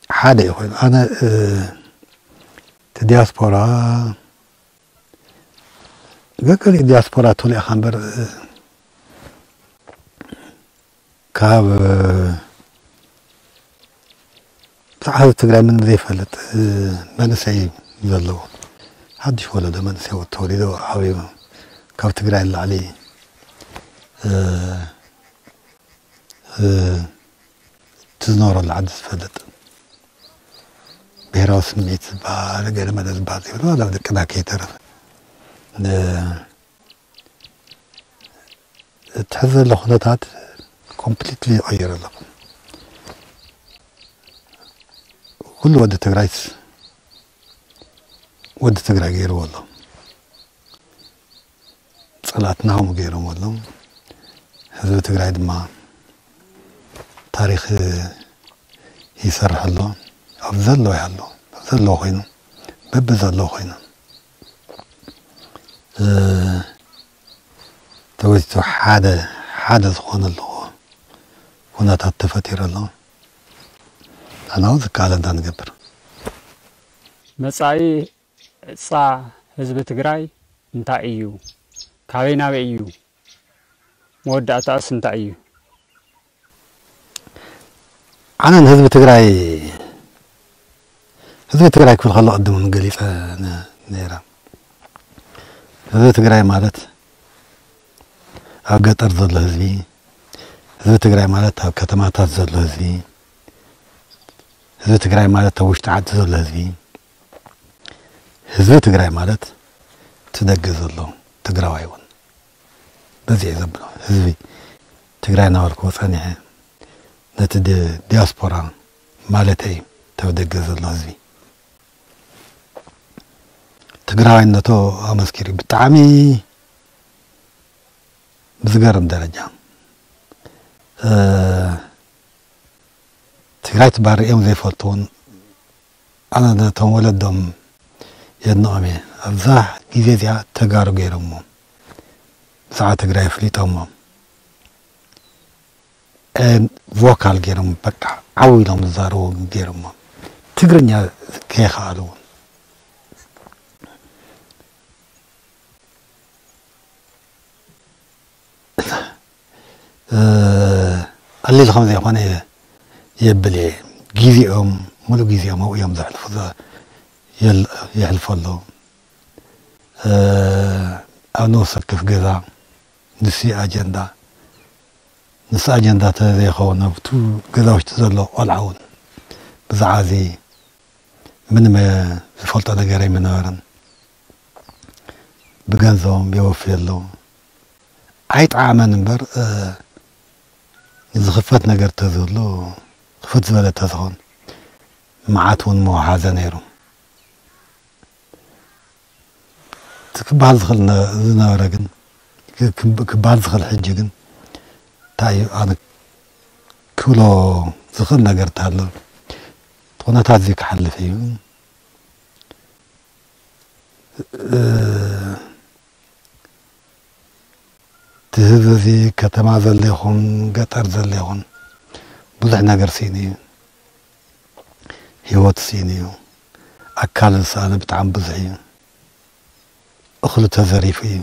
ሓደ እዩ ኮይኑ። ኣነ፣ እ፣ እቲ ዲያስፖራ፣ ገለ ዲያስፖራ ተወሊዕካ እምበር፣ እ፣ ካብ፣ እ፣ ብዛዕባ ህዝቢ ትግራይ ምንም ዘይፈልጥ፣ እ፣ መንእሰይ እዩ ዘለዎ። ሓድሽ ወለዶ መንእሰይ ተወሊዱ ዓብዩ ካብ ትግራይ ንላዕሊ፣ እ፣ እ፣ እቲ ዝነበረሉ ዓዲ ዝፈልጥ፣ ብሄራዊ ስምዒት ዝበሃል፣ ገለ መለ ዝበሃል ዘይብሉ፣ ዋላ ደቅና ከይተረፈ። እ፣ እቲ ሕዚ ዘሎ ኩነታት ኮምፕሊትሊ ይቐይር ኣሎ። ኩሉ ወዲ ትግራይስ ወዲ ትግራይ ገይርዎ ኣሎ። ጸላእትና ከምኡ ገይሮም ኣለዉ። ህዝቢ ትግራይ ድማ ታሪኽ ይሰርሕ ኣሎ። ኣብ ዘለዎ ይሃሉ፣ ኣብ ዘለዎ ኮይኑ፣ በቢ ዘለዎ ኮይኑ፣ እ፣ ተወሲቱ ሓደ፣ ሓደ ዝኾነሉ ኩነታት ተፈጢሩ ኣሎ። ንሕና እውን ዝከኣለና ንገብር። መጻኢ ዕጻ ህዝቢ ትግራይ እንታይ እዩ? ካበይ ናበይ እዩ? መወዳእታኡስ እንታይ እዩ? ኣነ ንህዝቢ ትግራይ፣ ህዝቢ ትግራይ ክብል ከሎ ቅድም እውን ገሊፀ ነ-፣ ነይረ። ህዝቢ ትግራይ ማለት ኣብ ገጠር ዘሎ ህዝቢ፣ ህዝቢ ትግራይ ማለት ኣብ ከተማታት ዘሎ ህዝቢ፣ ህዝቢ ትግራይ ማለት ኣብ ውሽጢ ዓዲ ዘሎ ህዝቢ፣ ህዝቢ ትግራይ ማለት እቲ ደገ ዘሎ ትግራዋይ እውን በዚ እየ ዘብሎ። ህዝቢ ትግራይ እናበልክዎ ጸኒሐ ነቲ ዲ-፣ ዲያስፖራ ማለተይ፣ እቲ ኣብ ደገ ዘሎ ህዝቢ ትግራዋይነቱ ኣመስኪሩ ብጣዕሚ ብዝገርም ደረጃ። እ፣ ትግራይ ትባር እዮም ዘይፈልጡ እውን ኣነ ነቶም ወለዶም የድንቖም እየ። ኣብዛ ግዜ እዚኣ ተጋሩ ገይሮሞ፣ ብዛዕባ ትግራይ ኣፍሊጦሞ፣ እ፣ ቮካል ገይሮም፣ በቃ ዓው ኢሎም ዝዛረቡ ገይሮሞ፣ ትግርኛ ከይኸኣሉ እውን። እ፣ ቀሊል ከም ዘይኮነ የ-፣ የብል እየ። ግዜኦም፣ ሙሉእ ግዜኦም ኣብኡ እዮም ዘሕልፉ ዘ-፣ የል-፣ የሕልፉ ኣለዉ። እ፣ ኣብ ነፍሲ ወከፍ ገዛ ንሱ ኣጀንዳ፣ ንሱ ኣጀንዳ ተዘይኸውን ኣብቱ ገዛ ውሽጢ ዘሎ ቆልዓ እውን ብዛዕባ እዚ ምንም ዝፈልጦ ነገር ኣይምነበረን። ብገንዘቦም የወፍዩ ኣለዉ። ኣይጠዓመን እምበር፣ እ፣ ዝኽፈት ነገር ተዝህሉ፣ ክፍት ዝበለ ተዝኾን፣ መዓት እውን መውሓዘ ነይሩ። እቲ ክበሃል ዝኽእል ነ-፣ ዝነበረ ግን፣ ክ-፣ ክብ-፣ ክበሃል ዝኽእል ሕጂ ግን፣ እንታይ እዩ፣ ኣነ ክብሎ ዝኽእል ነገር እንተሃሎ፣ እቲ ኩነታት እዚ ክሓልፍ እዩ። እ፣ እቲ ህዝቢ እዚ ከተማ ዘሎ ይኹን ገጠር ዘሎ ይኹን ብዙሕ ነገር ስኢኑ እዩ። ህይወት ስኢኑ እዩ። ኣካል ዝሰኣነ ብጣዕሚ ብዙሕ እዩ። እኽሉ ተዘሪፉ እዩ።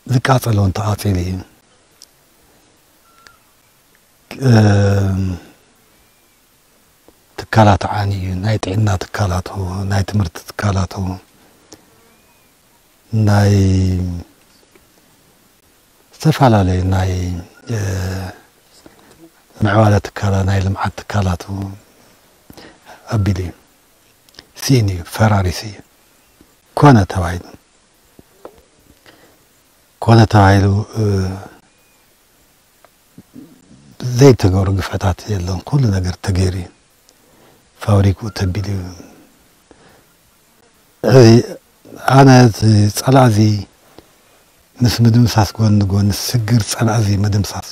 ዝቃጸል እውን ተቓጺሉ እዩ። እም፣ ትካላት ዓንዩ እዩ። ናይ ጥዕና ትካላቱ፣ ናይ ትምህርቲ ትካላቱ፣ ናይ ዝተፈላለዩ ናይ፣ እ፣ ምዕባለ ትካላ-፣ ናይ ልምዓት ትካላቱ ኣቢሉ እዩ። ስኢኑ እዩ፣ ፈራሪሱ እዩ። ኮነ ተባሂሉ፣ ኮነ ተባሂሉ፣ እ፣ ዘይተገብሩ ግፍዕታት የለን። ኩሉ ነገር ተገይሩ እዩ። ፋብሪክኡ ተቢሉ እዩ። እዚ ኣነ እቲ ጸላእ እዚ ምስ ምድምሳስ ጎኒ ንጎኒ ስግር ጸላእ እዚ ምድምሳስ፣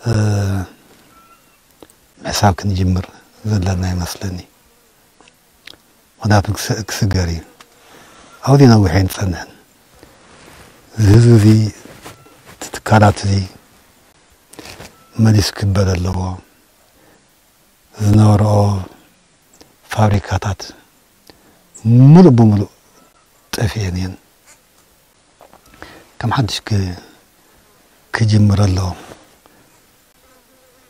እ፣ ምሕሳብ ክንጅምር ዘለና ይመስለኒ። ምኽንያቱ ክስ-፣ ክስገር እዩ። ኣብዚ ነዊሕ ኣይንጸንሕን። እዚ ህዝቢ እዚ፣ እቲ ትካላት እዚ መሊሱ ክበል ኣለዎ። ዝነበርኦ ፋብሪካታት ሙሉእ ብሙሉእ ጠፊኤን እየን። ከም ሓድሽ ክ-፣ ክጅምር ኣለዎ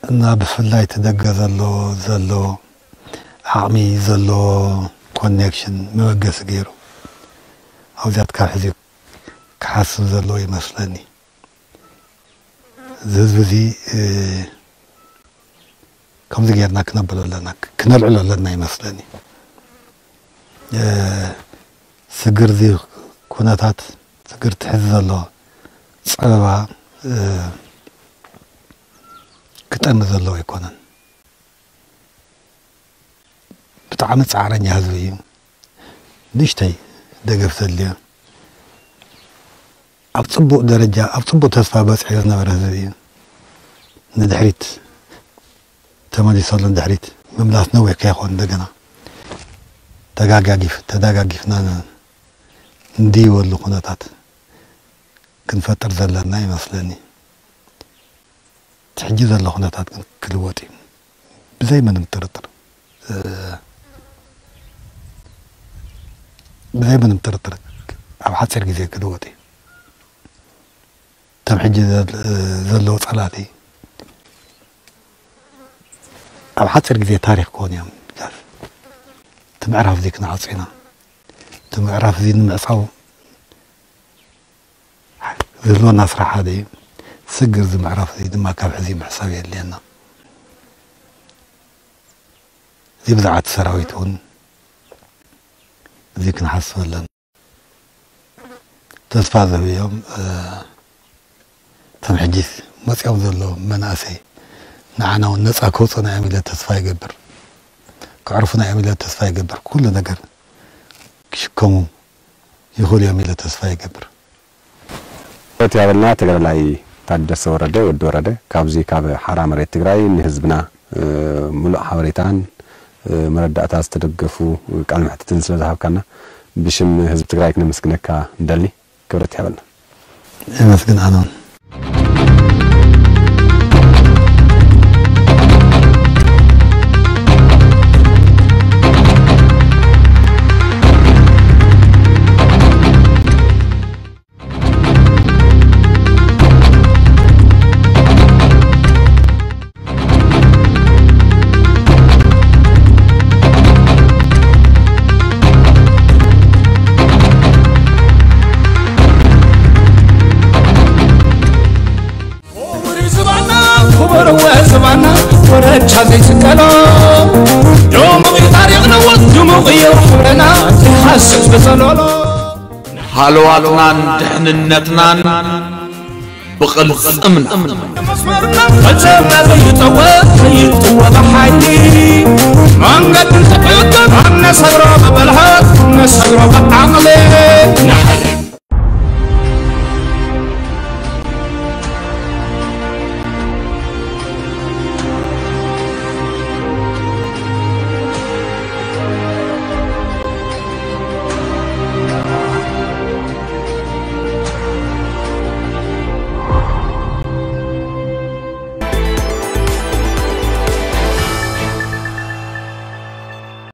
እና ብፍላይ እቲ ደገ ዘሎ፣ ዘሎ ዓቕሚ፣ ዘሎ ኮኔክሽን መበገሲ ገይሩ ኣብዚኣ ካብ ሕዚ ክሓስብ ዘለዎ ይመስለኒ። እዚ ህዝቢ እዚ፣ እ፣ ከምዚ ጌርና ክነብሎ ኣለና፣ ክነልዕሎ ኣለና ይመስለኒ። እ፣ ስግር እዚ ኩነታት፣ ስግር ትሕዚ ዘሎ ጸበባ፣ እ፣ ክጠሚ ዘለዎ ኣይኮነን። ብጣዕሚ ጻዕረኛ ህዝቢ እዩ። ንእሽተይ ደገፍ ዘድልዮ፣ ኣብ ጽቡቕ ደረጃ፣ ኣብ ጽቡቕ ተስፋ በጺሑ ዝነበረ ህዝቢ እዩ። ንድሕሪት ተመሊሰሉ፣ ንድሕሪት ምምላስ ነዊሕ ከይኾን እንደገና ተጋጋጊፍ-፣ ተደጋጊፍና ን-፣ እንድይበሉ ኩነታት ክንፈጥር ዘለና ይመስለኒ። እቲ ሕጂ ዘሎ ኩነታት ግን ክልወጥ እዩ። ብዘይ ምንም ጥርጥር፣ እ፣ ብዘይ ምንም ጥርጥር ኣብ ሓፂር ግዜ ክልወጥ እዩ። እቶም ሕጂ ዘል-፣ ዘለዉ ፀላእቲ ኣብ ሓፂር ግዜ ታሪክ ክኾኑ እዮም። እቲ ምዕራፍ እዚ ክንዓፁ ኢና። እቲ ምዕራፍ እዚ ንምዕፃው ዝህልወና ስራሕ ሓደ እዩ። ስግር እዚ ምዕራፍ እዚ ድማ ካብ ሕዚ ምሕሳብ የድልየና። እዚ ብዛዕባ እቲ ሰራዊት እውን እዚ ክንሓስብ ኣለና። ተስፋ ዝህብ እዮም። እ፣ እቶም ሕጂስ መፂኦም ዘለዉ መናእሰይ ንዓና እውን ነፃ ከውፅኡና እዮም ኢለ ተስፋ ይገብር። ከዕርፉና እዮም ኢለ ተስፋ ይገብር። ኩሉ ነገር ክሽከሙ ይኽእሉ እዮም ኢለ ተስፋ ይገብር። ክብረት ያበልና ተጋዳላይ ታደሰ ወረደ፣ ወዲ ወረደ፣ ካብዚ ካብ ሓራ መሬት ትግራይ ንህዝብና፣ እ፣ ሙሉእ ሓበሬታን፣ እ፣ መረዳእታ ዝተደገፉ ቃለ መሕትትን ስለ ዝሃብካና ብሽም ህዝቢ ትግራይ ክነመስግነካ ንደሊ። ክብረት ያበልና። የመስግን ኣነ እውን። ክቡር ዝባና፣ ክቡር ዝባና፣ ወረቻ ዘይስቀሎ። ድሙቕ እዩ ታሪኽና፣ ድሙቕ እዩ ክብርና፣ ዘይሃስስ ብዘለሎ። ሃለዋትናን ድሕንነትናን ብቕልጽምና። መፅመርና ፈፀምና ዘይጠወ ዘይጥወ ብሓይሊ መንገዲ ተጠቀም ነሰግሮ ብብልሃት ነሰግሮ ብዓቕሊ